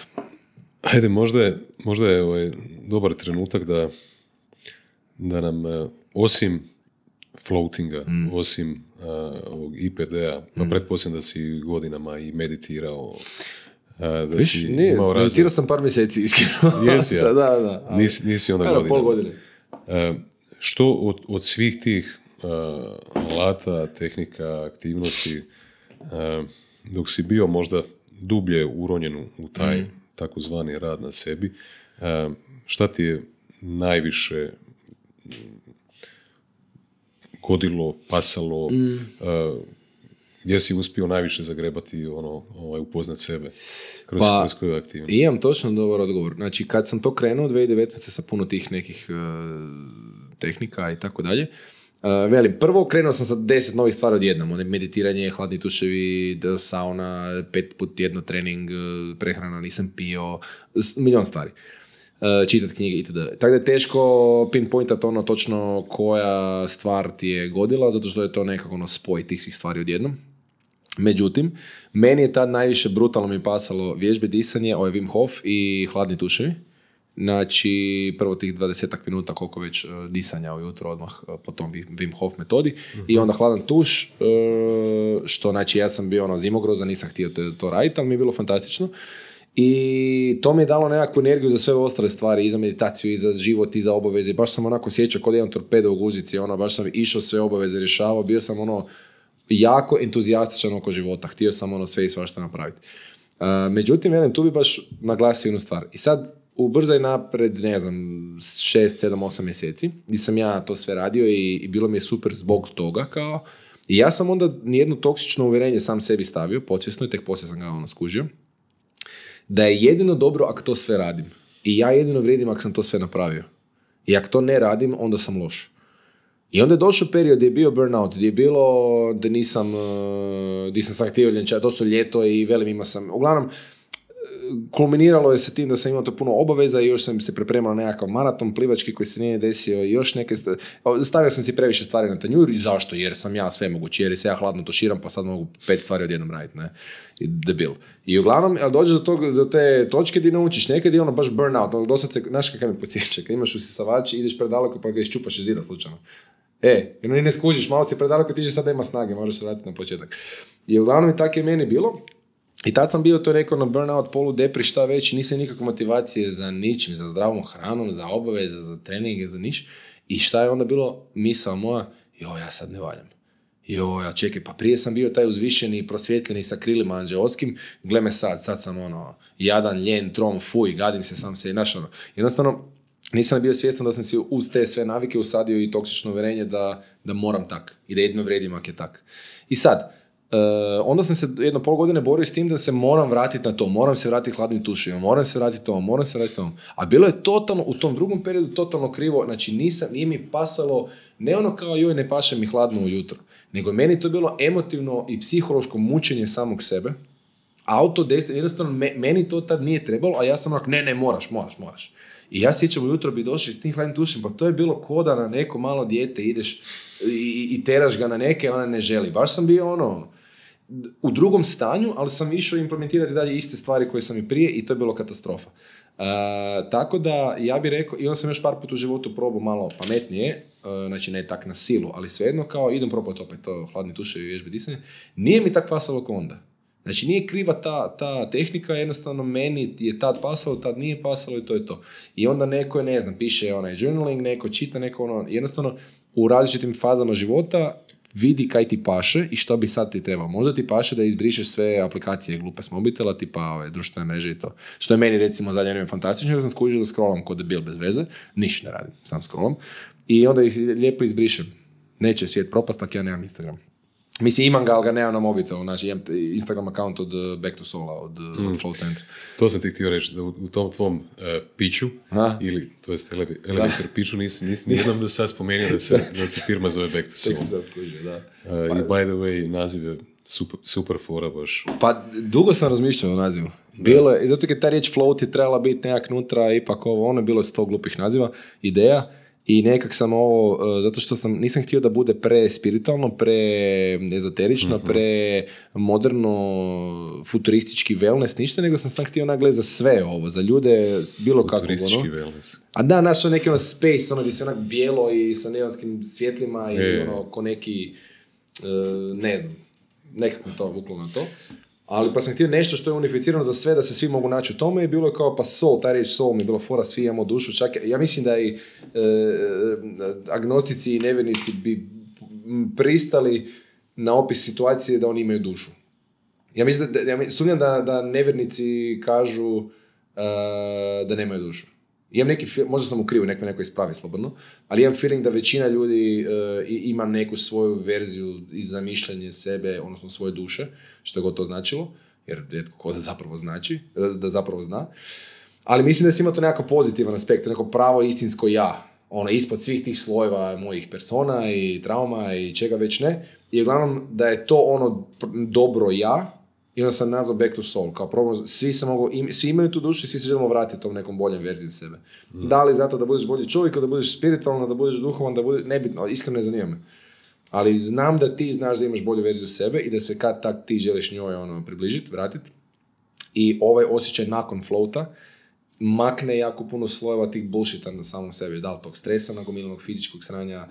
Ajde, možda je dobar trenutak da nam osim floatinga, osim ovog IPD-a, pa pretpostavljam da si godinama i meditirao, da si imao razne... Meditirao sam par mjeseci, iskreno. Jesi, ja? Da. Nisi onda godinama. Pol godine. Što od svih tih alata, tehnika, aktivnosti, dok si bio možda dublje uronjen u taj takozvani rad na sebi, šta ti je najviše godilo, pasalo, gdje si uspio najviše zagrebati, upoznat sebe kroz koju aktivnost? Imam točno dobar odgovor. Znači, kad sam to krenuo, 2019. sa puno tih nekih tehnika i tako dalje, velim, prvo krenuo sam sa 10 novih stvari odjednom, meditiranje, hladni tuševi, sauna, 5 put tjedno trening, prehrana, nisam pio, milion stvari. Čitati knjige itd. Tako da je teško pinpointati točno koja stvar ti je godila, zato što je to nekako spoj tih svih stvari odjednom. Međutim, meni je tad najviše brutalno mi pasalo vježbe disanje, Wim Hof i hladni tuševi. Znači, prvo tih 20 minuta koliko već disanja ujutro odmah po tom Wim Hof metodi i onda hladan tuš, što znači ja sam bio zimogrozan, nisam htio to raditi, ali mi je bilo fantastično. I to mi je dalo nekakvu energiju za sve ostale stvari, i za meditaciju, i za život, i za obaveze. Baš sam onako sjećao kod jedan torpedo u guzici, baš sam išao sve obaveze rješavao, bio sam jako entuzijastičan oko života, htio sam sve i svašta napraviti. Međutim, velim, tu bi baš naglasio jednu stvar. I sad, ubrzaj napred, ne znam, 6, 7, 8 mjeseci, gdje sam ja to sve radio i bilo mi je super zbog toga, kao. I ja sam onda nijedno toksično uvjerenje sam sebi stavio, podsvjesno, i tek poslije sam ga skužio, da je jedino dobro ako to sve radim. I ja jedino vrijedim ako sam to sve napravio. I ako to ne radim, onda sam loš. I onda je došao period gdje je bio burnout, gdje je bilo da nisam sam htio ljenčati, to su ljeto i velim ima sam. Uglavnom, kulminiralo je sa tim da sam imao to puno obaveza i još sam se pripremao na nekakav maraton plivački koji se nije desio i još neke... Stavio sam si previše stvari na tanjur i zašto? Jer sam ja sve mogući, jer se ja hladno tuširam pa sad mogu 5 stvari odjednom raditi, ne? I debil. I uglavnom, dođeš do te točke gdje naučiš, nekad je baš burnout, dosad se, znaš kakav me podsjeća, kad imaš usisavač, ideš predaleko pa ga iščupaš iz zida slučajno. Ni ne skužiš, malo si predaleko, ti sad nema snage, možeš se vratiti na početak. I uglavnom i tako je meni bilo. I tad sam bio to rekao na burnout, polu depri, šta već, nisam nikakve motivacije za ničim, za zdravom hranom, za obaveze, za treninge, za niš. I šta je onda bilo misao moja? Ja sad ne valjam. Čekaj, pa prije sam bio taj uzvišeni, prosvjetljeni sa krilima anđeoskim, gle me sad sam jadan, ljen, trom, fuj, gadim se sam se i jednostavno, nisam bio svjestan da sam si uz te sve navike usadio i toksično uvjerenje da moram tak i da jedno vrijedim ako je tak. I sad, onda sam se 1,5 godine borio s tim da se moram vratiti na to, moram se vratiti hladnim tušima, moram se vratiti tomu. A bilo je totalno, u tom drugom periodu totalno krivo, znači nije mi pasalo, ne kao ne paše mi hladno ujutro, nego meni to bilo emotivno i psihološko mučenje samog sebe, jednostavno meni to tad nije trebalo, a ja sam ne, moraš. I ja sjećam ujutro bi došli s tim hladnim tušem, pa to je bilo koda na neko malo dijete, ideš i teraš ga na neke, ona ne želi. Baš sam bio u drugom stanju, ali sam išao implementirati dalje iste stvari koje sam i prije i to je bilo katastrofa. Tako da, ja bih rekao, i onda sam još par puta u životu probao malo pametnije, znači ne tak na silu, ali svejedno kao idem probati opet to hladni tuševi i vježbe disanja. Nije mi tak pasalo kao onda. Znači nije kriva ta tehnika, jednostavno meni je tad pasalo, tad nije pasalo i to je to. I onda neko je, piše journaling, neko čita, neko jednostavno u različitim fazama života vidi kaj ti paše i što bi sad ti trebalo. Možda ti paše da izbrišeš sve aplikacije glupe s mobitela, tipa društvene mreže i to. Što je meni recimo zadnje vrijeme fantastično, jer sam skužio da scrollam kod debil bez veze, ništa ne radim, sam scrollam. i onda ih lijepo izbrišem. Neće svijet propast, ako ja nemam Instagram. Mislim, imam ga, ali ga nemam na mobitelu. Znači, imam Instagram account od Back to Soul, od Flow Centra. To sam ti htio reći, da u tom tvom piću, ili, to jest elevator piću, nisam do sad spomenuo da se firma zove Back to Soul. I by the way, naziv je super fora baš. Pa, dugo sam razmišljao o nazivu. Bilo je, zato kad ta riječ flow ti trebala biti nekak nutra, ipak ono je bilo 100 glupih naziva, ideja. I nekak sam ovo, zato što nisam htio da bude pre-spiritualno, pre-ezoterično, pre-moderno, futuristički wellness, ništa, nego sam htio nagledati za sve ovo, za ljude, bilo kako. Futuristički wellness. A da, naš neki space, gdje se onak bijelo i sa neonskim svjetlima i ko neki, ne znam, nekako to vuklo na to. Ali pa sam htio nešto što je unificirano za sve, da se svi mogu naći u tome i bilo je kao pa soul, ta riječ soul mi je bilo fora, svi imamo dušu, čak ja mislim da i agnostici i nevjernici bi pristali na opis situacije da oni imaju dušu. Ja mislim sumnjam da nevjernici kažu da nemaju dušu. Imam možda sam u krivu, neko ispravi slobodno, ali imam feeling da većina ljudi ima neku svoju verziju i zamišljanje sebe, odnosno svoje duše, što god to značilo, jer rijetko ko da zapravo zna. Ali mislim da ima to nekako pozitivan aspekt, neko pravo istinsko ja, ispod svih tih slojeva mojih persona i trauma i čega već ne, i uglavnom da je to dobro ja. I onda sam nazvao Back to Soul, kao problem, svi imaju tu dušu i svi se želimo vratiti tom nekom boljem verziju sebe. Da li zato da budeš bolji čovjek, da budeš spiritualan, da budeš duhovan, da budeš, nebitno, iskreno ne zanima me. Ali znam da ti znaš da imaš bolju verziju sebe i da se kad tak ti želiš njoj približiti, vratiti. I ovaj osjećaj nakon floata makne jako puno slojeva tih bullshita na samom sebi. Da li tog stresa, nagomilanog fizičkog sranja,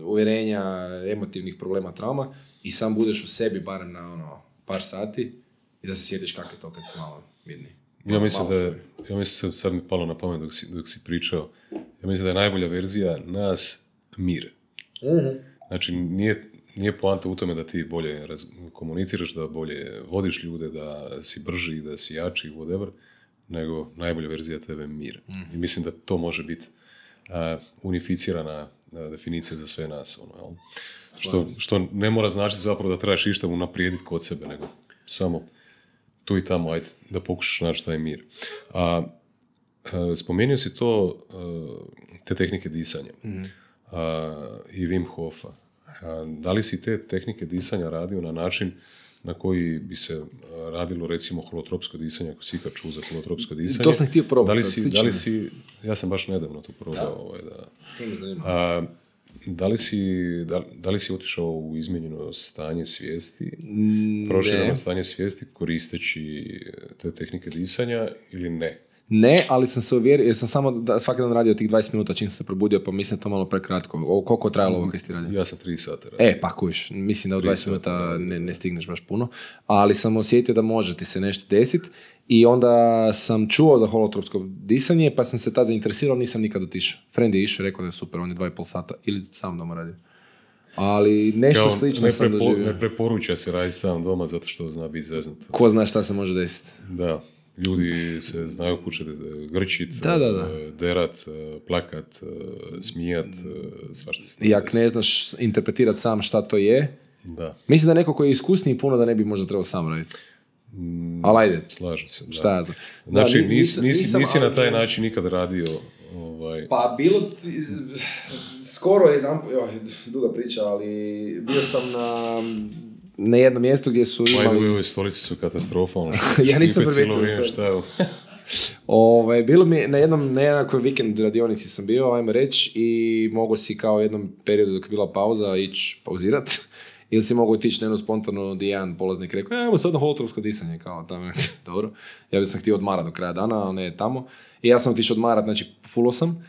uvjerenja, emotivnih problema, trauma i sam budeš u sebi barem na par sati i da se sjetiš kako je to kad si malo mirni. Ja mislim sad mi palo na pamet dok si pričao, ja mislim da je najbolja verzija nas mir. Znači nije poanta u tome da ti bolje komuniciraš, da bolje vodiš ljude, da si brži, da si jači, whatever, nego najbolja verzija tebe je mir. I mislim da to može biti unificirana definicija za sve nas. Što ne mora značiti zapravo da trebaš išta unaprijediti kod sebe, nego samo tu i tamo, ajde, da pokušaš naći taj mir. Spomenuo si to, te tehnike disanja i Wim Hofa. Da li si te tehnike disanja radio na način na koji bi se radilo recimo holotropsko disanje, ako si ikad čuo za holotropsko disanje? To sam htio probati. Ja sam baš nedavno to probao. Da li si otišao u izmijenjeno stanje svijesti, prošireno stanje svijesti koristeći te tehnike disanja ili ne? Ne, ali sam se uvjerio, jer sam samo svaki dan radio tih 20 minuta čim sam se probudio, pa mislim to malo prekratko. Koliko je trajalo ovo kaj si radio? Ja sam 3 sata radio. Pa kuš, mislim da u 20 minuta ne stigneš baš puno, ali sam osjetio da može ti se nešto desiti i onda sam čuo za holotropsko disanje, pa sam se tad zainteresirao, nisam nikad otišao. Friend je išao, rekao da je super, on je 2,5 sata ili sam doma radio. Ali nešto slično sam doživio. Ne preporuča se raditi sam doma zato što zna biti zeznuto. Ko zna šta se može desiti. Da. Ljudi se znaju početi grčit, derat, plakat, smijat, svašta se. I ako ne znaš interpretirati sam šta to je, mislim da neko koji je iskusniji puno da ne bi možda trebao sam raditi. Ali ajde. Slažem se. Šta ja znam. Znači, nisi na taj način nikad radio... Pa bilo skoro jedan, duga priča, ali bio sam na jednom mjestu gdje su imali... Ove stolice su katastrofa. Ja nisam primijetio. Bilo mi na nekoj vikend radionici sam bio, ajmo reći, i mogu si kao u jednom periodu dok je bila pauza ići pauzirat. Ili si mogu otići na jednu spontano gdje jedan polaznik rekao, ajmo sad na holotropsko disanje, kao tamo, dobro. Ja sam htio odmarat do kraja dana, ali ne tamo. I ja sam otišao odmarat, znači fullo sam.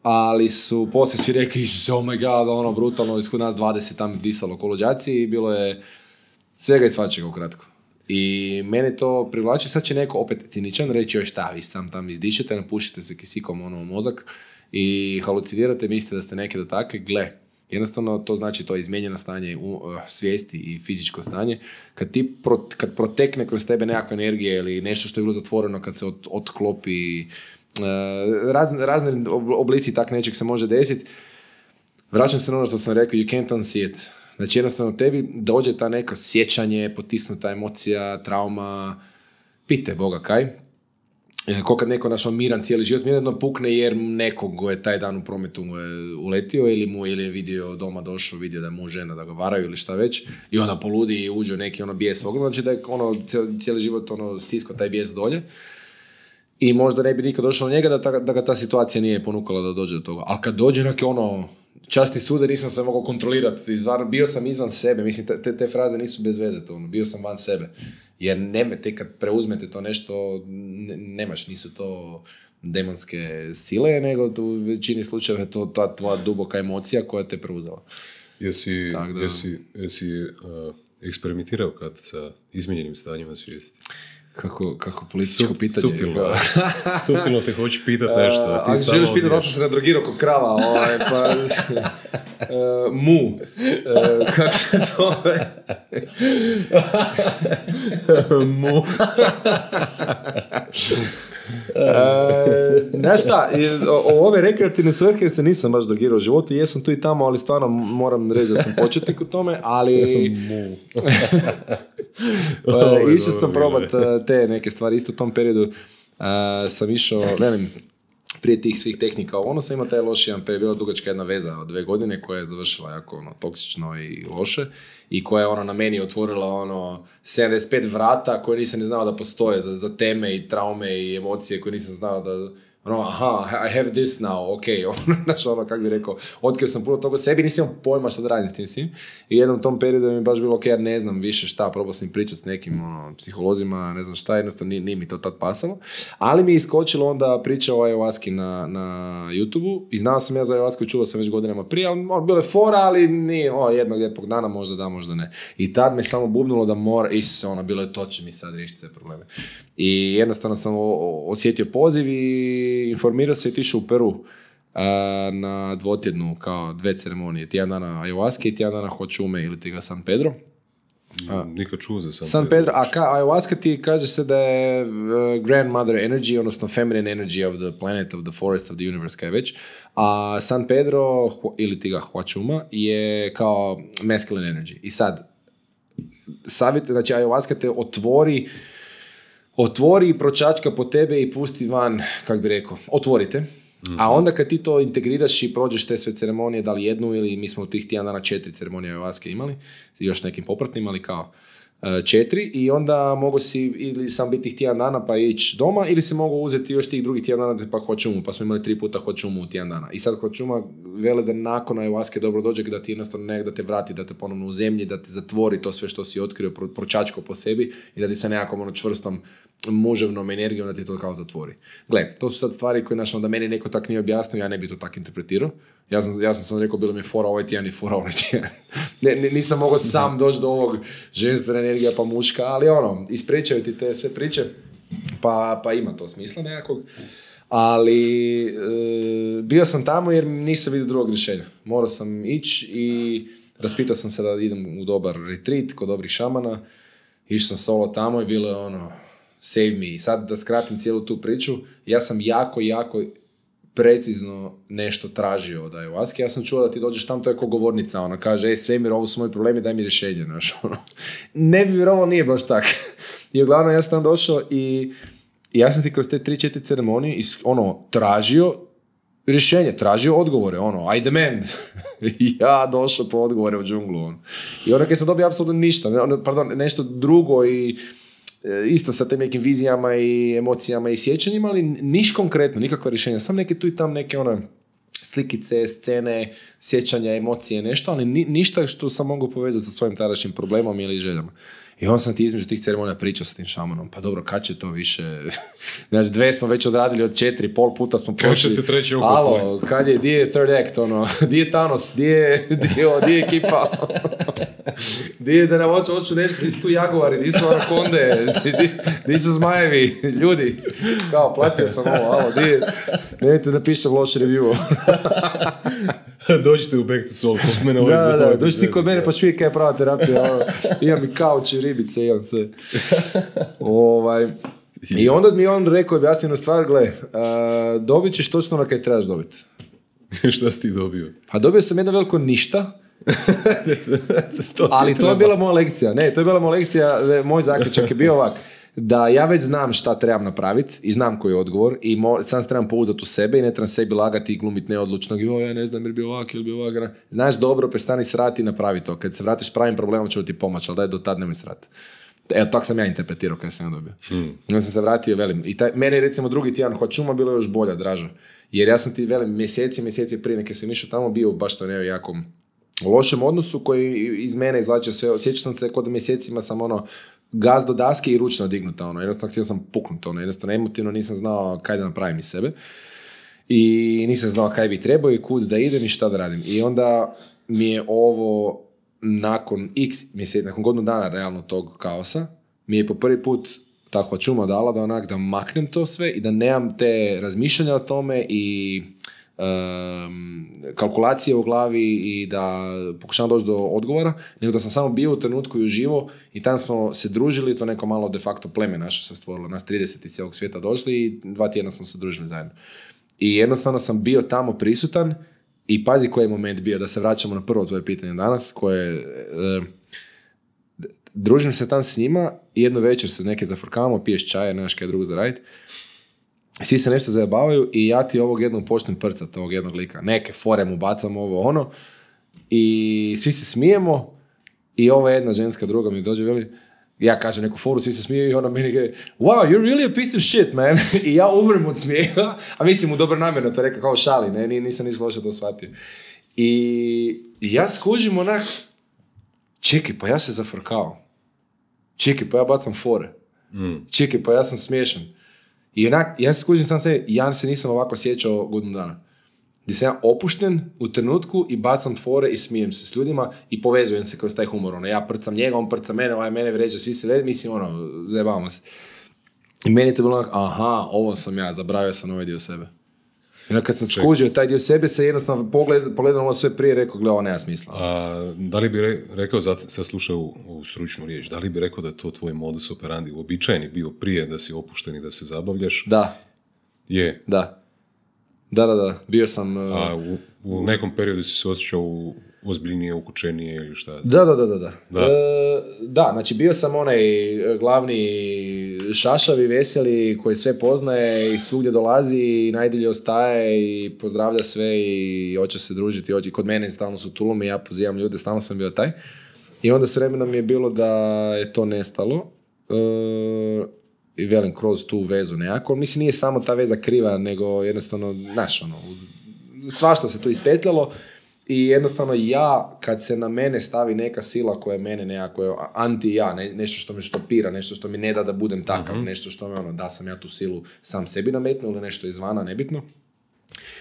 Ali su poslije svi rekli, oh my god, brutalno, iskod nas 20 tam disalo kolođaci i bilo je svega i svačega ukratko. I mene to privlači, sad će neko opet ciničan reći, joj šta, vi tam izdišete, napušite se kisikom u mozak i halucinirate, mislite da ste neke dotakli, gle. Jednostavno to znači to izmijenjeno stanje svijesti i fizičko stanje. Kad protekne kroz tebe nekakva energija ili nešto što je bilo zatvoreno, kad se otklopi Razni oblici tak nečeg se može desiti. Vraćam se na ono što sam rekao, you can't unsee it. Znači jednostavno tebi dođe ta neka sjećanje, potisnuta emocija, trauma, pite Boga kaj. Ko kad neko našao miran cijeli život, mirno pukne jer nekog je taj dan u prometu mu je uletio ili je vidio doma došao, vidio da je mu žena da ga varaju ili šta već i onda poludi i uđe neki bijes ogroman, znači da je cijeli život stiskao taj bijes dolje. I možda ne bi nikad došao do njega da ga ta situacija nije ponukala da dođe do toga. Ali kad dođe neki časti sude, nisam se mogao kontrolirati, bio sam izvan sebe, mislim, te fraze nisu bez veze, bio sam van sebe. Jer te kad preuzmete to nešto, nemaš, nisu to demonske sile, nego u većini slučajeva je to ta tvoja duboka emocija koja te preuzela. Jesi eksperimentirao kad sa izmijenjenim stanjima svijesti? Kako političko pitanje. Suptilno te hoću pitati nešto. A želiš pitati da sam se nadrogirao ko krava, pa... mu. Kako se zove? Mu. Znaš šta, ove rekreativne svrhe se nisam baš drogirao u životu, jesam tu i tamo, ali stvarno moram reći da sam početnik u tome, ali... Išao sam probat te neke stvari, isto u tom periodu sam išao, prije tih svih tehnika, sam imao taj loš jedan period, bila dugačka jedna veza od 2 godine koja je završila jako toksično i loše i koja je na meni otvorila 75 vrata koje nisam ni znao da postoje za teme i traume i emocije koje nisam znao da I have this now, ok, znači kako bi rekao, otkrio sam puno toga sebi, nisam imao pojma što da radim s tim svim i jednom tom periodu mi je baš bilo ok, ja ne znam više šta, probao sam pričati s nekim psiholozima, ne znam šta, jednostavno nije mi to tad pasalo, ali mi je iskočilo onda priča o ayahuaski na YouTube-u i znao sam ja za ayahuasku, čuo sam već godinama prije, ali bilo je fora, ali nije, jednog lijepog dana možda da, možda ne. I tad me samo bubnulo da mora, bilo je to će mi sad riješiti sve probleme. I jednostavno sam osjetio poziv i informirao se i otišao u Peru na 2-tjednu, kao 2 ceremonije, tjedan dana ayahuaske i tjedan dana hočume ili ti ga San Pedro. Nikad čuo za San Pedro. Ayahuaska ti kaže se da je grandmother energy, odnosno feminine energy of the planet, of the forest, of the universe, kaj već. A San Pedro ili ti ga hočuma je kao masculine energy. I sad, savjet, znači ayahuaska te otvori i pročačka po tebe i pusti van, kako bi rekao, otvorite. Mm-hmm. A onda kad ti to integriraš i prođeš te sve ceremonije, da li jednu ili mi smo u tih tjedan dana 4 ceremonije ayahuaske imali, još nekim popratnim, ali kao 4 i onda mogu si ili sam biti tih tjedan dana pa ići doma ili se mogu uzeti još tih drugih tjedan dana pa hočumu, pa smo imali 3 puta hočumu u tjedan dana. I sad hočuma vele da nakon ayahuaske dobro dođe da ti jednostavno da te vrati, da te ponovno u zemlji, da te zatvori to sve što si otkrio, pročačko po sebi i da ti sa nekakvom čvrstom muževnom energijom da ti to kao zatvori. Gle, to su sad stvari koje da meni neko tak nije objasnio, ja ne bi to tak interpretirao. Ja sam rekao, bilo mi je fora ovaj tjedan i fora ovaj tjedan. Nisam mogao sam doći do ovog ženstvena energija pa muška, ali ispričaju ti te sve priče, pa ima to smisla nekakvog. Ali bio sam tamo jer nisam vidio drugog rješenja. Morao sam ići i raspitao sam se da idem u dobar retreat kod dobrih šamana. Išao sam solo tamo i bilo je save me. I sad da skratim cijelu tu priču, ja sam jako precizno nešto tražio od ayahuaske. Ja sam čuo da ti dođeš tam, to je ko govornica, kaže, svemir, ovo su moji problemi, daj mi rješenje, Ne bi vjerovao, nije baš tak. I uglavnom ja sam tam došao i ja sam ti kroz te 3-4 ceremonije tražio rješenje, tražio odgovore, I demand. Ja došao po odgovore u džunglu, I kad sam dobio apsolutno ništa, nešto drugo i isto sa tim nekim vizijama i emocijama i sjećanjima, ali niš konkretno, nikakva rješenja, sam neke tu i tam neke slikice, scene, sjećanja, emocije, nešto, ali ništa što sam mogu povezati sa svojim tadašnjim problemom ili željama. I onda sam ti između tih ceremonija pričao s tim šamanom, pa dobro, kad će to više? Znači, 2 smo već odradili od 4, pol puta smo prošli. Kad će se treći oko tvoj? Alo, kad je, di je third act, di je Thanos, di je ekipa? Di je da nam hoću nešto, di su tu jaguari, di su anakonde, di su zmajevi, ljudi. Kao, platio sam ovo, alo, di je, nemojte da pišem loš review. Dođite u Back to Soul, kod mene Da, dođi ti kod mene pa švijek kaj je prava terapija, imam i kauč i ribice, imam sve. I onda mi on rekao, objasnjeno stvar, gle, dobit ćeš točno ono kaj trebaš dobiti. Šta si ti dobio? Pa dobio sam jedno veliko ništa, ali to je bila moja lekcija. Ne, to je bila moja lekcija, moj zaključak je bio ovak, da ja već znam šta trebam napraviti i znam koji je odgovor i sam se trebam pouzdati u sebe i ne trebam sebi lagati i glumiti neodlučnog i ja ne znam ili bi ovak ili bi ovak. Znaš dobro, prestani srati i napravi to. Kad se vratiš pravim problemom ću ti pomoći, ali daj do tad nemoj srati. Evo, tako sam ja interpretirao kada sam ja dobio. Onda sam se vratio, velim. I meni recimo drugi tjedan Hoćuma bilo još bolja, draža. Jer ja sam ti, velim, mjeseci prije neke sam išao tamo bio baš to jako lošem odnosu koji iz mene izvlačio sve. Osjećao sam se kod mjesecima sam gaz do daske i ručno dignuta. Jednostavno htio sam puknuti. Jednostavno emotivno nisam znao kaj da napravim iz sebe. I nisam znao kaj bi trebao i kud da idem i šta da radim. I onda mi je ovo nakon x mjeseci, nakon godinu dana realno tog kaosa, mi je po prvi put ta Hoćuma dala da maknem to sve i da nemam te razmišljanja o tome i kalkulacije u glavi i da pokušavam doći do odgovora, nego da sam samo bio u trenutku i uživo i tam smo se družili, to neko malo de facto pleme naše se stvorilo, nas 30 iz cijelog svijeta došli i 2 tjedna smo se družili zajedno. I jednostavno sam bio tamo prisutan i pazi koji je moment bio, da se vraćamo na prvo tvoje pitanje danas, koje družim se tam s njima i jednu večer se neke zafrkavamo, piješ čaje, nemaš kaj drugo za raditi. Svi se nešto zajebavaju i ja ti ovog jednog počnem prcat, ovog jednog lika. Neke fore mu bacam i svi se smijemo i ova jedna ženska druga mi dođe veli, ja kažem neku foru, svi se smiju i ona meni kaže, wow, you're really a piece of shit, man. I ja umrem od smijeha, a mislim u dobro namjerno to rekao kao šali, ne, nisam ništa loše to shvatio. I ja skužim čekaj, pa ja se zafrkao. Čekaj, pa ja bacam fore. Čekaj, pa ja sam smiješan. I ja se skužim sam se, ja se nisam ovako osjećao godinu dana. Gdje sam ja opušten u trenutku i bacam fore i smijem se s ljudima i povezujem se kroz taj humor. Ja prcam njega, on prca mene, mene vređa, svi se vređa, mislim, zajebavamo se. I meni je to bilo aha, ovo sam ja, zabravio sam ovaj dio sebe. I kad sam skužio taj dio sebe, se jednostavno pogledam ovo sve prije, rekao, gle, ovo nema smisla. Da li bi rekao, sad slušao u stručnu riječ, da li bi rekao da je to tvoj modus operandi, uobičajeni bio prije da si opušten i da se zabavljaš? Da. Je? Da. Bio sam... u nekom periodu si se osjećao ozbiljnije, ukučenije ili šta? Da, znači bio sam onaj glavni šašavi, veseli, koji sve poznaje i svugdje dolazi i najdilje ostaje i pozdravlja sve i hoće se družiti. Kod mene stalno su tulumi, ja pozivam ljude, stalno sam bio taj. I onda s vremenom mi je bilo da je to nestalo. I velim, kroz tu vezu nekako. Mislim, nije samo ta veza kriva, nego jednostavno, znaš, svašta se tu ispetljalo i jednostavno ja, kad se na mene stavi neka sila koja je mene nekako anti-ja, nešto što me štopira, nešto što mi ne da budem takav, nešto što me da sam ja tu silu sam sebi nametnuo ili nešto izvana, nebitno.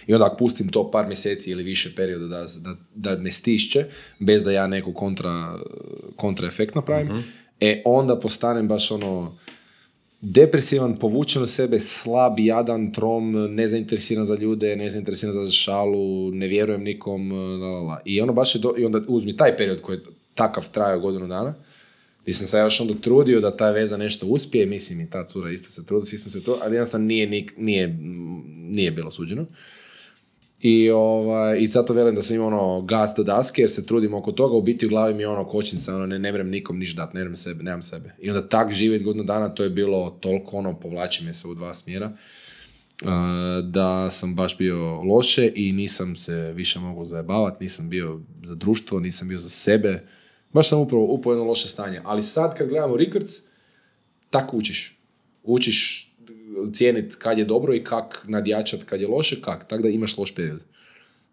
I onda ako pustim to par mjeseci ili više perioda da me stišće, bez da ja neku kontraefekt napravim, onda postanem baš depresivan, povučen u sebe, slab, jadan, trom, nezainteresiran za ljude, nezainteresiran za šalu, ne vjerujem nikom, I baš je i onda uzmi taj period koji je takav trajao godinu dana, gdje sam se još onda trudio da ta veza nešto uspije, mislim i ta cura isto se trudila, svi smo se trudili, ali jednostavno nije bilo suđeno. I zato velim da sam imao gas do daske jer se trudim oko toga, u biti u glavi mi je kočnica, ne vrem nikom ništa dati, nemam sebe. I onda tak živjeti godinu dana, to je bilo toliko povlači me se u 2 smjera, da sam baš bio loše i nisam se više mogao zajebavati, nisam bio za društvo, nisam bio za sebe, baš sam upravo jedno loše stanje. Ali sad kad gledamo records, tako učiš cijeniti kad je dobro i kak nadjačati kad je loše, tako da imaš loš period.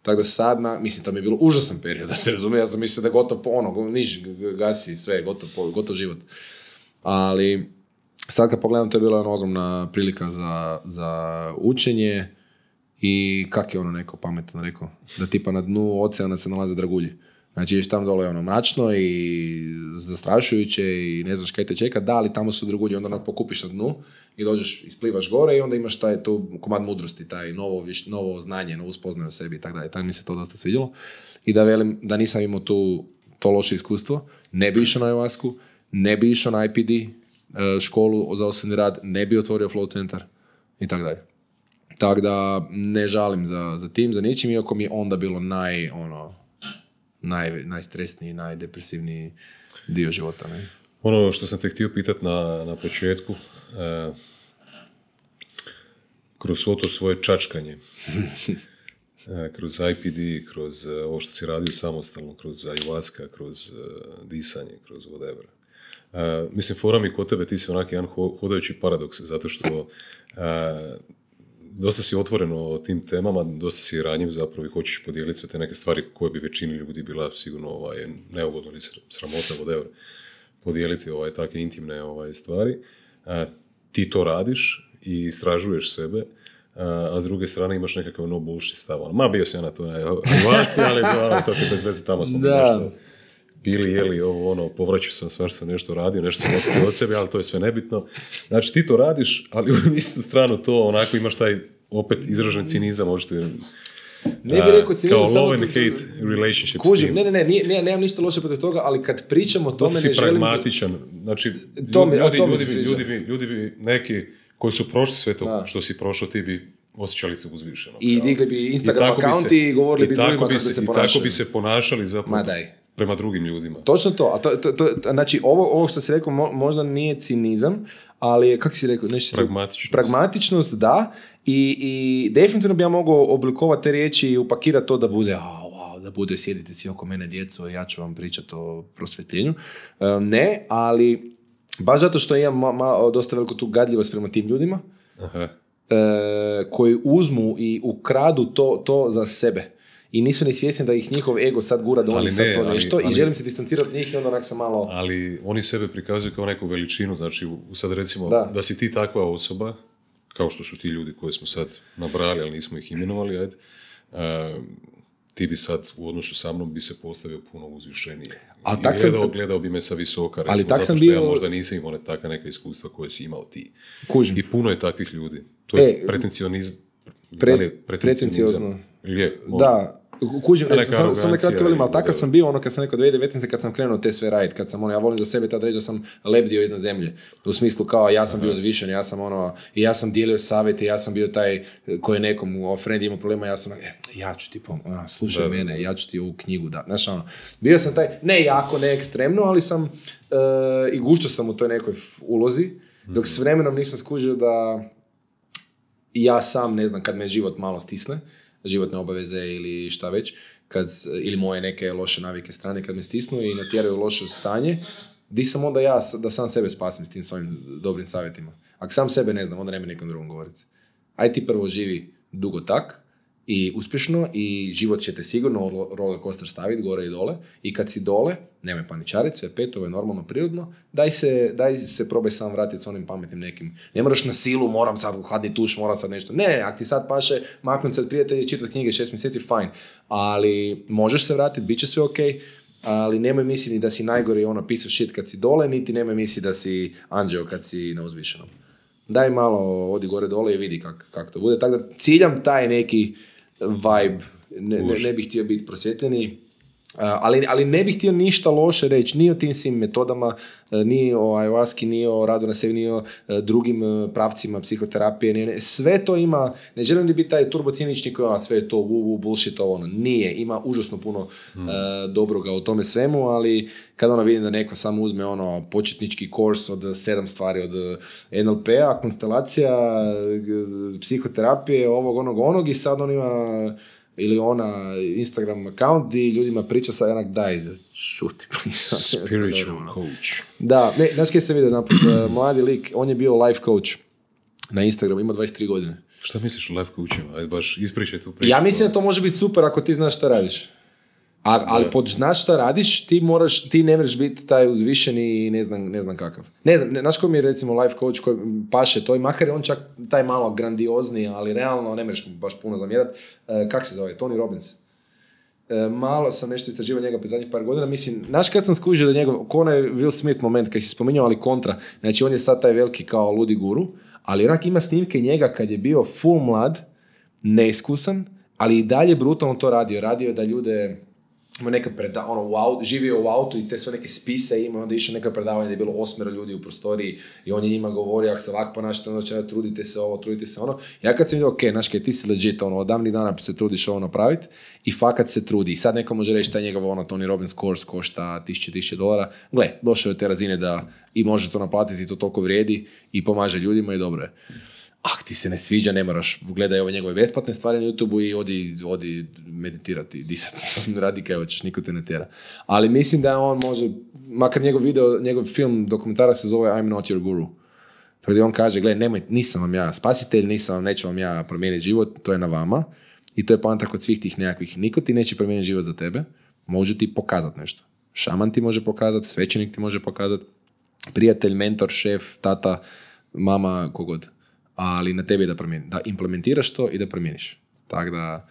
Tako da sad, mislim da mi je bilo užasan period, da se razumije, ja sam mislio da je gotovo niš, gasi sve, gotov život. Ali sad kad pogledam, to je bila ogromna prilika za učenje i kak je neko pametan rekao, da tipa na dnu oceana se nalaze dragulji. Znači, ješ tamo dole mračno i zastrašujuće i ne znaš kaj te čeka, da, ali tamo su drugulji, onda pokupiš na dnu i dođeš, isplivaš gore i onda imaš taj tu komad mudrosti, taj novo znanje, novu spoznaju o sebi i tako dalje. Tako mi se to dosta svidjelo. I da velim da nisam imao to loše iskustvo, ne bi išao na ayahuasku, ne bi išao na IPD, školu za osobni rad, ne bi otvorio Flow centar i tako dalje. Tako da ne žalim za tim, za ničim, iako mi je onda bilo najstresniji, najdepresivniji dio života. Ne? Ono što sam te htio pitati na početku, kroz svo to svoje čačkanje, kroz IPD, kroz ovo što si radio samostalno, kroz ayahuasca, kroz disanje, kroz whatever. Mislim, fora mi kod tebe, ti si onak jedan hodajući paradoks, zato što dosta si otvoren o tim temama, dosta si ranjiv zapravo i hoćeš podijeliti sve te neke stvari koje bi većini ljudi bila sigurno neugodno ili sramota, whatever, podijeliti takve intimne stvari. Ti to radiš i istražuješ sebe, a s druge strane imaš nekakav no bullshit stav. Ma bio sam ja na to vas, ali to ti bez veze tamo smo nešto bili, jeli, povraću sam, stvar sam nešto radio, nešto sam otkrio od sebe, ali to je sve nebitno. Znači ti to radiš, ali u istu stranu to onako imaš taj opet izražen cinizam, očito ne bi rekao cinizam, kao love and hate relationship s tim. Nemam ništa loše protiv toga, ali kad pričamo o tome ne želim... To si pragmatičan, znači ljudi bi neki koji su prošli sve to što si prošao, ti bi osjećali se uzvišeno. I digli bi Instagram account i govorili bi drugima kako se ponašaju. I tako bi se ponašali zapravo prema drugim ljudima. Točno to. Znači, ovo što si rekao možda nije cinizam, ali je, kako si rekao? Pragmatičnost, da. I definitivno bi ja mogao oblikovati te riječi i upakirati to da bude da bude sjedite svi oko mene djeco i ja ću vam pričati o prosvjetljenju. Ne, ali baš zato što imam dosta veliku tu gadljivost prema tim ljudima. Aha. Koji uzmu i ukradu to za sebe. I nisu ni svjesni da ih njihov ego sad gura da oni sad to nešto i želim se distancirati od njih i onda onak sam malo... Ali oni sebe prikazuju kao neku veličinu, znači sad recimo da si ti takva osoba, kao što su ti ljudi koje smo sad nabrali, ali nismo ih imenovali, ti bi sad u odnosu sa mnom bi se postavio puno uzvišenije. I gledao bi me sa visoka, recimo, zato što ja možda nisam imao takva neka iskustva koje si imao ti. Kužim. I puno je takvih ljudi. To je pretencionizam. Da, kužim, sam nekratko velim, ali takav sam bio kad sam rekao 2019. kad sam krenuo te sve raditi, kad sam ja volim za sebe tad reći da sam lebdio iznad zemlje, u smislu kao ja sam bio zvišen, ja sam dijelio savjete, ja sam bio taj koji je nekom friend imao problema, ja sam ja ću ti slušaj mene, ja ću ti ovu knjigu da, znaš bio sam taj, ne jako, ne ekstremno, ali sam i gušto sam u toj nekoj ulozi, dok s vremenom nisam skužio da ja sam, ne znam, kad me život malo stisne, životne obaveze ili šta već, ili moje neke loše navike strane kad me stisnu i natjeraju loše stanje, di sam onda ja da sam sebe spasim s tim svojim dobrim savjetima. Ako sam sebe ne znam, onda nema nekom drugom govoriti. Aj ti prvo živi dugo tak i uspješno i život će te sigurno roller coaster staviti gore i dole i kad si dole, nemoj paničariti, sve pet, ovo je normalno, prirodno, daj se probaj sam vratiti s onim pametnim nekim. Ne moraš na silu, moram sad hladni tuš, moram sad nešto. Ne, ako ti sad paše maknuti se od prijatelja i čitati knjige 6 mjeseci, fine. Ali možeš se vratiti, bit će sve ok, ali nemoj misliti da si najgori piece of shit kad si dole, niti nemoj misliti da si anđeo kad si na uzvišenom. Daj malo odi gore dole i vidi kako to bude. Tako da ciljam taj neki vibe, ne bih htio biti prosvjetljeni, ali ne bih htio ništa loše reći, ni o tim svim metodama, ni o ayahuaski, ni o radu na sebi, ni o drugim pravcima psihoterapije, sve to ima, ne želim li biti taj turbocinični koji sve je to bullshit, nije, ima užasno puno dobroga u tome svemu, ali kada vidim da neko samo uzme početnički kurs od 7 stvari od NLP-a, konstelacija, psihoterapije, onog i sad on ima ili ona Instagram account i ljudima priča sa jednak daj, šuti. Spiritual coach. Da, znaš kaj se vidio naprijed, mladi lik, on je bio life coach na Instagramu, ima 23 godine. Šta misliš o life coachima? Ajde baš ispričaj tu priču. Ja mislim da to može biti super ako ti znaš šta radiš. Ali pod znaš šta radiš, ti ne možeš biti taj uzvišeni i ne znam kakav. Ne znam, znaš ko mi je recimo life coach koji paše to i makar je on čak taj malo grandiozni, ali realno ne možeš baš puno zamjerati. Kak se zove? Tony Robbins. Malo sam nešto istraživao njega pred zadnjih par godina. Mislim, znaš kad sam skužio da njegov, ko onaj Will Smith moment kad si spominjao, ali kontra. Znači on je sad taj veliki kao ludi guru, ali onak ima snimke njega kad je bio full mlad, neiskusan, ali i dalje brutalno to radio. Radio da ljude ima neka živio u autu i te sve neke spise ima, onda išao neka predavanja da je bilo 8 ljudi u prostoriji i on je njima govorio, ako se ovako ponašate, onda trudite se ovo, trudite se ono. Ja kad sam vidio, ok, znaš kaj, ti si legit, od davnih dana se trudiš ovo napraviti i fakat se trudi. I sad neko može reći da njegov Tony Robbins course košta $1000. Gle, došao je te razine da i može to naplatiti, to toliko vrijedi i pomaže ljudima i dobro je. Ti se ne sviđa, ne moraš, gledaj ove njegove besplatne stvari na YouTubeu i odi meditirati, disati, mislim, radi kaj hoćeš, niko te ne tjera. Ali mislim da on može, makar njegov film, dokumentara se zove I'm not your guru. Tako da on kaže, gledaj, nisam vam ja spasitelj, neću vam ja promijeniti život, to je na vama. I to je poanta kod svih tih nekakvih, niko ti neće promijeniti život za tebe, može ti pokazati nešto. Šaman ti može pokazati, svećenik ti može pokazati, prijatelj, mentor, šef, tata, mama, kogod. Ali na tebi je da implementiraš to i da promijeniš. Tako da,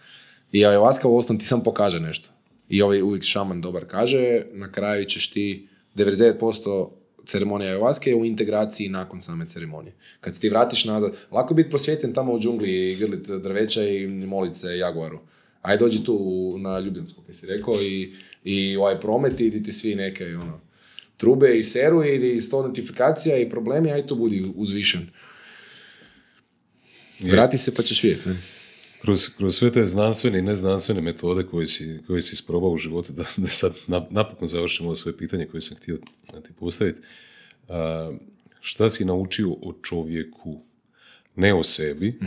i ayahuasca u osnovu ti sam pokaže nešto. I uvijek šaman dobar kaže, na kraju ćeš ti 99% ceremonije ayahuasca je u integraciji nakon same ceremonije. Kad se ti vratiš nazad, lako je biti prosvjetljen tamo u džungli i grlit drveća i molit se jaguaru. Ajde dođi tu na Ljubljansku, kaj si rekao, i ovaj promet i ti svi neke trube i seru i 100 notifikacija i problemi, ajde tu budi uzvišen. Vrati se pa ćeš vidjeti. Kroz sve te znanstvene i neznanstvene metode koje si isprobao u životu, da sad napokon završimo ovo svoje pitanje koje sam htio ti postaviti. Šta si naučio o čovjeku, ne o sebi,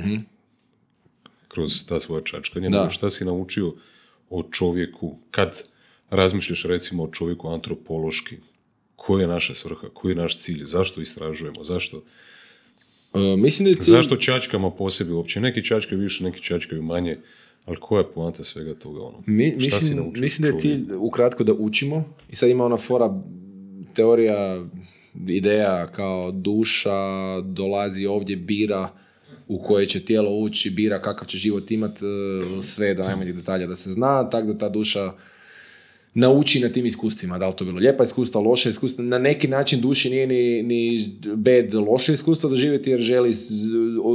kroz ta svoja čačkanja, nego šta si naučio o čovjeku kad razmišljaš recimo o čovjeku antropološki? Koja je naša svrha, koji je naš cilj, zašto istražujemo, zašto... Mislim da zašto čačkamo po sebi uopće? Neki čačkaju više, neki čačkaju manje, ali koja je poanta svega toga? Mislim da je cilj ukratko da učimo i sad ima ona fora teorija, ideja kao duša dolazi ovdje, bira u koje će tijelo ući, bira kakav će život imat, sve do najmanjih detalja da se zna, tako da ta duša nauči na tim iskustvima, da li to bilo lijepa iskustva, loša iskustva, na neki način duši nije ni bed loše iskustvo doživjeti jer želi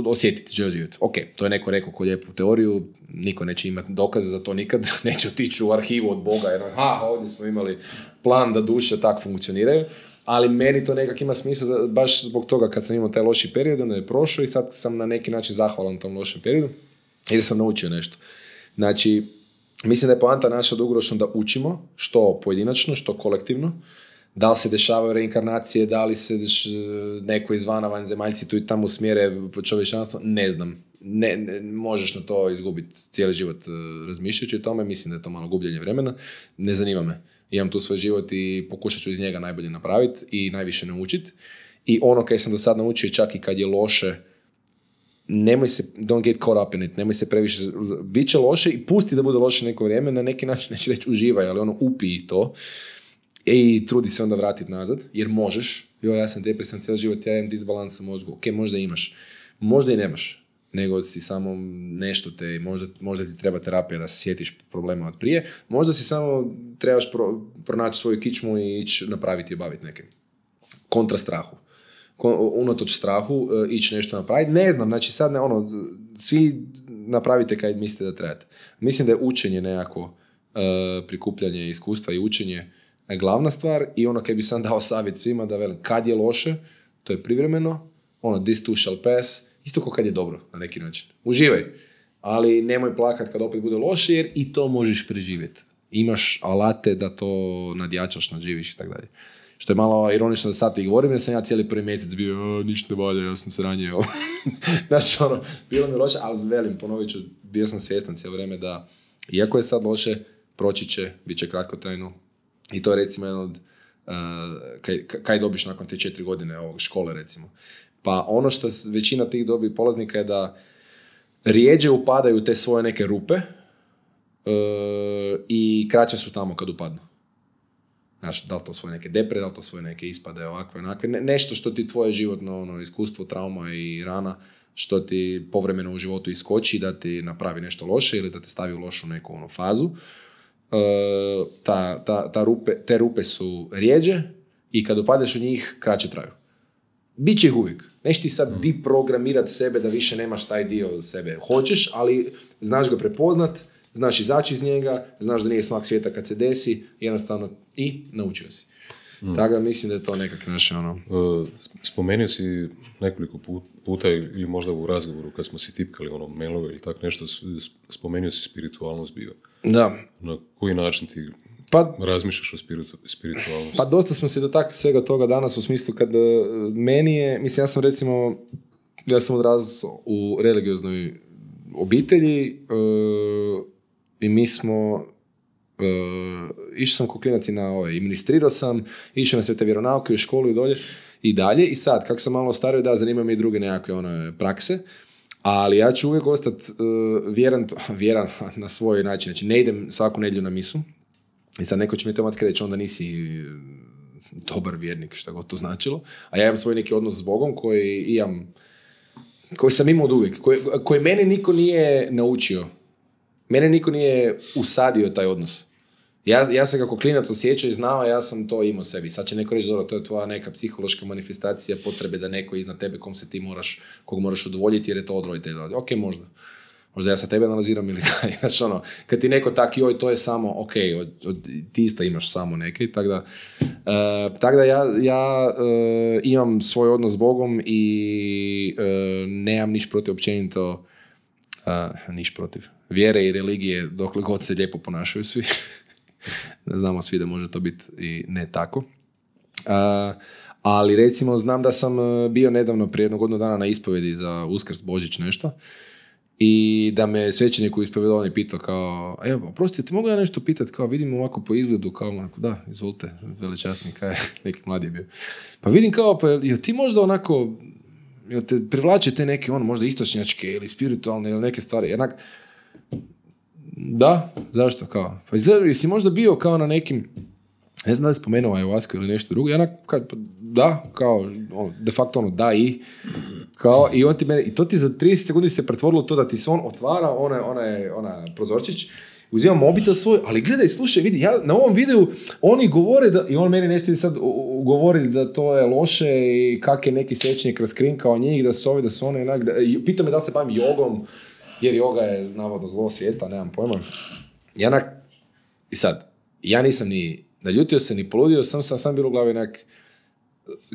osjetiti, želi živjeti. Ok, to je neko rekao ko lijepu teoriju, niko neće imati dokaze za to nikad, neće otići u arhivu od Boga jer ovdje smo imali plan da duše tako funkcioniraju, ali meni to nekak ima smisla baš zbog toga kad sam imao taj loši period, onda je prošao i sad sam na neki način zahvalan tom lošem periodu jer sam naučio nešto. Znači, mislim da je poanta naša dugoročno da učimo, što pojedinačno, što kolektivno, da li se dešavaju reinkarnacije, da li se neko izvana vanzemaljci tu i tamo usmjere čovječanstvo, ne znam. Ne, možeš na to izgubiti cijeli život razmišljajući o tome, mislim da je to malo gubljenje vremena, ne zanima me. Imam tu svoj život i pokušat ću iz njega najbolje napraviti i najviše naučiti. I ono kaj sam do sad naučio, čak i kad je loše, nemoj se, don't get caught up in it, nemoj se previše, bit će loše i pusti da bude loše neko vrijeme, na neki način neću reći uživaj, ali upij to i trudi se onda vratiti nazad, jer možeš. Ja sam depresan cijeli život, ja imam disbalans u mozgu, ok, možda imaš, možda i nemaš, nego si samo nešto možda ti treba terapija da se sjetiš problema od prije, možda si samo trebaš pronaći svoju kičmu i ići napraviti i obaviti neke kontra strahu. Unatoč strahu ići nešto napraviti. Ne znam, znači sad svi napravite kaj mislite da trebate. Mislim da je učenje nekako, prikupljanje iskustva i učenje glavna stvar i kaj bi sam dao savjet svima da velim, kad je loše, to je privremeno, this too shall pass, isto kao kad je dobro na neki način. Uživaj, ali nemoj plakat kad opet bude loše jer i to možeš preživjeti. Imaš alate da to nadjačaš, nadživiš i tako dalje. Što je malo ironično da sad ti govorim, jer sam ja cijeli prvi mjesec bio, ništa ne valja, ja sam se ranije. Znači, bilo mi loše, ali velim, ponovit ću, bio sam svjestan cijelo vrijeme da, iako je sad loše, proći će, bit će kratkotrajno. I to je recimo jedno od, kaj dobiš nakon te 4 godine ovog škole, recimo. Pa ono što većina tih dobi polaznika je da rijeđe upadaju te svoje neke rupe i kraće su tamo kad upadnu. Znaš, da li to svoje neke depre, da li to svoje neke ispade, ovakve, onakve. Nešto što ti tvoje životno iskustvo, trauma i rana, što ti povremeno u životu iskoči da ti napravi nešto loše ili da te stavi u lošu neku fazu. Te rupe su rijeđe i kad upadeš u njih, kraće traju. Biće ih uvijek. Neš ti sad deprogramirati sebe da više nemaš taj dio sebe. Hoćeš, ali znaš ga prepoznat, znaš izaći iz njega, znaš da nije smak svijeta kad se desi, jednostavno i naučio si. Tako da mislim da je to nekak naše Spomenuo si nekoliko puta ili možda u razgovoru kad smo si tipkali mailove ili tak nešto, spomenuo si spiritualnost bio. Da. Na koji način ti razmišljaš o spiritualnosti? Pa dosta smo se dotakli svega toga danas u smislu kad meni je, mislim ja sam odrasao u religioznoj obitelji i mi smo išao sam ko klinac i i ministrirao sam, išao na sve te vjeronauke u školu i dolje i dalje i sad, kako sam malo stario, da, zanima me i druge nekakve prakse, ali ja ću uvijek ostati vjeran na svoj način, znači ne idem svaku nedjelju na misu i sad neko će mi automatski reći onda nisi dobar vjernik, šta god to značilo, a ja imam svoj neki odnos s Bogom koji sam imao od uvijek, koji mene niko nije naučio. Mene niko nije usadio taj odnos. Ja sam kako klinac osjećao i znao, ja sam to imao sebi. Sad će neko reći, dobro, to je tvoja neka psihološka manifestacija potrebe da neko iznad tebe kog moraš udovoljiti jer je to od roditelja. Ok, možda ja sa tebe analiziram ili kaj. Znači, kad ti neko tak, joj, to je samo, ok, ti isto imaš samo neke. Tako da ja imam svoj odnos s Bogom i nemam niš protiv općenito, niš protiv vjere i religije dokle god se lijepo ponašaju svi. Znamo svi da može to biti i ne tako. Ali recimo znam da sam bio nedavno prije 1 godinu dana na ispovedi za Uskrs, Božić nešto i da me svećenik u ispovedovanju pitao kao, evo, prostite, mogu ja nešto pitati, kao vidim ovako po izgledu, kao da, izvolite, velečasni, kaj neki mladi je bio. Pa vidim kao, pa jel ti možda onako, jel te privlače te neke možda istočnjačke ili spiritualne ili neke stvari, jednak. Da, zašto kao? Pa izgleda, jesi možda bio kao na nekim, ne znam da li spomenuo ayahuasku ili nešto drugo, da, kao, de facto da i, kao, i on ti mene, i to ti za 30 sekundi se pretvorilo to da ti se on otvara, ona prozorčić, uzima mobitel svoj, ali gledaj, slušaj, vidi, ja na ovom videu oni govore da, i on meni nešto sad govori da to je loše i kak je neki svećenik raskrinkao njih, da su ovi, da su one, pitao me da se bavim jogom, jer joga je navodno zlo svijeta, nemam pojma. I sad, ja nisam ni naljutio se, ni poludio, sam bilo u glavi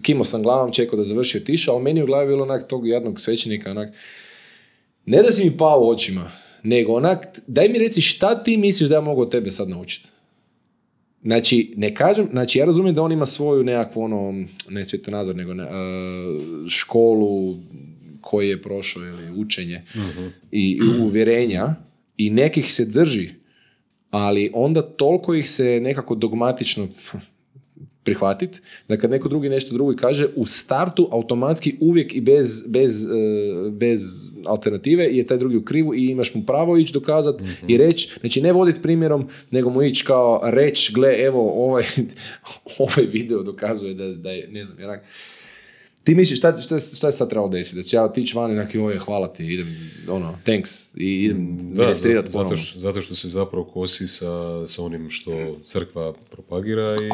kimao sam glavom, čekao da završi otišao, ali meni u glavi bilo tog jednog svećenika, ne da si mi pao u očima, nego daj mi reci šta ti misliš da ja mogu od tebe sad naučiti. Znači, ne kažem, ja razumijem da on ima svoju nekakvu, ne svjetonazor, nego školu koji je prošao ili učenje i uvjerenja i nekih se drži, ali onda toliko ih se nekako dogmatično prihvatiti, da kad neko drugi nešto drugo kaže, u startu automatski uvijek i bez alternative je taj drugi u krivu i imaš mu pravo ići dokazati i reći, znači ne voditi primjerom, nego mu ići kao reći, gle, evo, ovaj video dokazuje da je, ne znam, ti misliš šta je sad trebalo desiti? Da ću ja otići van i hvala ti, idem, thanks, i idem ministrirati ponovno. Zato što se zapravo kosi sa onim što crkva propagira i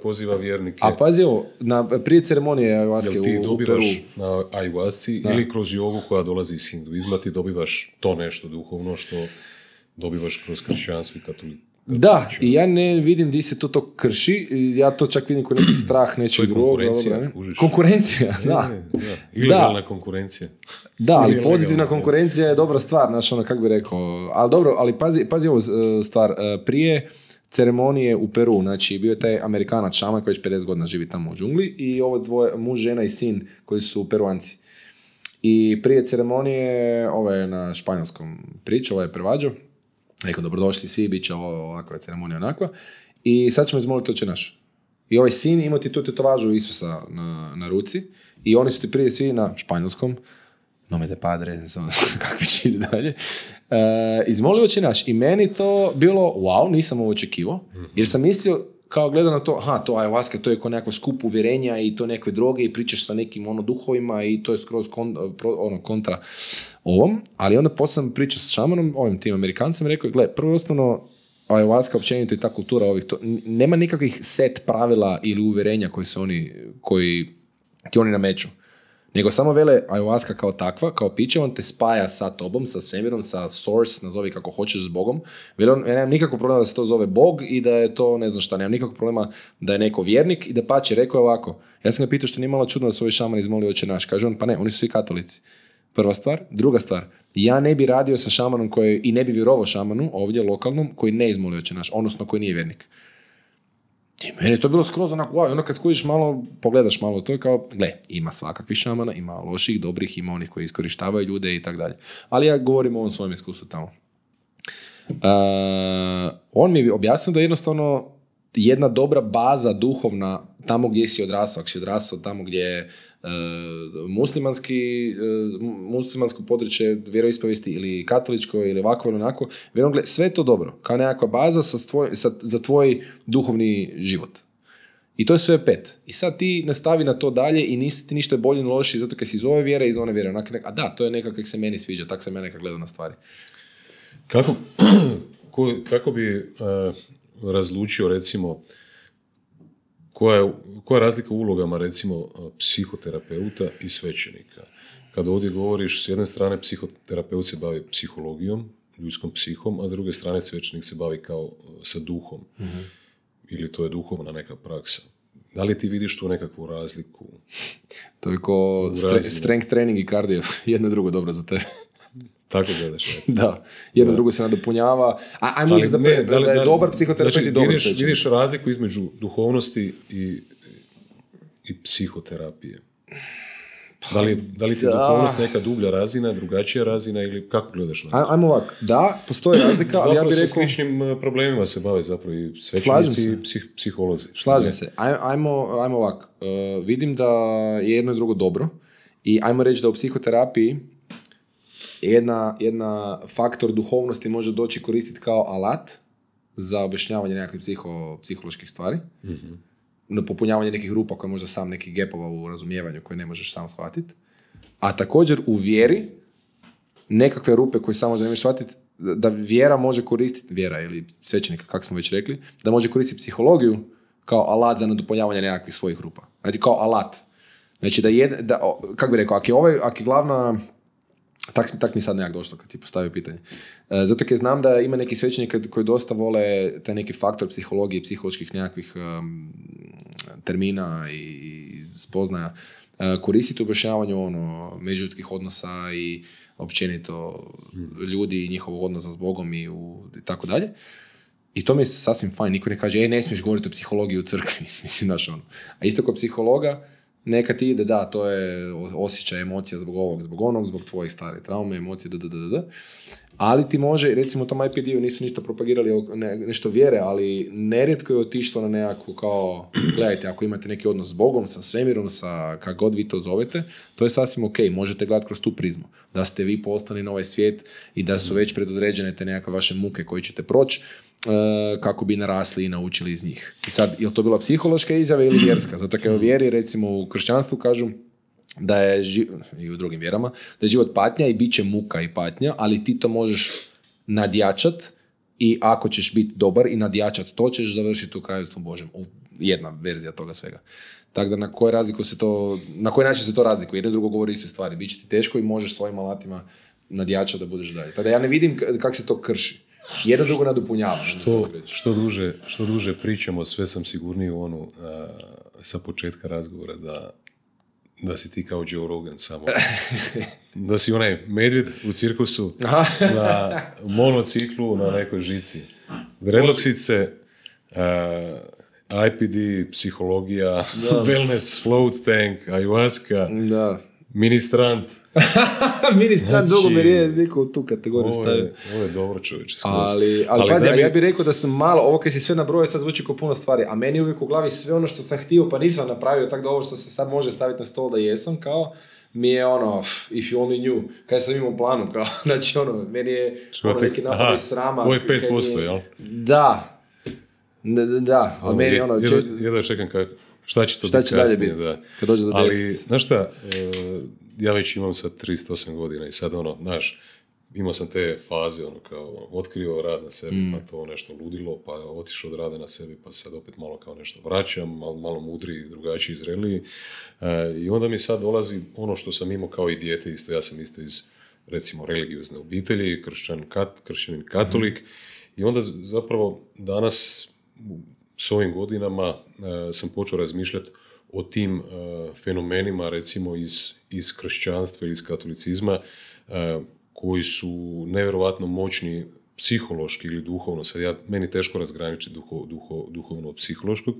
poziva vjernike. A pazi ovo, prije ceremonije ayahuaske u Peru. Ti dobivaš na ayahuasci ili kroz jogu koja dolazi iz hinduizma, ti dobivaš to nešto duhovno što dobivaš kroz kršćanstvo i katoličanstvo. Da, i ja ne vidim di se to krši, ja to čak vidim kao neki strah nečeg drugog. Konkurencija, da. Ilegalna konkurencija. Da, ali pozitivna konkurencija je dobra stvar, znači kako bi rekao. Ali dobro, ali pazi ovu stvar. Prije ceremonije u Peru, znači bio je taj Amerikanac šaman koji već 50 godina živi tamo u džungli i ovo dvoje, muž, žena i sin koji su Peruanci. I prije ceremonije, ovo je na španjolskom priču, ovo je prevađao. Rekao, dobrodošli svi, bit će ovakva ceremonija onakva. I sad ćemo izmoliti Oče naš. I ovaj sin imao ti tu tetovažu Isusa na ruci i oni su ti prije svi na španjolskom, nome de padre, kakvi će ide dalje, izmolio Oče naš. I meni to bilo, wow, nisam ovo očekivao, jer sam mislio, kao gledam na to, to ayahuasca, to je kao nekako skup uvjerenja i to nekve droge i pričaš sa nekim duhovima i to je skroz kontra ovom, ali onda poslije sam pričao s šamanom, ovim tim Amerikancem, rekao je, gle, prvo osnovno ayahuasca općenito i ta kultura ovih, nema nikakvih set pravila ili uvjerenja koji ti oni nameću. Nego samo vele ayahuasca kao takva, kao piće, on te spaja sa tobom, sa svemirom, sa source, nazovi kako hoćeš s Bogom. Vele on, ja nemam nikakvog problema da se to zove Bog i da je to ne znam šta, nemam nikakvog problema da je neko vjernik i da pače, rekao je ovako. Ja sam ga pitao što nije malo čudno da su ovi šamani izmolili Oče naš. Kaže on, pa ne, oni su svi katolici. Prva stvar. Druga stvar, ja ne bi radio sa šamanom i ne bi vjerovao šamanu ovdje lokalnom koji ne izmoli Oče naš, odnosno koji nije vjernik. I meni je to bilo skroz onako, wow, ono kad skužiš malo, pogledaš malo, to je kao, gle, ima svakakvih šamana, ima loših, dobrih, ima onih koji iskorištavaju ljude i tako dalje. Ali ja govorim o ovom svojem iskustvu tamo. On mi je objasnio da je jednostavno jedna dobra baza duhovna tamo gdje si odrasao, ako si odrasao tamo gdje je muslimansko područje vjeroispovijesti ili katoličko ili ovako ili onako, sve je to dobro, kao nekakva baza za tvoj duhovni život. I to je sve 5. I sad ti nastavi na to dalje i nisi ti ništa bolje ni loši zato kad si iz ove vjere i iz one vjere. A da, to je nekako kako se meni sviđa, tako sam ja nekako gledao na stvari. Kako bi razlučio recimo koja je razlika u ulogama recimo psihoterapeuta i svećenika? Kada ovdje govoriš, s jedne strane psihoterapeut se bavi psihologijom, ljudskom psihom, a s druge strane svećenik se bavi kao sa duhom. Mm-hmm. Ili to je duhovna neka praksa. Da li ti vidiš tu nekakvu razliku? To je ko strength training i cardio. Jedno i drugo dobro za tebe. Tako gledaš. Da, jedno drugo se nadopunjava. Ajmo misliti da je dobar psihoterapeut i dobar svećenik. Vidiš razliku između duhovnosti i psihoterapije? Da li ti je duhovnost neka dublja razina, drugačija razina ili kako gledaš na to? Ajmo ovako, da, postoji razlika, ali ja bih rekao... Zapravo sa sličnim problemima se bave zapravo i svećenici i psiholozi. Slažem se. Ajmo ovako. Vidim da je jedno i drugo dobro i ajmo reći da u psihoterapiji jedna faktor duhovnosti može doći koristiti kao alat za objašnjavanje nekakvih psiholoških stvari. Mm-hmm. Na popunjavanje nekih rupa koje možda sam nekih gapova u razumijevanju koje ne možeš sam shvatiti. A također u vjeri nekakve rupe koje samo ne možeš shvatiti, da vjera može koristiti, vjera ili svećenik, kako smo već rekli, da može koristiti psihologiju kao alat za nadopunjavanje nekakvih svojih rupa. Znači kao alat. Znači kako bi rekao, ako je glavna... Tak mi sad nekak došlo kad si postavio pitanje. Zato jer znam da ima neki svećenika koji dosta vole taj neki faktor psihologije, psiholoških nekakvih termina i spoznaja koristiti u objašnjavanju međuljudskih odnosa i općenito ljudi i njihovog odnosa s Bogom i tako dalje. I to mi je sasvim fajn. Niko ne kaže, ne smiješ govoriti o psihologiji u crkvi. Mislim, znaš ono. A isto kao psihologa, neka ti ide, da, to je osjećaj, emocija zbog ovog, zbog onog, zbog tvojih starih traume, emocije, ali ti može, recimo u tom IPD-u nisu ništa propagirali nešto vjere, ali nerijetko je otišlo na nekako kao, gledajte, ako imate neki odnos s Bogom, sa svemirom, sa kako god vi to zovete, to je sasvim ok, možete gledati kroz tu prizmu, da ste vi postali na ovaj svijet i da su već predodređene te nekakve vaše muke koje ćete proći, kako bi narasli i naučili iz njih. I sad, je li to bila psihološka izjava ili vjerska? Zato kao vjeri, recimo u kršćanstvu kažu da je, i u drugim vjerama, da je život patnja i bit će muka i patnja, ali ti to možeš nadjačat i ako ćeš biti dobar i nadjačat to, ćeš završiti u kraljevstvu Božjem. Jedna verzija toga svega. Tako da na koji način se to razlikuje? Jedno drugo govori isto stvari. Biće ti teško i možeš svojim alatima nadjačat da budeš dalje. Tako da ja ne vidim kako se to krši. Jedno drugo nadopunjava. Što duže pričamo, sve sam sigurniji u onu sa početka razgovora da si ti kao Joe Rogan samo. Da si onaj medvjed u cirkusu na monociklu na nekoj žici. Redloksice, IPD, psihologija, wellness, float tank, ayahuasca, ministrant. Ministrant dugo mi je niko u tu kategoriju stavio. Ovo je dobro, čovječe. Ali pazi, ja bih rekao da sam malo, ovo kad si sve nabrojao sad zvuči kao puno stvari, a meni uvijek u glavi sve ono što sam htio pa nisam napravio, tako da ovo što se sad može staviti na stol da jesam, kao mi je if you only knew, kaj sam imao u planu, kao, znači meni je neki napad iz srama. Ovo je 5%, jel? Da, ali meni jedva čekam šta će to biti kasnije, da. Kad dođe do 10. Ali, znaš šta, ja već imam sad 38 godina i sad znaš, imao sam te faze, kao otkrio rad na sebi, pa to nešto ludilo, pa otišao od rada na sebi, pa sad opet malo kao nešto vraćam, malo mudriji, drugačiji, zreliji. I onda mi sad dolazi ono što sam imao kao i dijete, isto, ja sam isto iz, recimo, religiozne obitelji, kršćanin katolik, i onda zapravo danas, s ovim godinama, sam počeo razmišljati o tim fenomenima, recimo, iz kršćanstva ili iz katolicizma, koji su nevjerojatno moćni psihološki ili duhovno. Sad meni teško razgraničiti duhovno od psihološkog.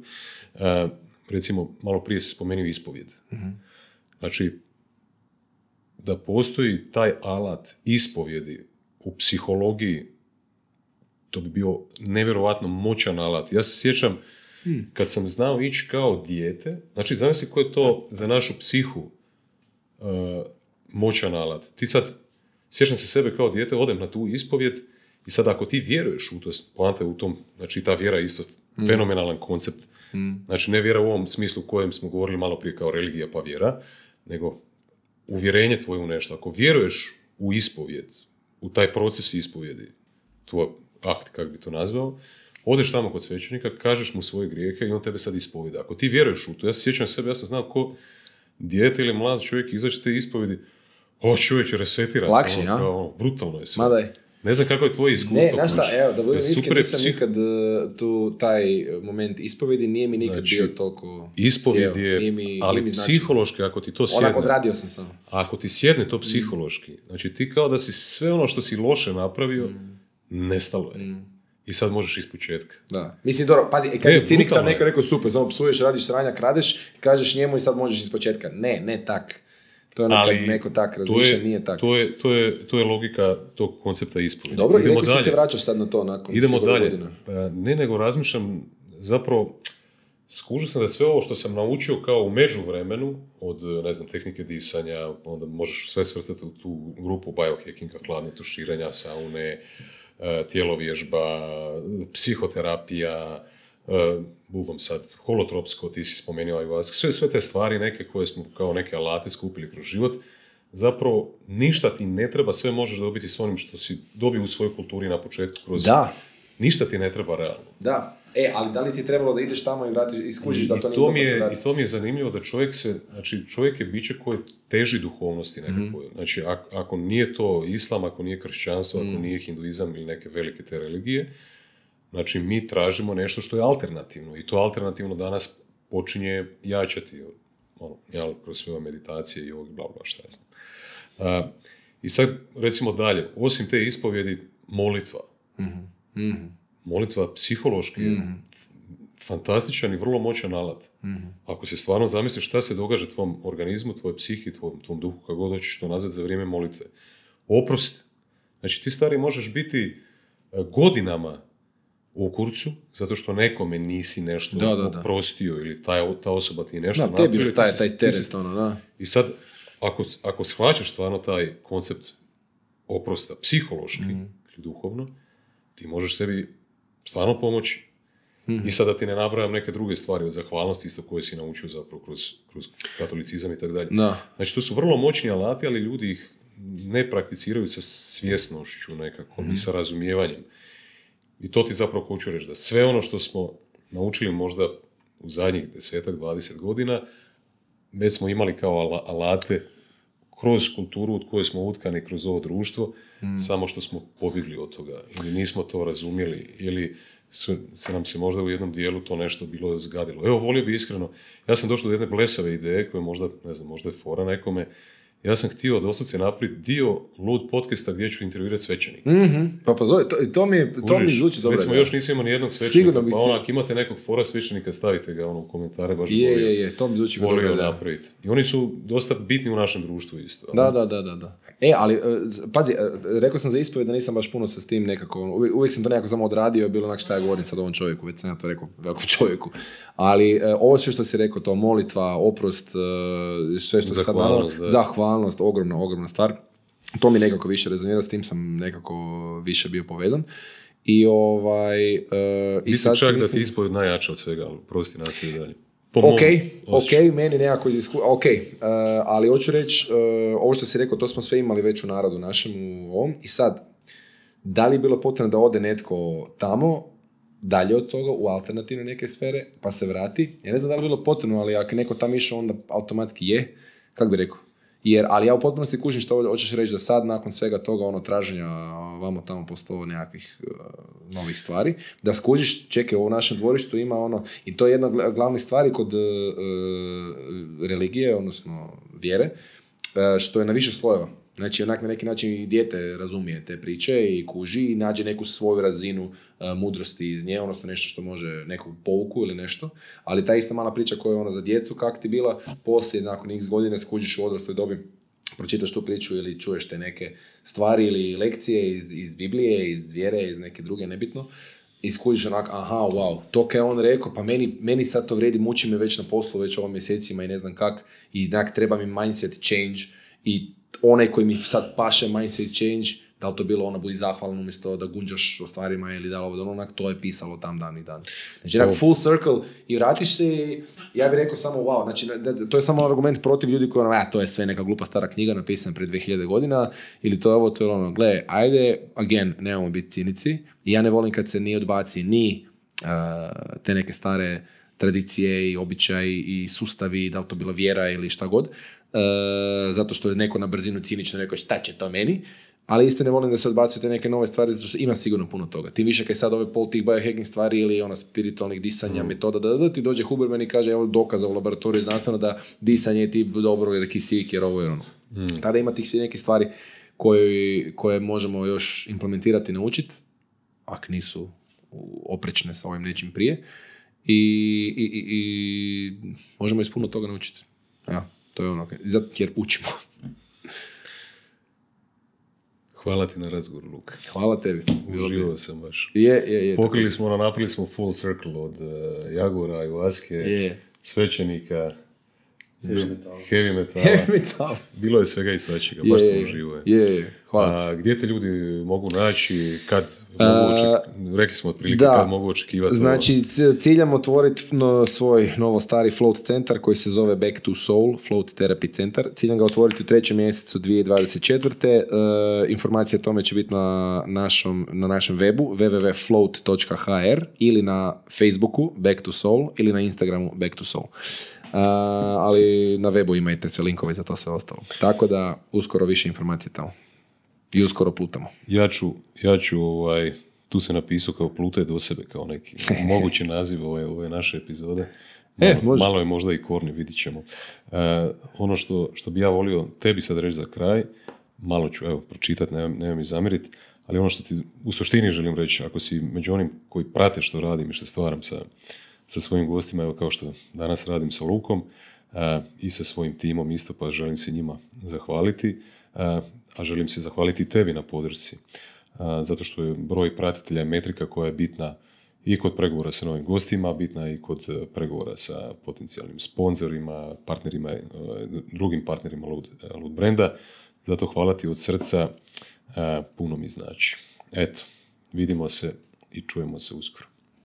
Recimo, malo prije se spomenuo ispovjed. Znači, da postoji taj alat ispovjedi u psihologiji, to bi bio nevjerojatno moćan alat. Ja se sjećam, kad sam znao ići kao dijete, znači, zamisli ko je to za našu psihu moćan alat. Ti sad, sjećam se sebe kao dijete, odem na tu ispovjed i sad ako ti vjeruješ u to, poanta u tom, znači ta vjera je isto fenomenalan koncept. Znači, ne vjera u ovom smislu kojem smo govorili malo prije kao religija pa vjera, nego uvjerenje tvoje u nešto. Ako vjeruješ u ispovjed, u taj proces ispovjedi, tvoj akt, kako bi to nazvao, odeš tamo kod svećenika, kažeš mu svoje grijehe i on tebe sad ispovjeda. Ako ti vjeruješ u to, ja se sjećam sebe, ja sam znao ko dijete ili mlad čovjek izaći te ispovjedi, čovječ, resetiran lakše, sam, kao, brutalno je sve. Madaj. Ne znam kako je tvoje iskustvo. Ne, znaš šta, evo, da budem iskren, nisam nikad taj moment ispovjedi nije mi nikad bio toliko ispovjed je, ali psihološki, ako ti to sjedne... Onak odradio sam samo. Ako ti sjedne to psihološki, znači ti kao da si sve ono što si loše napravio, nestalo je. I sad možeš ispočetka. Da. Mislim, dobro, pazi, kad je cinik sam rekao super, znamo, psuješ, radiš sranja, kradeš, kažeš njemu i sad možeš ispočetka. Ne tak. To je neko tak razmišlja, nije tak. To je logika tog koncepta ispovjedi. Dobro, i rekao si se vraćaš sad na to nakon idemo dalje. Godina. Ne, nego razmišljam, zapravo, skužio sam da sve ovo što sam naučio kao u međuvremenu, od, ne znam, tehnike disanja, onda možeš sve svrstati u tu grupu biohackinga, hladne tuširanja, saune, tjelovježba, psihoterapija, bubom sad, holotropsko, ti si spomenuo ayahuasca, sve te stvari neke koje smo kao neke alate skupili kroz život, zapravo ništa ti ne treba, sve možeš dobiti s onim što si dobio u svojoj kulturi na početku kroz... Da. Ništa ti ne treba realno. Da. Ali da li ti je trebalo da ideš tamo i vratiš, iskužiš da to nije to se vrati? I to mi je zanimljivo da čovjek je biće koje teži duhovnosti nekako. Znači, ako nije to islam, ako nije kršćanstvo, ako nije hinduizam ili neke velike te religije, znači mi tražimo nešto što je alternativno. I to alternativno danas počinje jačati. Kroz sve meditacije i ovog bla bla šta ja znam. I sad, recimo dalje, osim te ispovjedi, molitva. Molitva psihološki je fantastičan i vrlo moćan alat. Ako se stvarno zamisliš šta se događa tvom organizmu, tvojoj psihi, tvom duhu, kako god hoćeš to nazvati za vrijeme molitve. Oprost. Znači, ti stari možeš biti godinama u kurcu, zato što nekome nisi nešto oprostio ili ta osoba ti nešto napravio. Da, tebi ostaje taj teret. I sad, ako shvaćaš stvarno taj koncept oprosta psihološki ili duhovno, ti možeš sebi stvarno pomoći. I sad da ti ne nabrajam neke druge stvari od zahvalnosti, isto koje si naučio zapravo kroz katolicizam i tako dalje. Znači, to su vrlo moćni alati, ali ljudi ih ne prakticiraju sa svjesnošću nekako i sa razumijevanjem. I to ti zapravo hoću reći, da sve ono što smo naučili možda u zadnjih 10-20 godina, već smo imali kao alate kroz kulturu od koje smo utkani kroz ovo društvo, samo što smo pobjegli od toga. Ili nismo to razumjeli, ili se nam se možda u jednom dijelu to nešto bilo zgadilo. Evo, volio bi iskreno, ja sam došao do jedne blesave ideje, koja možda, ne znam, možda je fora nekome. Ja sam htio doslovce napraviti dio lud podcasta gdje ću intervjuirati svećenika. Pa zove, to mi zvuči dobro. Recimo, još nisam imao nijednog svećenika, pa onak, imate nekog fora svećenika, stavite ga u komentare, baš to mi zvuči volio napraviti. I oni su dosta bitni u našem društvu isto. Da. Ali, pazi, rekao sam za ispovjed da nisam baš puno sa s tim nekako, uvijek sam to nekako samo odradio, bilo onak šta ja govorim sad ovom čovjeku, već sam ja to rekao velikom čovjeku. Ali ovo sve što si rekao, to molitva, oprost, sve što si sad dano, zahvalnost, ogromna stvar. To mi nekako više rezonira, s tim sam nekako više bio povezan. I i sad čak da ti ispovjed najjača od svega, ali prosti nastavi dalje. Ok, meni nekako ali hoću reći, ovo što si rekao, to smo sve imali već u narodu našem u ovom, i sad, da li je bilo potrebno da ode netko tamo, dalje od toga, u alternativne neke sfere, pa se vrati? Ja ne znam da li je bilo potrebno, ali ako neko tamo išao, onda automatski je, kako bi rekao? Ali ja u potpunosti kužim što hoćeš reći, da sad, nakon svega toga, traženja vamo tamo postovo nekakvih novih stvari, da skužiš, čekaj, u našem dvorištu ima i to je jedna od glavnih stvari kod religije, odnosno vjere, što je na više slojeva. Znači, onak na neki način i dijete razumije te priče i kuži i nađe neku svoju razinu mudrosti iz nje, odnosno nešto što može, neku pouku ili nešto, ali ta ista mala priča koja je za djecu, kak ti bila, poslije, nakon x godine, skužiš u odrasloj dobi, pročitaš tu priču ili čuješ te neke stvari ili lekcije iz Biblije, iz vjere, iz neke druge, nebitno, i skužiš onak, aha, wow, to kaj on rekao, pa meni sad to vredi, muči me već na poslu, već ovo mjesecima i ne znam kak, i onak treba mi mindset change, i onaj koji mi sad paše mindset change, da li to bilo budi zahvalan umjesto da gunđaš o stvarima ili da li ovo, onak, to je pisalo tam dan i dan. Znači, onak, full circle, i vratiš se i ja bih rekao samo wow, znači, to je samo argument protiv ljudi koji to je sve neka glupa stara knjiga napisana pred 2000 godina, ili to je ovo, to je gle, ajde, again, nemamo biti cinici, i ja ne volim kad se ni odbaci ni te neke stare tradicije i običaji i sustavi, da li to bila vjera ili šta god, zato što je neko na brzinu cinično rekao šta će to meni, ali isto ne volim da se odbacuju te neke nove stvari, zato što ima sigurno puno toga. Tim više kad sad ove pol tih biohacking stvari ili spiritualnih disanja, metoda, da ti dođe Huberman i kaže evo dokaza u laboratoriju znanstveno da disanje je ti dobro jer kisik, jer ovo je ono. Tada ima tih svi neke stvari koje možemo još implementirati i naučiti, ako nisu oprečne sa ovim nečim prije, i možemo iz puno toga naučiti. Ja. To je zato jer učimo. Hvala ti na razgovor, Luka. Hvala tebi. Uživao sam baš. Je. Napravili smo full circle od Jagora, Ayahuaske, svećenika, heavy metala. Bilo je svega i svačega, baš sam uživao. Hvala. Gdje te ljudi mogu naći, kad mogu rekli smo otprilike kad mogu očekivati? Znači, ciljam otvoriti svoj novo-stari float centar koji se zove Back to Soul, Float Therapy Centar. Ciljam ga otvoriti u 3. mjesecu 2024. Informacije o tome će biti na našem webu www.float.hr ili na Facebooku Back to Soul ili na Instagramu Back to Soul. Ali na webu imate sve linkove za to sve ostalo. Tako da uskoro više informacije tamo. I uskoro plutamo. Ja ću tu se napisao kao plutaj do sebe, kao neki mogući naziv ove naše epizode. Malo je možda i korni, vidit ćemo. Ono što bi ja volio tebi sad reći za kraj, malo ću pročitati, nema mi zamjeriti, ali ono što ti u suštini želim reći, ako si među onim koji prate što radim i što stvaram sa svojim gostima, evo kao što danas radim sa Lukom, i sa svojim timom isto, pa želim se njima zahvaliti, a želim se zahvaliti tebi na podršci, zato što je broj pratitelja je metrika koja je bitna i kod pregovora sa novim gostima, bitna i kod pregovora sa potencijalnim sponzorima, partnerima, drugim partnerima Lud brenda. Zato hvala ti od srca, puno mi znači. Eto, vidimo se i čujemo se uskoro.